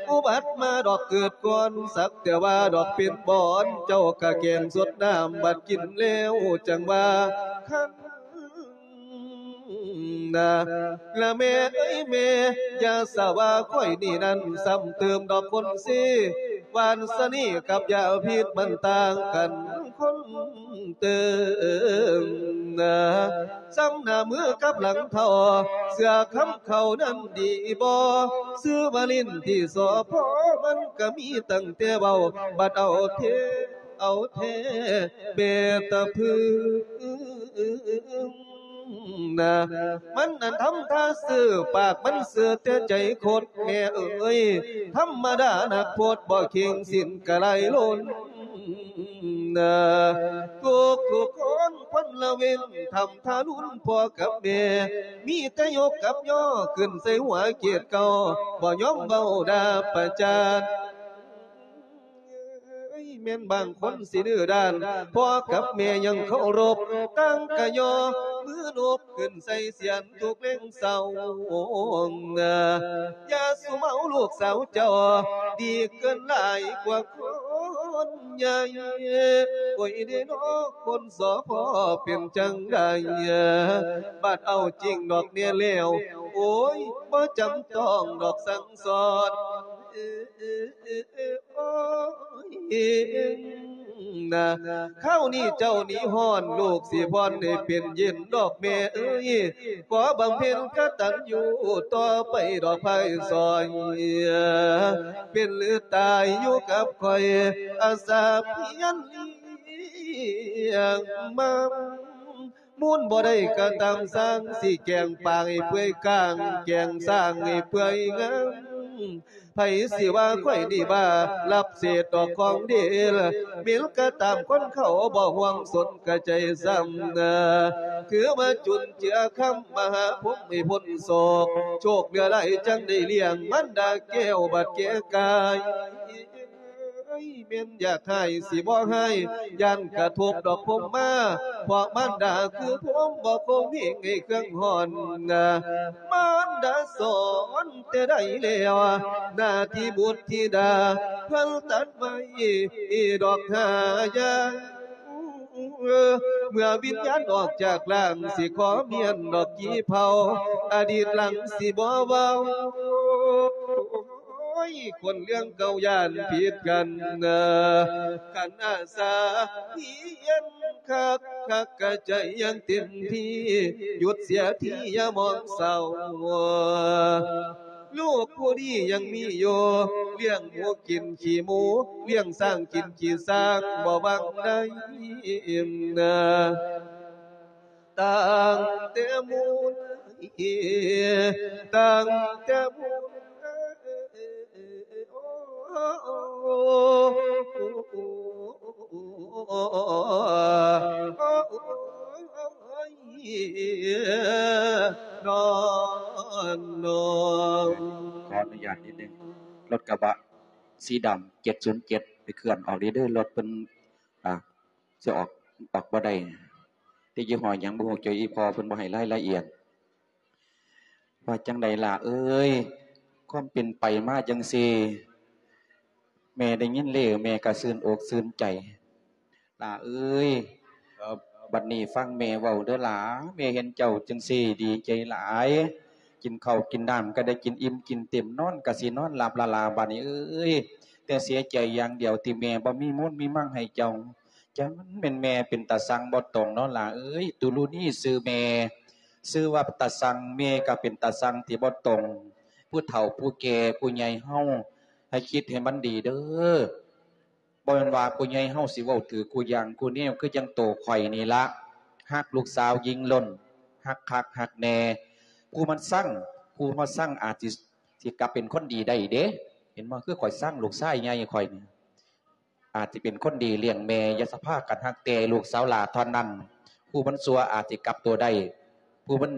ອຸບັດມາດອກເກີດກ່ອນ ສັກແຕ່ວ່າດອກເປັນບອນ ເຈົ້າກະແກງສົດນ້ຳບັດກິນແລ້ວ ຈັ່ງວ່າຄັນນະ ລະແມ່ເອີຍແມ່ ຢ່າສະວ່າຂ້ອຍນີ້ນັ້ນ ຊ້ຳເຕີມດອກຄົນເຊ ວານສະເໜ່ກັບຢາພິດມັນຕ່າງກັນຄົນເຕີມນະ ຊ້ຳໜ້າມືກັບຫຼັງເທົ້າ ເຊື່ອຄຳເຂົານັ້ນດີບໍ່? ຊື່ວ່າຫຼິ້ນທີ່ສໍພໍ ມັນກະມີຕັ້ງແຕ່ເວົ້າ ບັດເອົາແທ້ ເອົາແທ້ແມ່ຕະພຶງນະ ມັນນັ້ນທຳທ່າຊື່ ປາກມັນຊື່ແຕ່ໃຈຄົດ ແມ່ເອີຍ ທຳມະດານັກໂພດ ບໍ່ເຄັ່ງສິ້ນກະໄຫຼລົ້ນນະ ທຸກໆຄົນຄົນລະເວັນ ທຳທາລຸນພໍ່ກັບແມ່ ມີແຕ່ຍົກກັບຍໍຂຶ້ນໃສ່ຫົວເກດເກົ່າ ບໍ່ຍອມເວົ້າດ່າປະຈານ ເອີຍ ແມ່ນບາງຄົນຊິດື້ດ້ານ ພໍ່ກັບແມ່ຍັງເຄົາລົບ ຕ່າງກະຍໍມືນົບຂຶ້ນໃສ່ສຽນທຸກແລງເຊົ້ານະ ຢ່າສຸມເອົາລູກສາວເຈົ້າ ດີເກີນຫຼາຍກວ່າຄົນໃຫຍ່ ໂອ້ຍເດເນາະ ຄົນສໍພໍເປັນຈັ່ງໃດ ບັດເອົາຈິງດອກແນ່ແລ້ວ ໂອ້ຍ ບໍ່ຈຳຕ້ອງດອກສັ່ງສອນ ໂອ້ຍ ນະ ຄາວນີ້ເຈົ້າໜີຮ້ອນ ລູກຊິຜ່ອນໃຫ້ເປັນເຢັນດອກແມ່ເອີຍ ຂໍບຳເພັນກະຕັນຍູຕໍ່ໄປດອກພາຍສອຍ ເປັນຫຼືຕາຍຢູ່ກັບຂ້ອຍ ອາສາພຽນລ້ຽງມາ ມູນບໍ່ໄດ້ກະຕາມສ້າງ ຊິແກງປາໃຫ້ເປື່ອຍກ້າງ ແກງຊ້າງໃຫ້ເປື່ອຍງາມ ໃຜຊິວ່າຂ້ອຍນີ້ບ້າ ລັບເສດດອກຂອງເດລ ເໝັນກະຕາມຄົນເຂົາບໍ່ຫ່ວງສົນກະໃຈຊ້ຳນາ ຖືວ່າຈຸນເຈືອຄຳມະຫາພົມໃຫ້ພົ້ນໂສກ ໂຊກເຫຼືອຫຼາຍຈັ່ງໄດ້ລ້ຽງ ມານດາແກ້ວບັດແກ່ກາຍ ເອີຍ ແມ່ນຢາກຮ້າຍຊິບໍ່ຮ້າຍ ຢ້ານກະທົບດອກພົມມາ ເພາະມານດາຄືພົມບໍ່ຄົມເຮງໃຫ້ເຄື່ອງຮ້ອນນາ ມານດາສອນແຕ່ໃດແລ້ວ ໜ້າທີ່ບຸດທິດາເພິ່ນຕັດໄວ້ດອກຫາຢ່າງ ເມື່ອວິນຍານອອກຈາກຮ່າງ ຊິຂໍມຽນດອກກີ່ເຜົາ ອະດີດຫຼັງຊິບໍ່ເວົ້າ ໂອ້ຍ ຄົນເລື່ອງເກົ່າຢ້ານຜິດກັນ ຄັນອາສາພຽນຄັກ ຄັກກະໃຈຢ່າງເຕັມທີ່ ຢຸດເສຍທີຢ່າມອງເສົ້າ ລູກຜູ້ນີ້ຍັງມີຢູ່ ລ້ຽງໝູກິນຂີ້ໝູ ລ້ຽງຊ້າງກິນຂີ້ຊ້າງ ບໍ່ຫວັງໄດ້ນາ ຕັ້ງແຕ່ມູນ ຕັ້ງແຕ່ມູນ ຂໍອະນຸຍາດນິດໜຶ່ງ ລົດກະບະສີດຳ ເຈັດສູນເຈັດ ໄປເຄື່ອນອອກເດີ ລົດເພິ່ນ ອ່າ ຊິອອກ ອອກບໍ່ໄດ້ ແຕ່ຍີ່ຫໍ້ຫຍັງບໍ່ຮູ້ ເຈົ້າ ອີ່ພໍ່ເພິ່ນບໍ່ໃຫ້ລາຍລະອຽດ. ວ່າຈັ່ງໃດຫຼ້າເອີຍ ຄວາມເປັນໄປມາຈັ່ງຊີ້ ແມ່ໄດ້ຍິນແລ້ວ ແມ່ກະຊື່ນອົກຊື່ນໃຈ ຫຼ້າເອີຍ. ບັດນີ້ຟັງແມ່ເວົ້າເດີຫຼ້າ ແມ່ເຫັນເຈົ້າຈັ່ງຊີ້ດີໃຈຫຼາຍ ກິນເຂົ້າກິນນ້ຳກະໄດ້ກິນອີ່ມກິນເຕັມ ນອນກະຊິນອນຫຼັບລະຫຼ້າ ບັດນີ້ເອີຍ ແຕ່ເສຍໃຈຢ່າງດຽວທີ່ແມ່ບໍ່ມີມູນມີມັງໃຫ້ເຈົ້າ ຈັ່ງແມ່ນແມ່ເປັນຕາຊັງບໍ່ຕົງເນາະຫຼ້າເອີຍ ຕຸລຸນີຊື່ແມ່ ຊື່ວ່າຕາຊັງ ແມ່ກະເປັນຕາຊັງທີ່ບໍ່ຕົງ ຜູ້ເຖົ້າຜູ້ແກ່ຜູ້ໃຫຍ່ເຮົາ ໃຫ້ຄິດໃຫ້ມັນດີເດີ ບໍ່ແມ່ນວ່າຜູ້ໃຫຍ່ເຮົາຊິເວົ້າຖືກຄູ່ຢ່າງຄູ່ແນວ ຄືຈັ່ງໂຕຂ້ອຍນີ້ລະ ຮັກລູກສາວຍິງລົ້ນ ຮັກຄັກຮັກແນ່ ຜູ້ມັນຊັງ ຜູ້ມາຊັງອາດຊິ ຊິກະເປັນຄົນດີໄດ້ເດ້ ເຫັນບໍ່ ຄືຂ້ອຍຊັງລູກຊາຍໃຫຍ່ຂ້ອຍນີ້ ອາດຊິເປັນຄົນດີລ້ຽງແມ່ ຢ່າສະພາກັນຮັກແຕ່ລູກສາວຫຼ້າເທົ່ານັ້ນ. ຜູ້ມັນຊົ່ວອາດຊິກັບຕົວໄດ້ ຜູ້ມັນ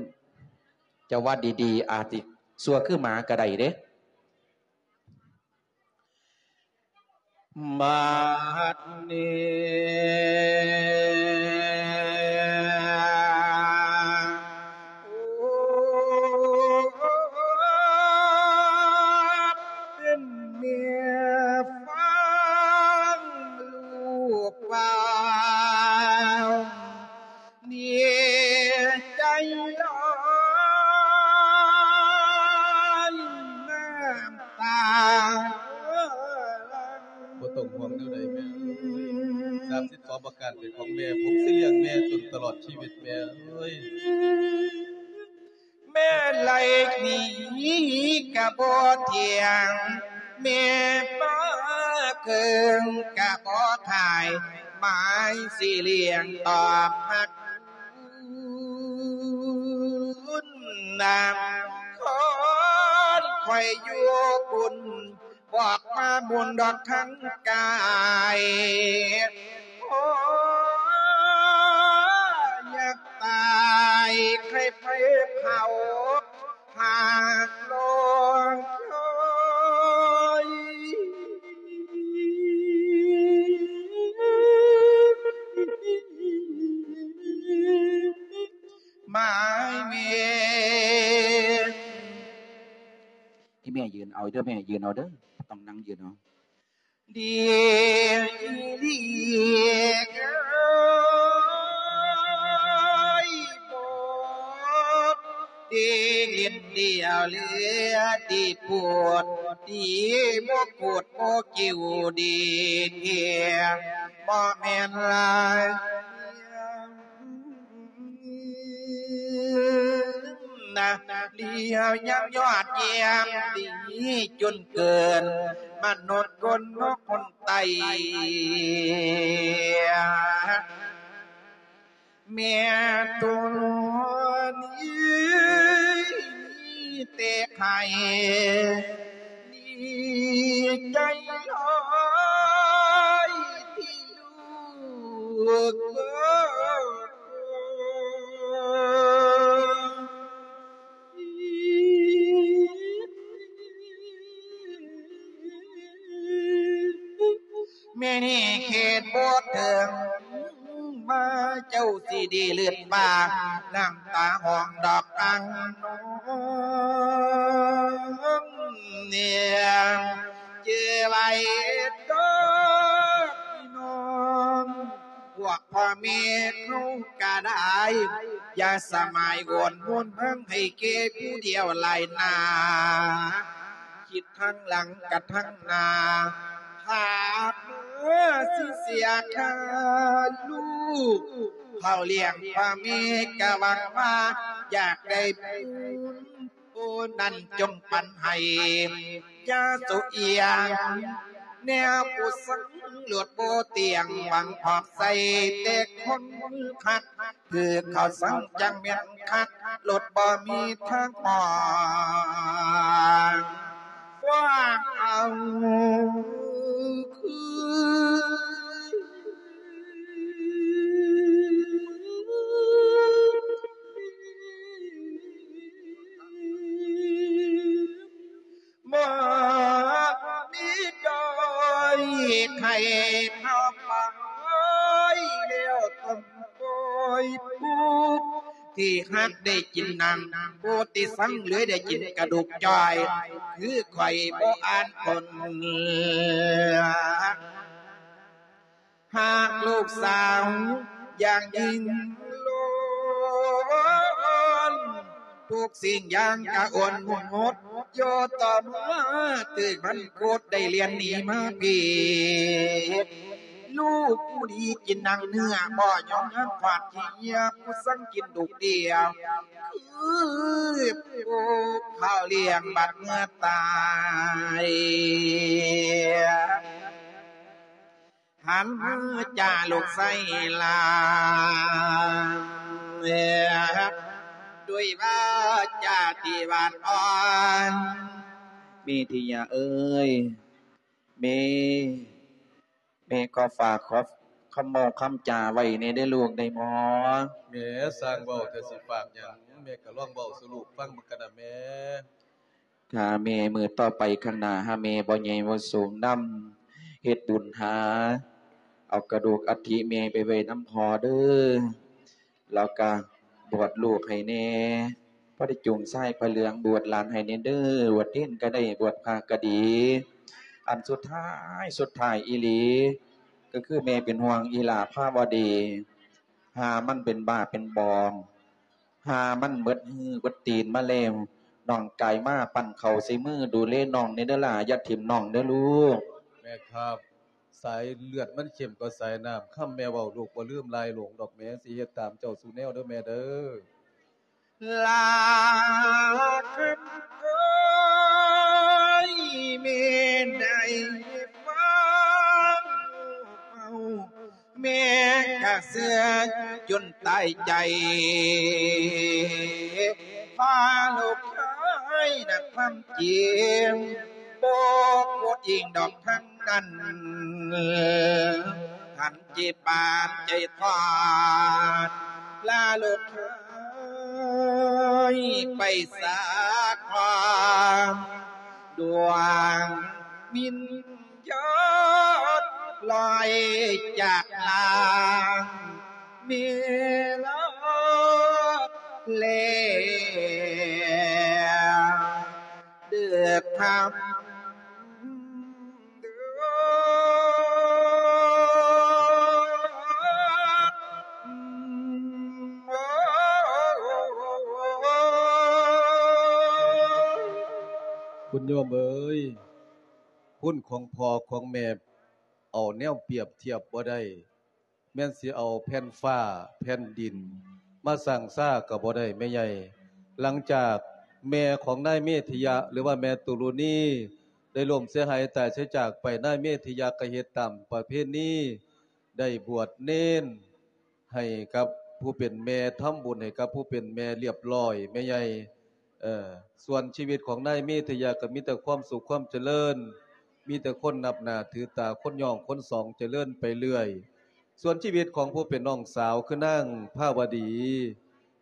ຈະວ່າດີໆ ອາດຊິຊົ່ວຄືໝາກໍໄດ້ເດ້. ບັດນີ້ ເປັນແມ່ຟັງລູກເວົ້າ ນີ້ໃຈຮ້ອນນ້ຳຕາ. ບໍ່ຕ້ອງຫ່ວງແນວໃດແມ່ ສາມສິບສອງປະການເປັນຂອງແມ່ ຜົມຊິລ້ຽງແມ່ຈົນຕະຫຼອດຊີວິດແມ່ເອີຍ. ແມ່ໄລ່ໜີກະບໍ່ທ່ຽງ ແມ່ມາເຄິ່ງກະບໍ່ຂາຍ ໝາຍຊິລ້ຽງຕອບຮັກຄຸນນຳ ຄອນຂ້ອຍຢູ່ບຸນ ບອກມາບຸນດອກທັງກາຍ ໂອ ຢາກຕາຍໃຄ່ໄຟເຜົາ ຫາກລອງຄອຍ ໝາຍເມ ໃຫ້ແມ່ຢືນເອົາເດີ ແມ່ຢືນເອົາເດີ ຕ້ອງນັ່ງຢືນເອົາ. ດີອີຫຼີເອີຍ ໂພດດີຫຼິ້ນດຽວເຫຼືອດີໂພດ ດີບໍ່ໂກດບໍ່ກິວດີເທ ບໍ່ແມ່ນລາຍ ນະ ລຽວຍັງຍອດຢ້ຽມດີຈົນເກີນ ມະນຸດຄົນນົກຄົນໄຕ ແມ່ໂຕນີ້ແຕ່ໄຂ້ ດີໃຈຫຼາຍທີ່ລູກ ແມ່ນີ້ເຂດບໍ່ເຖິງ ມາເຈົ້າຊິດີເລີດປາກ ນ້ຳຕາຫ້ອງດອກອັງນົງ ເນຍ ຈື່ໄວ້ເດີພີ່ນ້ອງ ພວກພໍ່ແມ່ເຮົາກະໄດ້ ຢ່າສະໝາຍໂຫວນໝູນເມືອງໃຫ້ແກ່ຜູ້ດຽວຫຼາຍໜ້າ ຄິດທາງຫຼັງກະທາງໜ້າ ຫາກເມື່ອຊິເສຍຄ່າລູກ ເຂົ້າລ້ຽງພໍ່ແມ່ກະຫວັງວ່າຢາກໄດ້ບຸນ ໂອ ນັ້ນຈົ່ງປັນໃຫ້ ຢ່າໂສອຽງ ແນວຜູ້ສັງໂລດບໍ່ຕຽງ ຫວັງພອກໃສ່ແຕ່ຄົນຄັກ ຖືກເຂົາສັງຈັ່ງແມ່ນຄັກ ໂລດບໍ່ມີທາງອອກ ຄວາມເອົາຄືນ ບໍ່ມີດອຍໃຫ້ເຮົາໄປແລ້ວຕ້ອງປ່ອຍຜູ້ທີ່ຮັກໄດ້ກິນໜັງ ຜູ້ທີ່ສັງເລີຍໄດ້ກິນກະດູກຈ້ອຍ ຄືຂ້ອຍບໍ່ອ່ານຄົນ ຫາກລູກສາວຢ່າງຍິ່ງລ້ນ ທຸກສິ່ງຢ່າງກະອົນໝົດ ໂຍຕໍ່ມາຖືກມັນໂຄດໄດ້ລຽນໜີມາພີ້ ລູກຜູ້ດີກິນໜັງເນື້ອ ບໍ່ຍອມຍັງຄວາດຂີ້ເຫຍື້ອ ຜູ້ສັງກິນລູກດຽວ ຄືຜູ້ເຂົາລ້ຽງບັດເມື່ອຕາຍ. ຫັນມາຈາລູກໄຊລາ ດ້ວຍວາຈາທີ່ຫວານອ່ອນ ເມທິຍາເອີຍ ເມ ແມ່ຂໍຝາກ ຂໍຄຳເວົ້າຄຳຈາໄວ້ແດ່ເດີລູກ ໄດ້ບໍ່? ແມ່ ຊ່າງເວົ້າເຖາະ ຊິຝາກຫຍັງ ແມ່ກໍລອງເວົ້າສູ່ລູກຟັງເບິ່ງກັນນະແມ່. ຖ້າແມ່ ມື້ຕໍ່ໄປຂ້າງໜ້າ ຖ້າແມ່ບໍ່ໃຫຍ່ບໍ່ສູງນຳ ເຮັດບຸນຫາເອົາກະດູກອັດຖິແມ່ໄປໄວ້ນຳພໍ່ເດີ ແລ້ວກະບວດລູກໃຫ້ແດ່ ພໍໄດ້ຈູງຊາຍຜ້າເຫຼືອງບວດຫຼານໃຫ້ແດ່ເດີ ບວດເນນກໍໄດ້ ບວດພະກໍດີ. ອັນສຸດທ້າຍ ສຸດທ້າຍອີ່ຫຼີ ກໍຄືແມ່ເປັນຫ່ວງອີ່ຫຼ້າພາວະດີ ຫາມັນເປັນບ້າເປັນບອ ຫາມັນເໝິດມືເໝິດຕີນມາແລ້ວ ນ້ອງກາຍມາປັ້ນເຂົ້າໃສ່ມື ດູແລນ້ອງແດ່ເດີຫຼ້າ ຢ່າຖິ້ມນ້ອງເດີລູກ. ແມ່ຄັບ ສາຍເລືອດມັນເຂັ້ມກວ່າສາຍນ້ຳ ຄຳແມ່ເວົ້າລູກບໍ່ລືມຫຼາຍຫຼວງດອກແມ່ ຊິເຮັດຕາມເຈົ້າສູ່ແນວເດີແມ່ເດີ. ຫຼ້າຄຳເອີຍ ແມ່ໄດ້ຟັງເວົ້າ ແມ່ກະເຊື່ອຈົນຕາຍໃຈ ພາລູກເອີຍ ນະຄວາມຈິງ ບໍ່ຜູ້ຈິງດອກທັງນັ້ນ ຫັນຈິບານໃຈທອດ ລາລູກເອີຍ ໄປສາຄອນ ດວງວິນ ຍາດລອຍຈາກຮ່າງແມ່ລາແລ້ວເດີທ່ານເດີ. ບຸນໂຍມເອີຍ ຄຸນຂອງພໍ່ຂອງແມ່ ເອົາແນວປຽບທຽບບໍ່ໄດ້ ແມ່ນຊິເອົາແຜ່ນຟ້າແຜ່ນດິນມາຊັ່ງຊາກໍບໍ່ໄດ້ແມ່ໃຫຍ່. ຫຼັງຈາກແມ່ຂອງນາຍເມທະຍະ ຫຼືວ່າແມ່ຕຸລຸນີ ໄດ້ລົ້ມເສຍຫາຍຕາຍເສຍຈາກໄປ, ນາຍເມທະຍະກໍເຮັດຕາມປະເພນີ ໄດ້ບວດເນນ ໃຫ້ກັບຜູ້ເປັນແມ່ ທຳບຸນໃຫ້ກັບຜູ້ເປັນແມ່ລຽບລ້ອຍແມ່ໃຫຍ່. ເອີ ສ່ວນຊີວິດຂອງນາຍເມທະຍະກໍມີແຕ່ຄວາມສຸກຄວາມຈະເລີນ, ມີແຕ່ຄົນນັບໜ້າຖືຕາ, ຄົນຍ້ອງຄົນສອງ, ຈະເລີນໄປເລື້ອຍ. ສ່ວນຊີວິດຂອງຜູ້ເປັນນ້ອງສາວ ຄືນາງພາວະດີ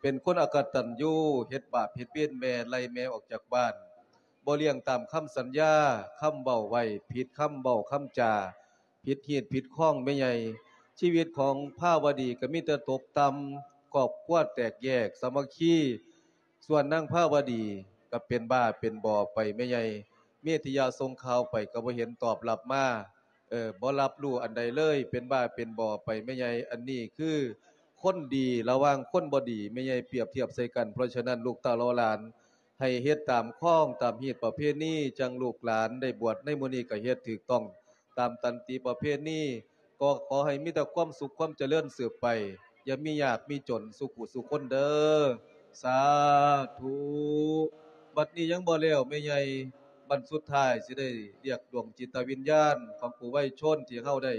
ເປັນຄົນອະກະຕັນຍູ, ເຮັດບາບເຮັດເວນແມ່, ໄລ່ແມ່ອອກຈາກບ້ານ, ບໍ່ລ້ຽງຕາມຄຳສັນຍາ, ຄຳເວົ້າໄວ້, ຜິດຄຳເວົ້າຄຳຈາ, ຜິດຮີດຜິດຄອງແມ່ໃຫຍ່. ຊີວິດຂອງພາວະດີກໍມີແຕ່ຕົກຕ່ຳ, ຄອບຄົວແຕກແຍກ, ສາມັກຄີ. ສ່ວນນາງພາວະດີກໍເປັນບ້າເປັນບອໄປແມ່ໃຫຍ່. ເມທະຍະສົ່ງຂ່າວໄປກໍບໍ່ເຫັນຕອບຮັບມາ, ເອີ ບໍ່ຮັບຮູ້ອັນໃດເລີຍ, ເປັນບ້າເປັນບອໄປແມ່ໃຫຍ່. ອັນນີ້ຄືຄົນດີລະຫວ່າງຄົນບໍ່ດີ ແມ່ໃຫຍ່ປຽບທຽບໃສ່ກັນ. ເພາະສະນັ້ນ ລູກເຕົ້າເຫຼົ່າຫຼານ ໃຫ້ເຮັດຕາມຄອງຕາມຮີດປະເພນີ, ຈັ່ງລູກຫຼານໄດ້ບວດໃນມື້ນີ້ກໍເຮັດຖືກຕ້ອງຕາມຕັນຕິປະເພນີ. ກໍຂໍໃຫ້ມີແຕ່ຄວາມສຸກຄວາມຈະເລີນສືບໄປ, ຢ່າມີຍາກມີຈົນສູ່ຜູ້ສູ່ຄົນເດີ. ສາທຸ. ບັດນີ້ຍັງບໍ່ແລ້ວແມ່ໃຫຍ່, ບັດສຸດທ້າຍຊິໄດ້ລຽກດວງຈິດຕະວິນຍານຂອງຜູ້ໄວຊົນທີ່ເຮົາໄດ້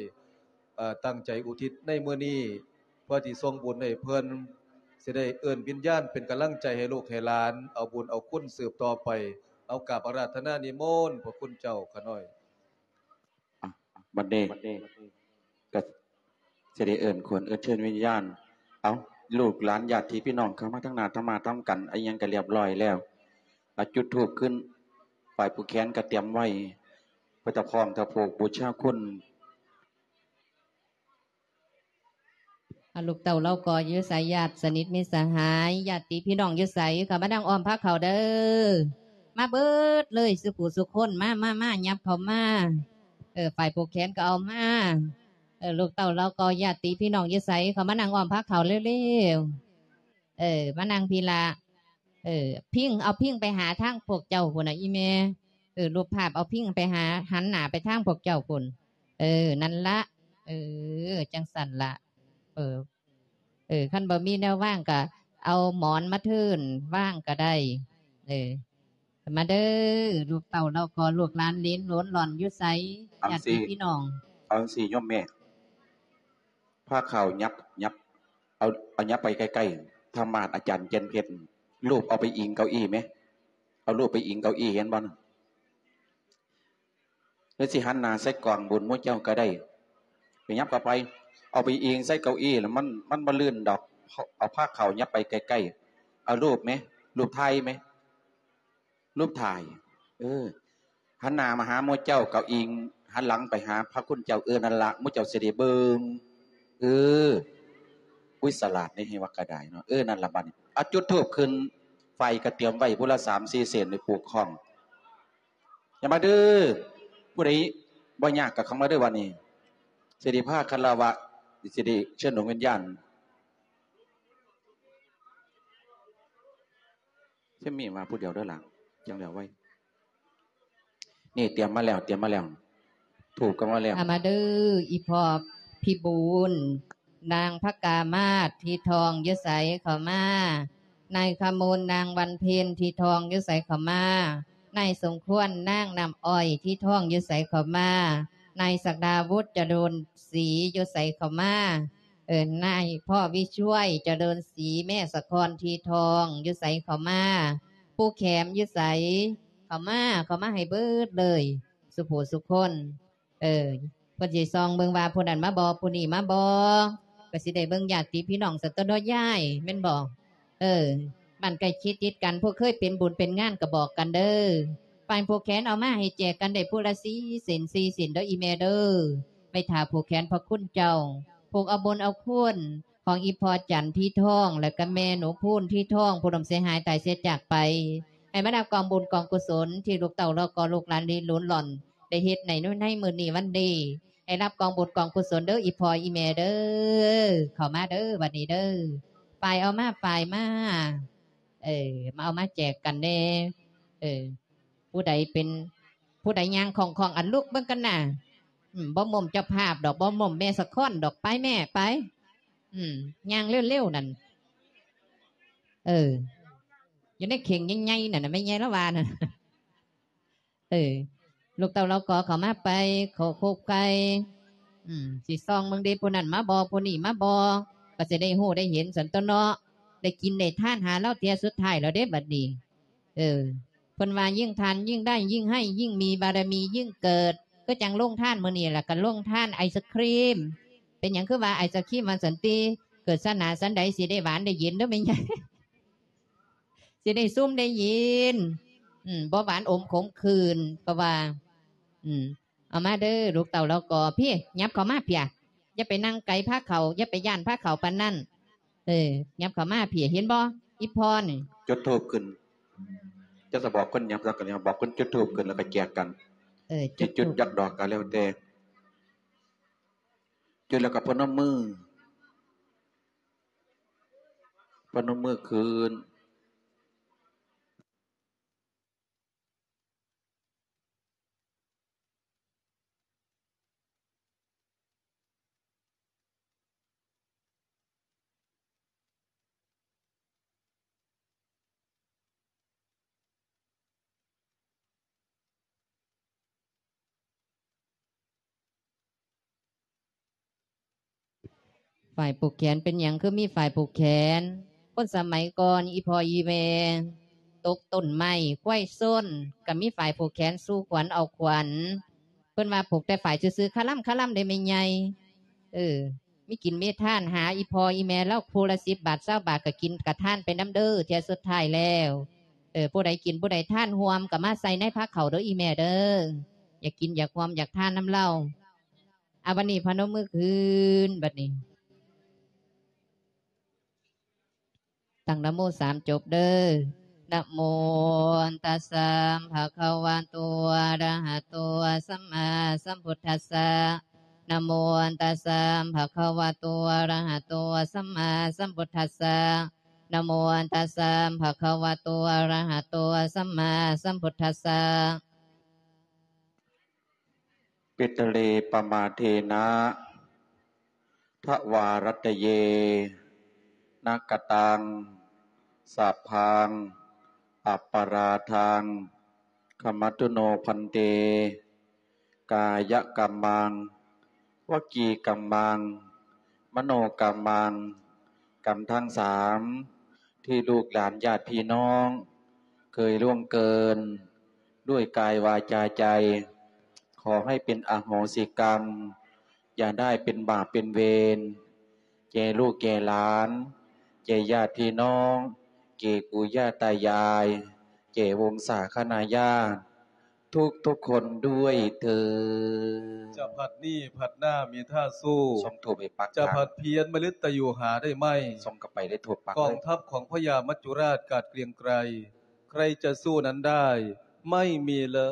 ເອີ ຕັ້ງໃຈອຸທິດໃນມື້ນີ້ ເພື່ອທີ່ສົ່ງບຸນໃຫ້ເພິ່ນ, ຊິໄດ້ເອີ້ນວິນຍານເປັນກຳລັງໃຈໃຫ້ລູກໃຫ້ຫຼານ ເອົາບຸນເອົາຄຸນສືບຕໍ່ໄປ. ເອົາ ກາບອາລາທະນານິມົນພະຄຸນເຈົ້າຂ້ານ້ອຍ. ບັດນີ້ກໍຊິໄດ້ເອີ້ນຄົນເອີ້ນເຊີນວິນຍານ. ເອົາ ລູກຫຼານຍາດຕິພີ່ນ້ອງເຂົ້າມາທາງໜ້າທຳມາທຳກັນ ອີ່ຫຍັງກໍລຽບລ້ອຍແລ້ວ. ເອົາ ຈຸດທູບຂຶ້ນ, ຝ່າຍຜູ້ແຂນກໍຕຽມໄວ້ ເພື່ອຈະພ້ອມຖວາຍພູກບູຊາຄຸນ. ອາ ລູກເຕົ້າເຫຼົ່າກໍຢູ່ໃສ? ຍາດສະໜິດມິດສະຫາຍ ຍາດຕິພີ່ນ້ອງຢູ່ໃສ? ເຂົ້າມານັ່ງອ້ອມພາເຂົ້າເດີ ມາເບີດເລີຍ ສູ່ຜູ້ສູ່ຄົນ ມາ ມາ ມາ ຫຍັບເຂົ້າມາ. ເອີ ຝ່າຍຜູກແຂນກໍເອົາມາ. ເອີ ລູກເຕົ້າເຫຼົ່າກໍຍາດຕິພີ່ນ້ອງຢູ່ໃສ? ເຂົ້າມານັ່ງອ້ອມພາເຂົ້າເລັວໆ. ເອີ ມານັ່ງພີ້ລະ. ເອີ ພິງ ເອົາພິງໄປຫາທາງພວກເຈົ້າພຸ້ນນະ ອີ່ແມ່. ເອີ ຮູບພາບເອົາພິງໄປຫາ ຫັນໜ້າໄປທາງພວກເຈົ້າພຸ້ນ. ເອີ ນັ້ນລະ. ເອີ ຈັ່ງຊັ້ນລະ. ເອີ ເອີ ຄັນບໍ່ມີແນວວາງກະເອົາໝອນມາເທີນວາງກະໄດ້. ເອີ ມາເດີ ລູກເຕົ້າເຫຼົ່າກໍ ລູກຫຼານເຫຼນໂຫຼນຫຼອນຢູ່ໃສ? ເອົາ ຍາດຕິພີ່ນ້ອງ. ເອົາຈັ່ງຊີ້ໂຍມແມ່ ພາເຂົ້າຫຍັບ ຫຍັບ ເອົາ ເອົາຫຍັບໄປໃກ້ໆ ທຳມາດອາຈານຈັນເພັດ ຮູບເອົາໄປອີງເກົ້າອີ້ແມ. ເອົາຮູບໄປອີງເກົ້າອີ້ ເຫັນບໍ່ນະ? ຫຼືຊິຫັນໜ້າໃສ່ກອງບຸນໝູ່ເຈົ້າກໍໄດ້. ຍັບເຂົ້າໄປ ເອົາໄປອີງໃສ່ເກົ້າອີ່ ແລ້ວມັນ ມັນບໍ່ລື່ນດອກ ເອົາພາເຂົ້າ ຍັບໄປໃກ້ໆ ເອົາຮູບແມ ຮູບຖ່າຍແມ ຮູບຖ່າຍ ເອີ ຫັນໜ້າມາຫາໝູ່ເຈົ້າ ເອົາອີງຫັນຫຼັງໄປຫາພະຄຸນເຈົ້າ ເອີ ນັ້ນລະ ໝູ່ເຈົ້າຊິໄດ້ເບິ່ງ ເອີ ອຸ້ຍ ສະຫຼາດເດ້ ໃຫ້ວ່າກະໄດ້ເນາະ ເອີ ນັ້ນລະ ບາດນີ້ ເອົາ ຈຸດທູບຂຶ້ນ ໄຟກະຕຽມໄວ້ຜູ້ລະສາມສີ່ເສັ້ນ ໄວ້ປູກຂອງ ຢ່າມາເດີ ຜູ້ໃດບໍ່ຍາກກະເຂົ້າມາເດີ ບາດນີ້ ຊິໄດ້ພາຄາລະວະ ຊິໄດ້ເຊີນດວງວິນຍານ ເຊມມີມາຜູ້ດຽວເດີຫຼ້າ ຈັ່ງແລ້ວໄວ ນີ້ຕຽມມາແລ້ວ ຕຽມມາແລ້ວ ທູບກະມາແລ້ວ ເອົາມາເດີ ອີ່ພໍ່ພິບູນ ນາງພະກາມາດ ທີ່ທ້ອງຢູ່ໃສເຂົ້າມາ ນາຍຂະມູນ ນາງວັນເພັນ ທີ່ທ້ອງຢູ່ໃສເຂົ້າມາ ນາຍສົມຄວນ ນາງນ້ຳອ້ອຍ ທີ່ທ້ອງຢູ່ໃສເຂົ້າມາ ນາຍສັກດາວຸດ ຈະໂດນສີ ຢູ່ໃສເຂົ້າມາ ເອີ ນາຍພໍ່ວິຊ່ວຍ ຈະເລີນສີ ແມ່ສະຄອນ ທີ່ທ້ອງຢູ່ໃສເຂົ້າມາ ປູ່ແຂມຢູ່ໃສເຂົ້າມາ ເຂົ້າມາໃຫ້ເບິດເລີຍ ສູ່ຜູ້ສູ່ຄົນ ເອີ ເພິ່ນຊິສ່ອງເບິ່ງວ່າຜູ້ນັ້ນມາບໍ່ ຜູ້ນີ້ມາບໍ່ ກະຊິໄດ້ເບິ່ງຍາດຕິພີ່ນ້ອງຊັ້ນຕົວເນາະຍາຍ ແມ່ນບໍ່? ເອີ ບ້ານໃກ້ເຂດຕິດກັນ ຜູ້ເຄີຍເປັນບຸນເປັນງານກະບອກກັນເດີ ຝ່າຍຜູກແຂນເອົາມາໃຫ້ແຈກກັນໄດ້ຜູ້ລະສີ່ເສັ້ນ ສີ່ເສັ້ນເດີອີ່ແມ່ເດີ ໄວ້ຖ້າຜູກແຂນພະຄຸນເຈົ້າ ຜູກເອົາບຸນເອົາຄຸນ ຂອງອີ່ພໍ່ຈັນທີ່ທ້ອງ ແລະກະແມ່ໜູພູນທີ່ທ້ອງ ຜູ້ລົ້ມເສຍຫາຍຕາຍເສຍຈາກໄປ ໃຫ້ມາຮັບກອງບຸນກອງກຸສົນ ທີ່ລູກເຕົ້າລະກໍລູກຫຼານລິ້ນລົນຫຼອນ ໄດ້ເຮັດໃນ ໃນມື້ນີ້ວັນນີ້ ໃຫ້ຮັບກອງບຸນກອງກຸສົນເດີ ອີ່ພໍ່ອີ່ແມ່ເດີ ເຂົ້າມາເດີ ບັດນີ້ເດີ ຝ້າຍເອົາມາ ຝ້າຍມາ ເອີ ມາເອົາມາແຈກກັນແດ່ ເອີ ຜູ້ໃດເປັນ ຜູ້ໃດຍ່າງຄ່ອງໆ ອັນລຸກເບິ່ງກັນນະ ອືມ ບໍ່ໝົ້ມເຈົ້າພາບດອກ ບໍ່ໝົ້ມແມ່ສະຄອນດອກ ໄປແມ່ ໄປ ອືມ ຍ່າງເລັວໆ ນັ້ນ ເອີ ຢູ່ໃນເຂ່ງໃຫຍ່ໆ ນັ້ນນະ ແມ່ໃຫຍ່ລາວວ່ານັ້ນ ເອີ ລູກເຕົ້າລາວກໍເຂົ້າມາໄປ ເຂົ້າໂຄກໄກ່ ອືມ ຊິສ່ອງເບິ່ງເດ ຜູ້ນັ້ນມາບໍ່ ຜູ້ນີ້ມາບໍ່ ກະຊິໄດ້ຮູ້ໄດ້ເຫັນຊັ້ນຕົວເນາະ ໄດ້ກິນໄດ້ທານຫາລາວເທື່ອສຸດທ້າຍແລ້ວເດ້ບັດນີ້ ເອີ ເພິ່ນວ່າຍິ່ງທານຍິ່ງໄດ້ ຍິ່ງໃຫ້ຍິ່ງມີ ບາລະມີຍິ່ງເກີດ ຄືຈັ່ງໂລງທານມື້ນີ້ລະ ກະໂລງທານໄອສະຄຣີມ ເປັນຫຍັງຄືວ່າໄອສະຄຣີມວ່າຊັ້ນຕິ ເກີດຊາດໜ້າຊາດໃດຊິໄດ້ຫວານໄດ້ເຢັນເດີແມ່ໃຫຍ່ ຊິໄດ້ຊຸມໄດ້ເຢັນ ອືມ ບໍ່ຫວານອົມຂົມຂື່ນ ເພາະວ່າ ອືມ ເອົາມາເດີ ລູກເຕົ້າລາວກໍ ພີ້ ຫຍັບເຂົ້າມາເພຍ ຢ່າໄປນັ່ງໄກພາເຂົ້າ ຢ່າໄປຢ້ານພາເຂົ້າປານນັ້ນ ເອີ ຫຍັບເຂົ້າມາເພຍ ເຫັນບໍ່ ອີ່ພໍ່ນີ້ ຈຸດທູບຂຶ້ນ ຈະ ຈະບອກຄົນຫຍັບ ແລ້ວກະບອກຄົນຈຸດທູບຂຶ້ນ ແລ້ວກະແຈກກັນ ເອີ ຈຸດທູບຈັກດອກກະແລ້ວແຕ່ ຈຸດແລ້ວກະພະນົມມື ພະນົມມືຂຶ້ນ. ຝ້າຍຜູກແຂນ ເປັນຫຍັງຄືມີຝ້າຍຜູກແຂນ? ຄົນສະໄໝກ່ອນ ອີ່ພໍ່ອີ່ແມ່ ຕົກຕົ້ນໄມ້ ຄວາຍຊົນ ກະມີຝ້າຍຜູກແຂນສູ່ຂວັນເອົາຂວັນ. ເພິ່ນວ່າຜູກແຕ່ຝ້າຍຊື່ໆ ຄະລຳຄະລຳເດ້ແມ່ໃຫຍ່. ເອີ ມີກິນມີທານ ຫາອີ່ພໍ່ອີ່ແມ່ລາວຜູ້ລະສິບບາດ ຊາວບາດ ກະກິນກະທານໄປນຳເດີ ເທື່ອສຸດທ້າຍແລ້ວ. ເອີ ຜູ້ໃດກິນຜູ້ໃດທານຮ່ວມ ກະມາໃສ່ໃນພາເຂົ້າເດີອີ່ແມ່ເດີ. ຢາກກິນຢາກຮ່ວມຢາກທານນຳລາວ. ອາ ບັດນີ້ພະນົມມືຂຶ້ນ ບັດນີ້ ຕັ້ງນະໂມສາມຈົບເດີ. ນະໂມຕັດສະ ພະຄະວະໂຕ ອະລະຫະໂຕ ສຳມາສຳພຸດທັດສະ. ນະໂມຕັດສະ ພະຄະວະໂຕ ອະລະຫະໂຕ ສຳມາສຳພຸດທັດສະ. ນະໂມຕັດສະ ພະຄະວະໂຕ ອະລະຫະໂຕ ສຳມາສຳພຸດທັດສະ. ປິດທະເລ ປະມາເທນະ ທະວາຣັດຕະເຍ ນະກະຕັງ ສັບພັງ ອັບປະລາທັງ ຂະມະຕຸໂນ ພັນເຕ. ກາຍະກຳມັງ ວະຈີກຳມັງ ມະໂນກຳມັງ ກຳທັງສາມ ທີ່ລູກຫຼານຍາດພີ່ນ້ອງເຄີຍລ່ວງເກີນ ດ້ວຍກາຍ ວາຈາ ໃຈ ຂໍໃຫ້ເປັນອະໂຫສິກຳ. ຢ່າໄດ້ເປັນບາບເປັນເວນ ແກ່ລູກແກ່ຫຼານ ແກ່ຍາດພີ່ນ້ອງ ແກ່ປູ່ຍ່າຕາຍາຍ ແກ່ວົງສາຄະນາຍາດທຸກໆຄົນດ້ວຍເທີ້ນ. ຈະພັດນີ້ພັດໜ້າມີທ່າສູ້ ສົ່ງທູບໃຫ້ປັກ ຈະພັດພຽນມະລິດຕະຢູ່ຫາໄດ້ໄໝ ສົ່ງເຂົ້າໄປໄດ້ທົ່ວປັກ ກອງທັບຂອງພະຍາມັດຈຸລາດກາດກຽງໄກ ໃຄຈະສູ້ນັ້ນໄດ້ ໄມ່ມີເລີ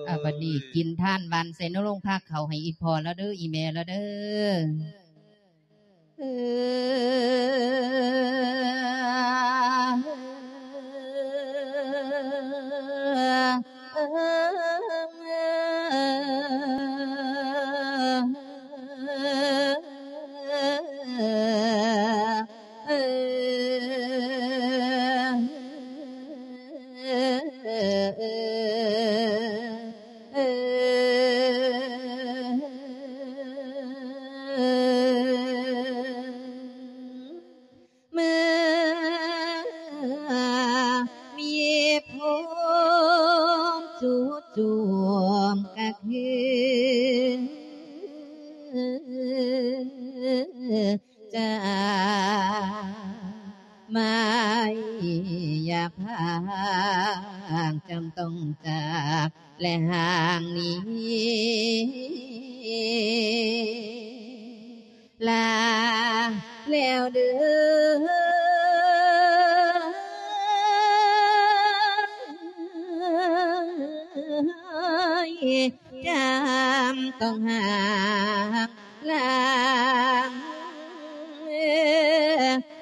ຍ. ອາ ບັດນີ້ກິນທານຫວ່ານໃສ່ໃນໂລງພາເຂົ້າໃຫ້ອີ່ພໍ່ລາວເດີ ອີ່ແມ່ລາວເດີ. ເມື່ອມີພົມຈູ່ໂຈມກະຄື ຈາກມາຢ່າພາງ ຈຳຕ້ອງຈາກແລະຫ່າງໜີ ລາແລ້ວເດີ ຈຳຕ້ອງຫ່າງ ລາ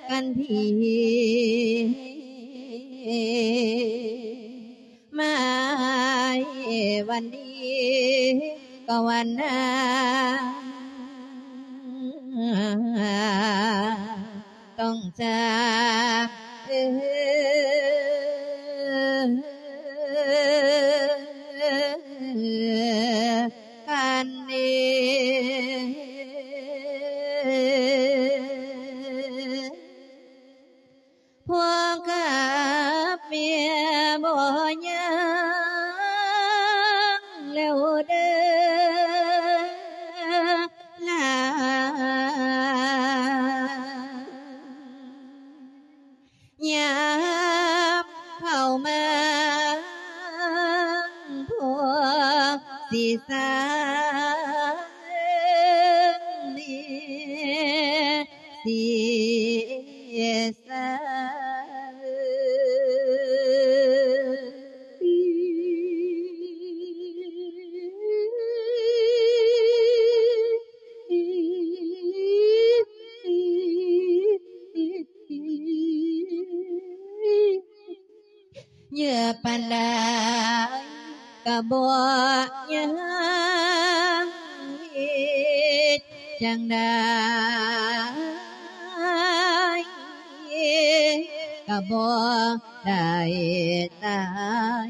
ກັນທີມາຍ ວັນດີກໍວັນນາ ຕ້ອງຈາກກັນເອງ. ພໍ່ກັບແມ່ບໍ່ຍັງແລ້ວເດີ ຫຼານ ຍາມເຂົ້າມາ ພໍ່ຊິສາເນ ເສຍສາ ເຍອະປານໃດກະບໍ່ຍັງ ເຮັດຈັ່ງໃດກະບໍ່ໄດ້ຕາ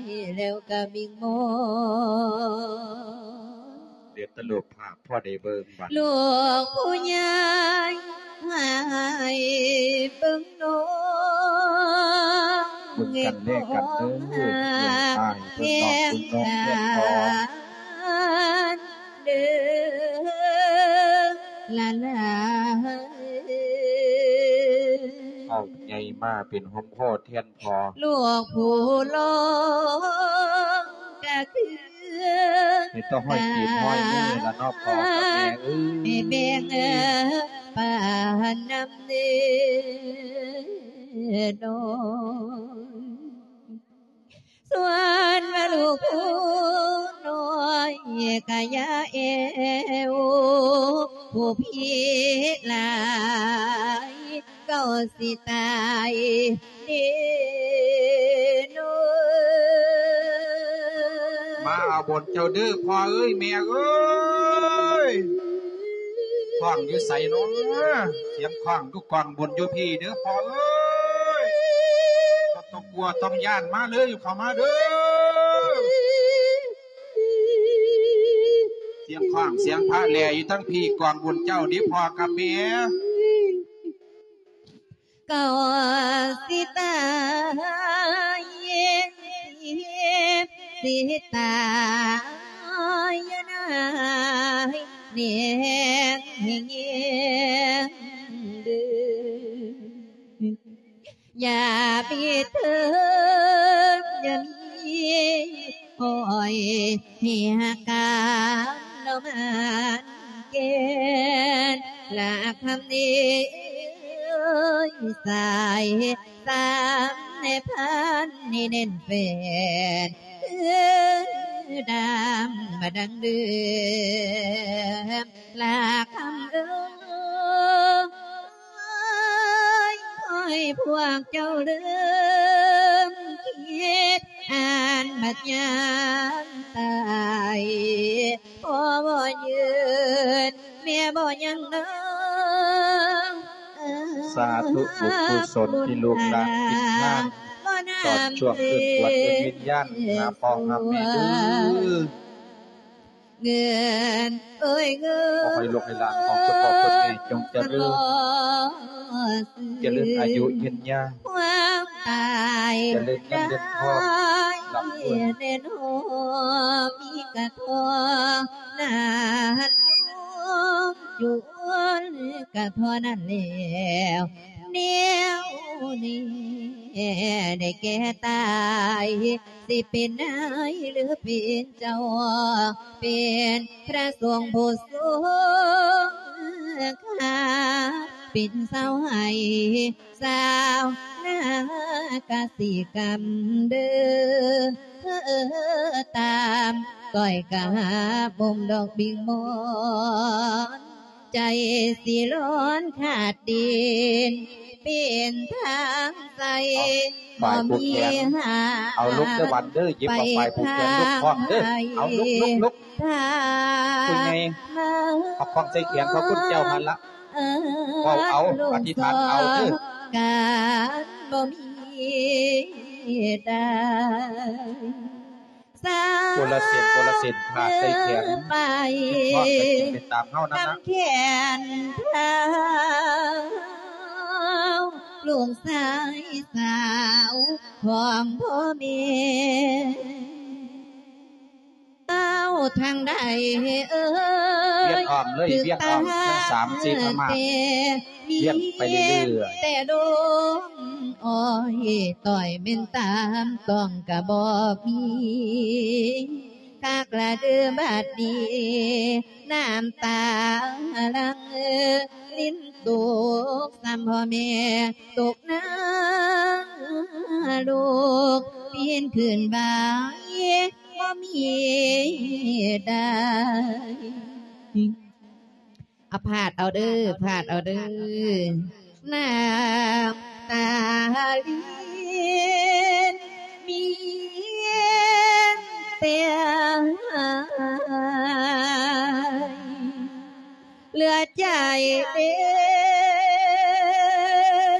ຍ ແລ້ວກະວິງວອນ ເຫຼືອແຕ່ຮູບພາບພໍໄດ້ເບິ່ງບັດ ລູກຜູ້ໃຫຍ່ໃຫ້ເບິ່ງນ້ອງ ບຸນກັນແລກກັນເດີ ເອີ ເອີ ອ້າຍເພິ່ນນ້ອງເພິ່ນນ້ອງເພິ່ນ ເດີ ຫຼານເອີຍ ເອົາໃຫຍ່ມາເປັນຮົ່ມໂພແທນພໍ່ ລູກຜູ້ຫຼວງກະຄື ມີແຕ່ຫ້ອຍຕີນຫ້ອຍມືລະເນາະ ພໍ່ກັບແມ່ເອີຍ ແບ່ງປານນຳເດີນ້ອງ. ສ່ວນວ່າລູກຜູ້ນ້ອຍກະຢ່າແອວ ຜູ້ພີຫຼາຍ ເຈົ້າຊິຕາຍເດນ້ອງ. ມາເອົາບຸນເຈົ້າເດີພໍ່ເອີຍ ແມ່ເອີຍ. ຄ້ອງຢູ່ໃສເນາະ? ສຽງຄ້ອງຢູ່ກອງບຸນຢູ່ພີ້ເດີພໍ່ເອີຍ. ບໍ່ຕ້ອງກົວຕ້ອງຢ້ານ ມາເລີຍ ເຂົ້າມາເດີ. ສຽງຄ້ອງສຽງພະແລ່ຢູ່ທາງພີ້ ກອງບຸນເຈົ້າເດ້ພໍ່ກັບແມ່. ເຈົ້າຊິຕາຍ ຊິຕາຍຢູ່ໃນ ແນງໃຫ້ແຍງດຶງ ຢ່າປິດເທີມ ຢ່າມີຫ້ອຍ ໃຫ້ຮັກກັນເນາະມັນແກ່ນ ລະຄຳນີ້ເອີຍ ສາຍສຳພັນໃຫ້ແໜ້ນແຟ້ນ ຄືດຳມາດັງເດີມ ລະຄຳເອີຍ ຂໍໃຫ້ພວກເຈົ້າລືມຄິດ ອັນບັດຍາມຕາຍ ພໍ່ບໍ່ຢືນ ແມ່ບໍ່ຍັງເດີ. ສາທຸ ບຸນກຸສົນທີ່ລູກຫຼານກິນທານ ຕອນຊ່ວງເອີ້ນກວດເອີ້ນວິນຍານຫາພໍ່ຫາແມ່ເດີ. ເງິນເອີຍເງິນ ຂໍໃຫ້ລູກໃຫ້ຫຼານຂອງຄຸນພໍ່ຄຸນແມ່ຈົ່ງຈະເລີນ ຈະເລີນອາຍຸຍືນຍາວ ຄວາມຕາຍ ຈະເລີນເງິນເລີນທອງ ລ່ຳລວຍ ເງິນຫອມມີກະທອງ ນານໂຮມຈຸນກະເທົ່ານັ້ນແລ້ວ ແນວນີ້ໄດ້ແກ່ຕາຍ ຊິເປັນນາຍຫຼືເປັນເຈົ້າ ເປັນພະສົງຜູ້ຊົງຄ່າ ເປັນຊາວໄຮ່ຊາວນາກະສິກຳເດີ ຕາມກ້ອຍກາບບົ່ມດອກບິງມອນ ໃຈຊິຮ້ອນຂາດດິນ ເປັນທາງໃສ ເອົາ ບໍ່ມີຫາ ເອົາລຸກເດີວັນເດີ ຍິບເອົາຝ້າຍຜູກແຂນລຸກພ້ອມເດີ ເອົາລຸກ ລຸກ ລຸກ ຜູ້ໃຫຍ່ ເອົາຂອງໃສ່ແຂນຂອງຄຸນເຈົ້າຫັ້ນລະ ເວົ້າເອົາ ອະທິຖານເອົາເດີ ການບໍ່ມີໄດ້ ຄົນລະເສັ້ນ ຄົນລະເສັ້ນ ພາໃສ່ແຂນ ເຮັດທອດໃຫ້ກິນໄປຕາມເຮົານັ້ນນະ ກຳແຂນເຖົາ ລູກຊາຍສາວຂອງພໍ່ແມ່ ເອົາທາງໃດເອີຍ ວຽນອ້ອມເລີຍ ວຽນອ້ອມທັງສາມສີ່ອາມາດ ວຽນໄປເລື້ອຍໆ ແຕ່ລົມອ້ອຍ ຕ້ອຍແມ່ນຕາມຕ້ອງກະບໍ່ມີ ຄັກລະເດີບາດນີ້ ນ້ຳຕາຫຼັ່ງລິນຕົກ ຊ້ຳພໍ່ແມ່ຕົກນະລົກ ປິ່ນຄືນໄຫວບໍ່ມີໄດ້ ອາ ພາດເອົາເດີ ພາດເອົາເດີ ນ້ຳຕາລິນມີແຕ່ຫາຍ ເຫຼືອໃຈເປັ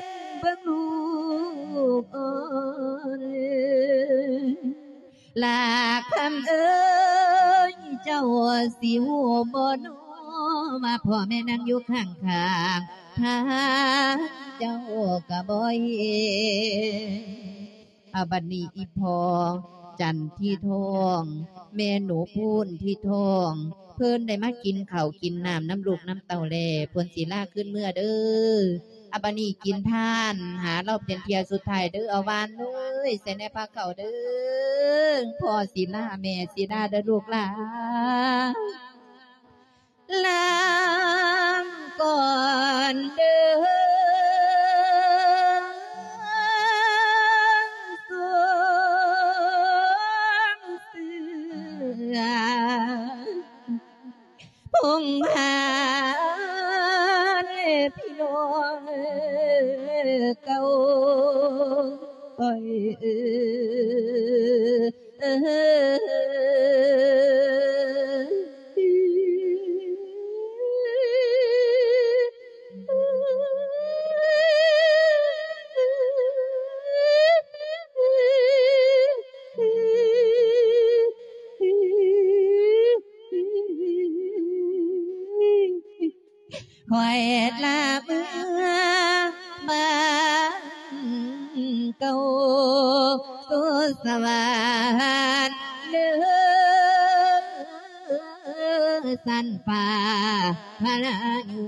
ນເບິ່ງລູກອ່ອນ ລາຄຳເອີຍ ເຈົ້າຊິຮູ້ບໍ່ນໍ ວ່າພໍ່ແມ່ນັ່ງຢູ່ຂ້າງໆ ທາງເຈົ້າກໍບໍ່ເຫັນ. ອາ ບັດນີ້ອີ່ພໍ່ຈັນທີທອງ ແມ່ໜູພູນທີທອງ ເພິ່ນໄດ້ມາກິນເຂົ້າກິນນ້ຳນຳລູກນຳເຕົ້າແລ້ວ ເພິ່ນຊິລາຄືນເມືອເດີ. ອາ ບັດນີ້ກິນທານຫາລາວເປັນເທື່ອສຸດທ້າຍເດີ ອາ ຫວານເອີຍ ໃສ່ແດ່ພາເຂົ້າເດີ ພໍ່ສິລາແມ່ສິລາເດີລູກຫຼານ ລາກ່ອນເດີ ສົງເສືອ ພົງພານພີ່ນ້ອງເກົ່າຂ້ອຍເອີຍ. ຂ້ອຍລາເມືອບ້ານເກົ່າສູ່ສະຫວັນເດີ. ສັນປາພະລາຍູ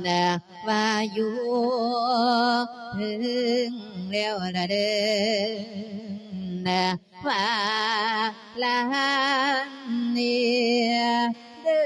ນ ວ່າຢູ່ເຖິງແລ້ວລະເດີ ວ່າລາເນເດີ.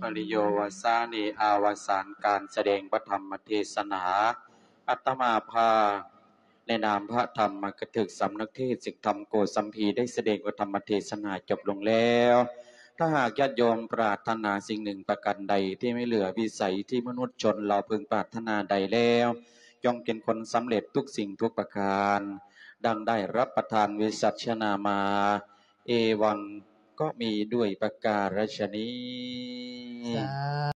ປະລິໂຍວະສານິ ອາວະສານການສະແດງພະທຳມະເທສະໜາ ອາດຕະມາພາ ໃນນາມພະທຳມະກະຖືກສຳນັກເທດ ເສກທຳໂກສັມພີ ໄດ້ສະແດງພະທຳມະເທສະໜາຈົບລົງແລ້ວ. ຖ້າຫາກຍາດໂຍມປາດຖະໜາສິ່ງໜຶ່ງປະການໃດທີ່ມີເຫຼືອວິໄສທີ່ມະນຸດຊົນລາວເພິ່ງປາດຖະໜາໄດ້ແລ້ວ, ຈົ່ງເປັນຄົນສຳເລັດທຸກສິ່ງທຸກປະການ, ດັ່ງໄດ້ຮັບປະທານວິສັດຊະນາມາ. ເອວັງ ກໍມີດ້ວຍປະການລັດຊະນີ້. ສາ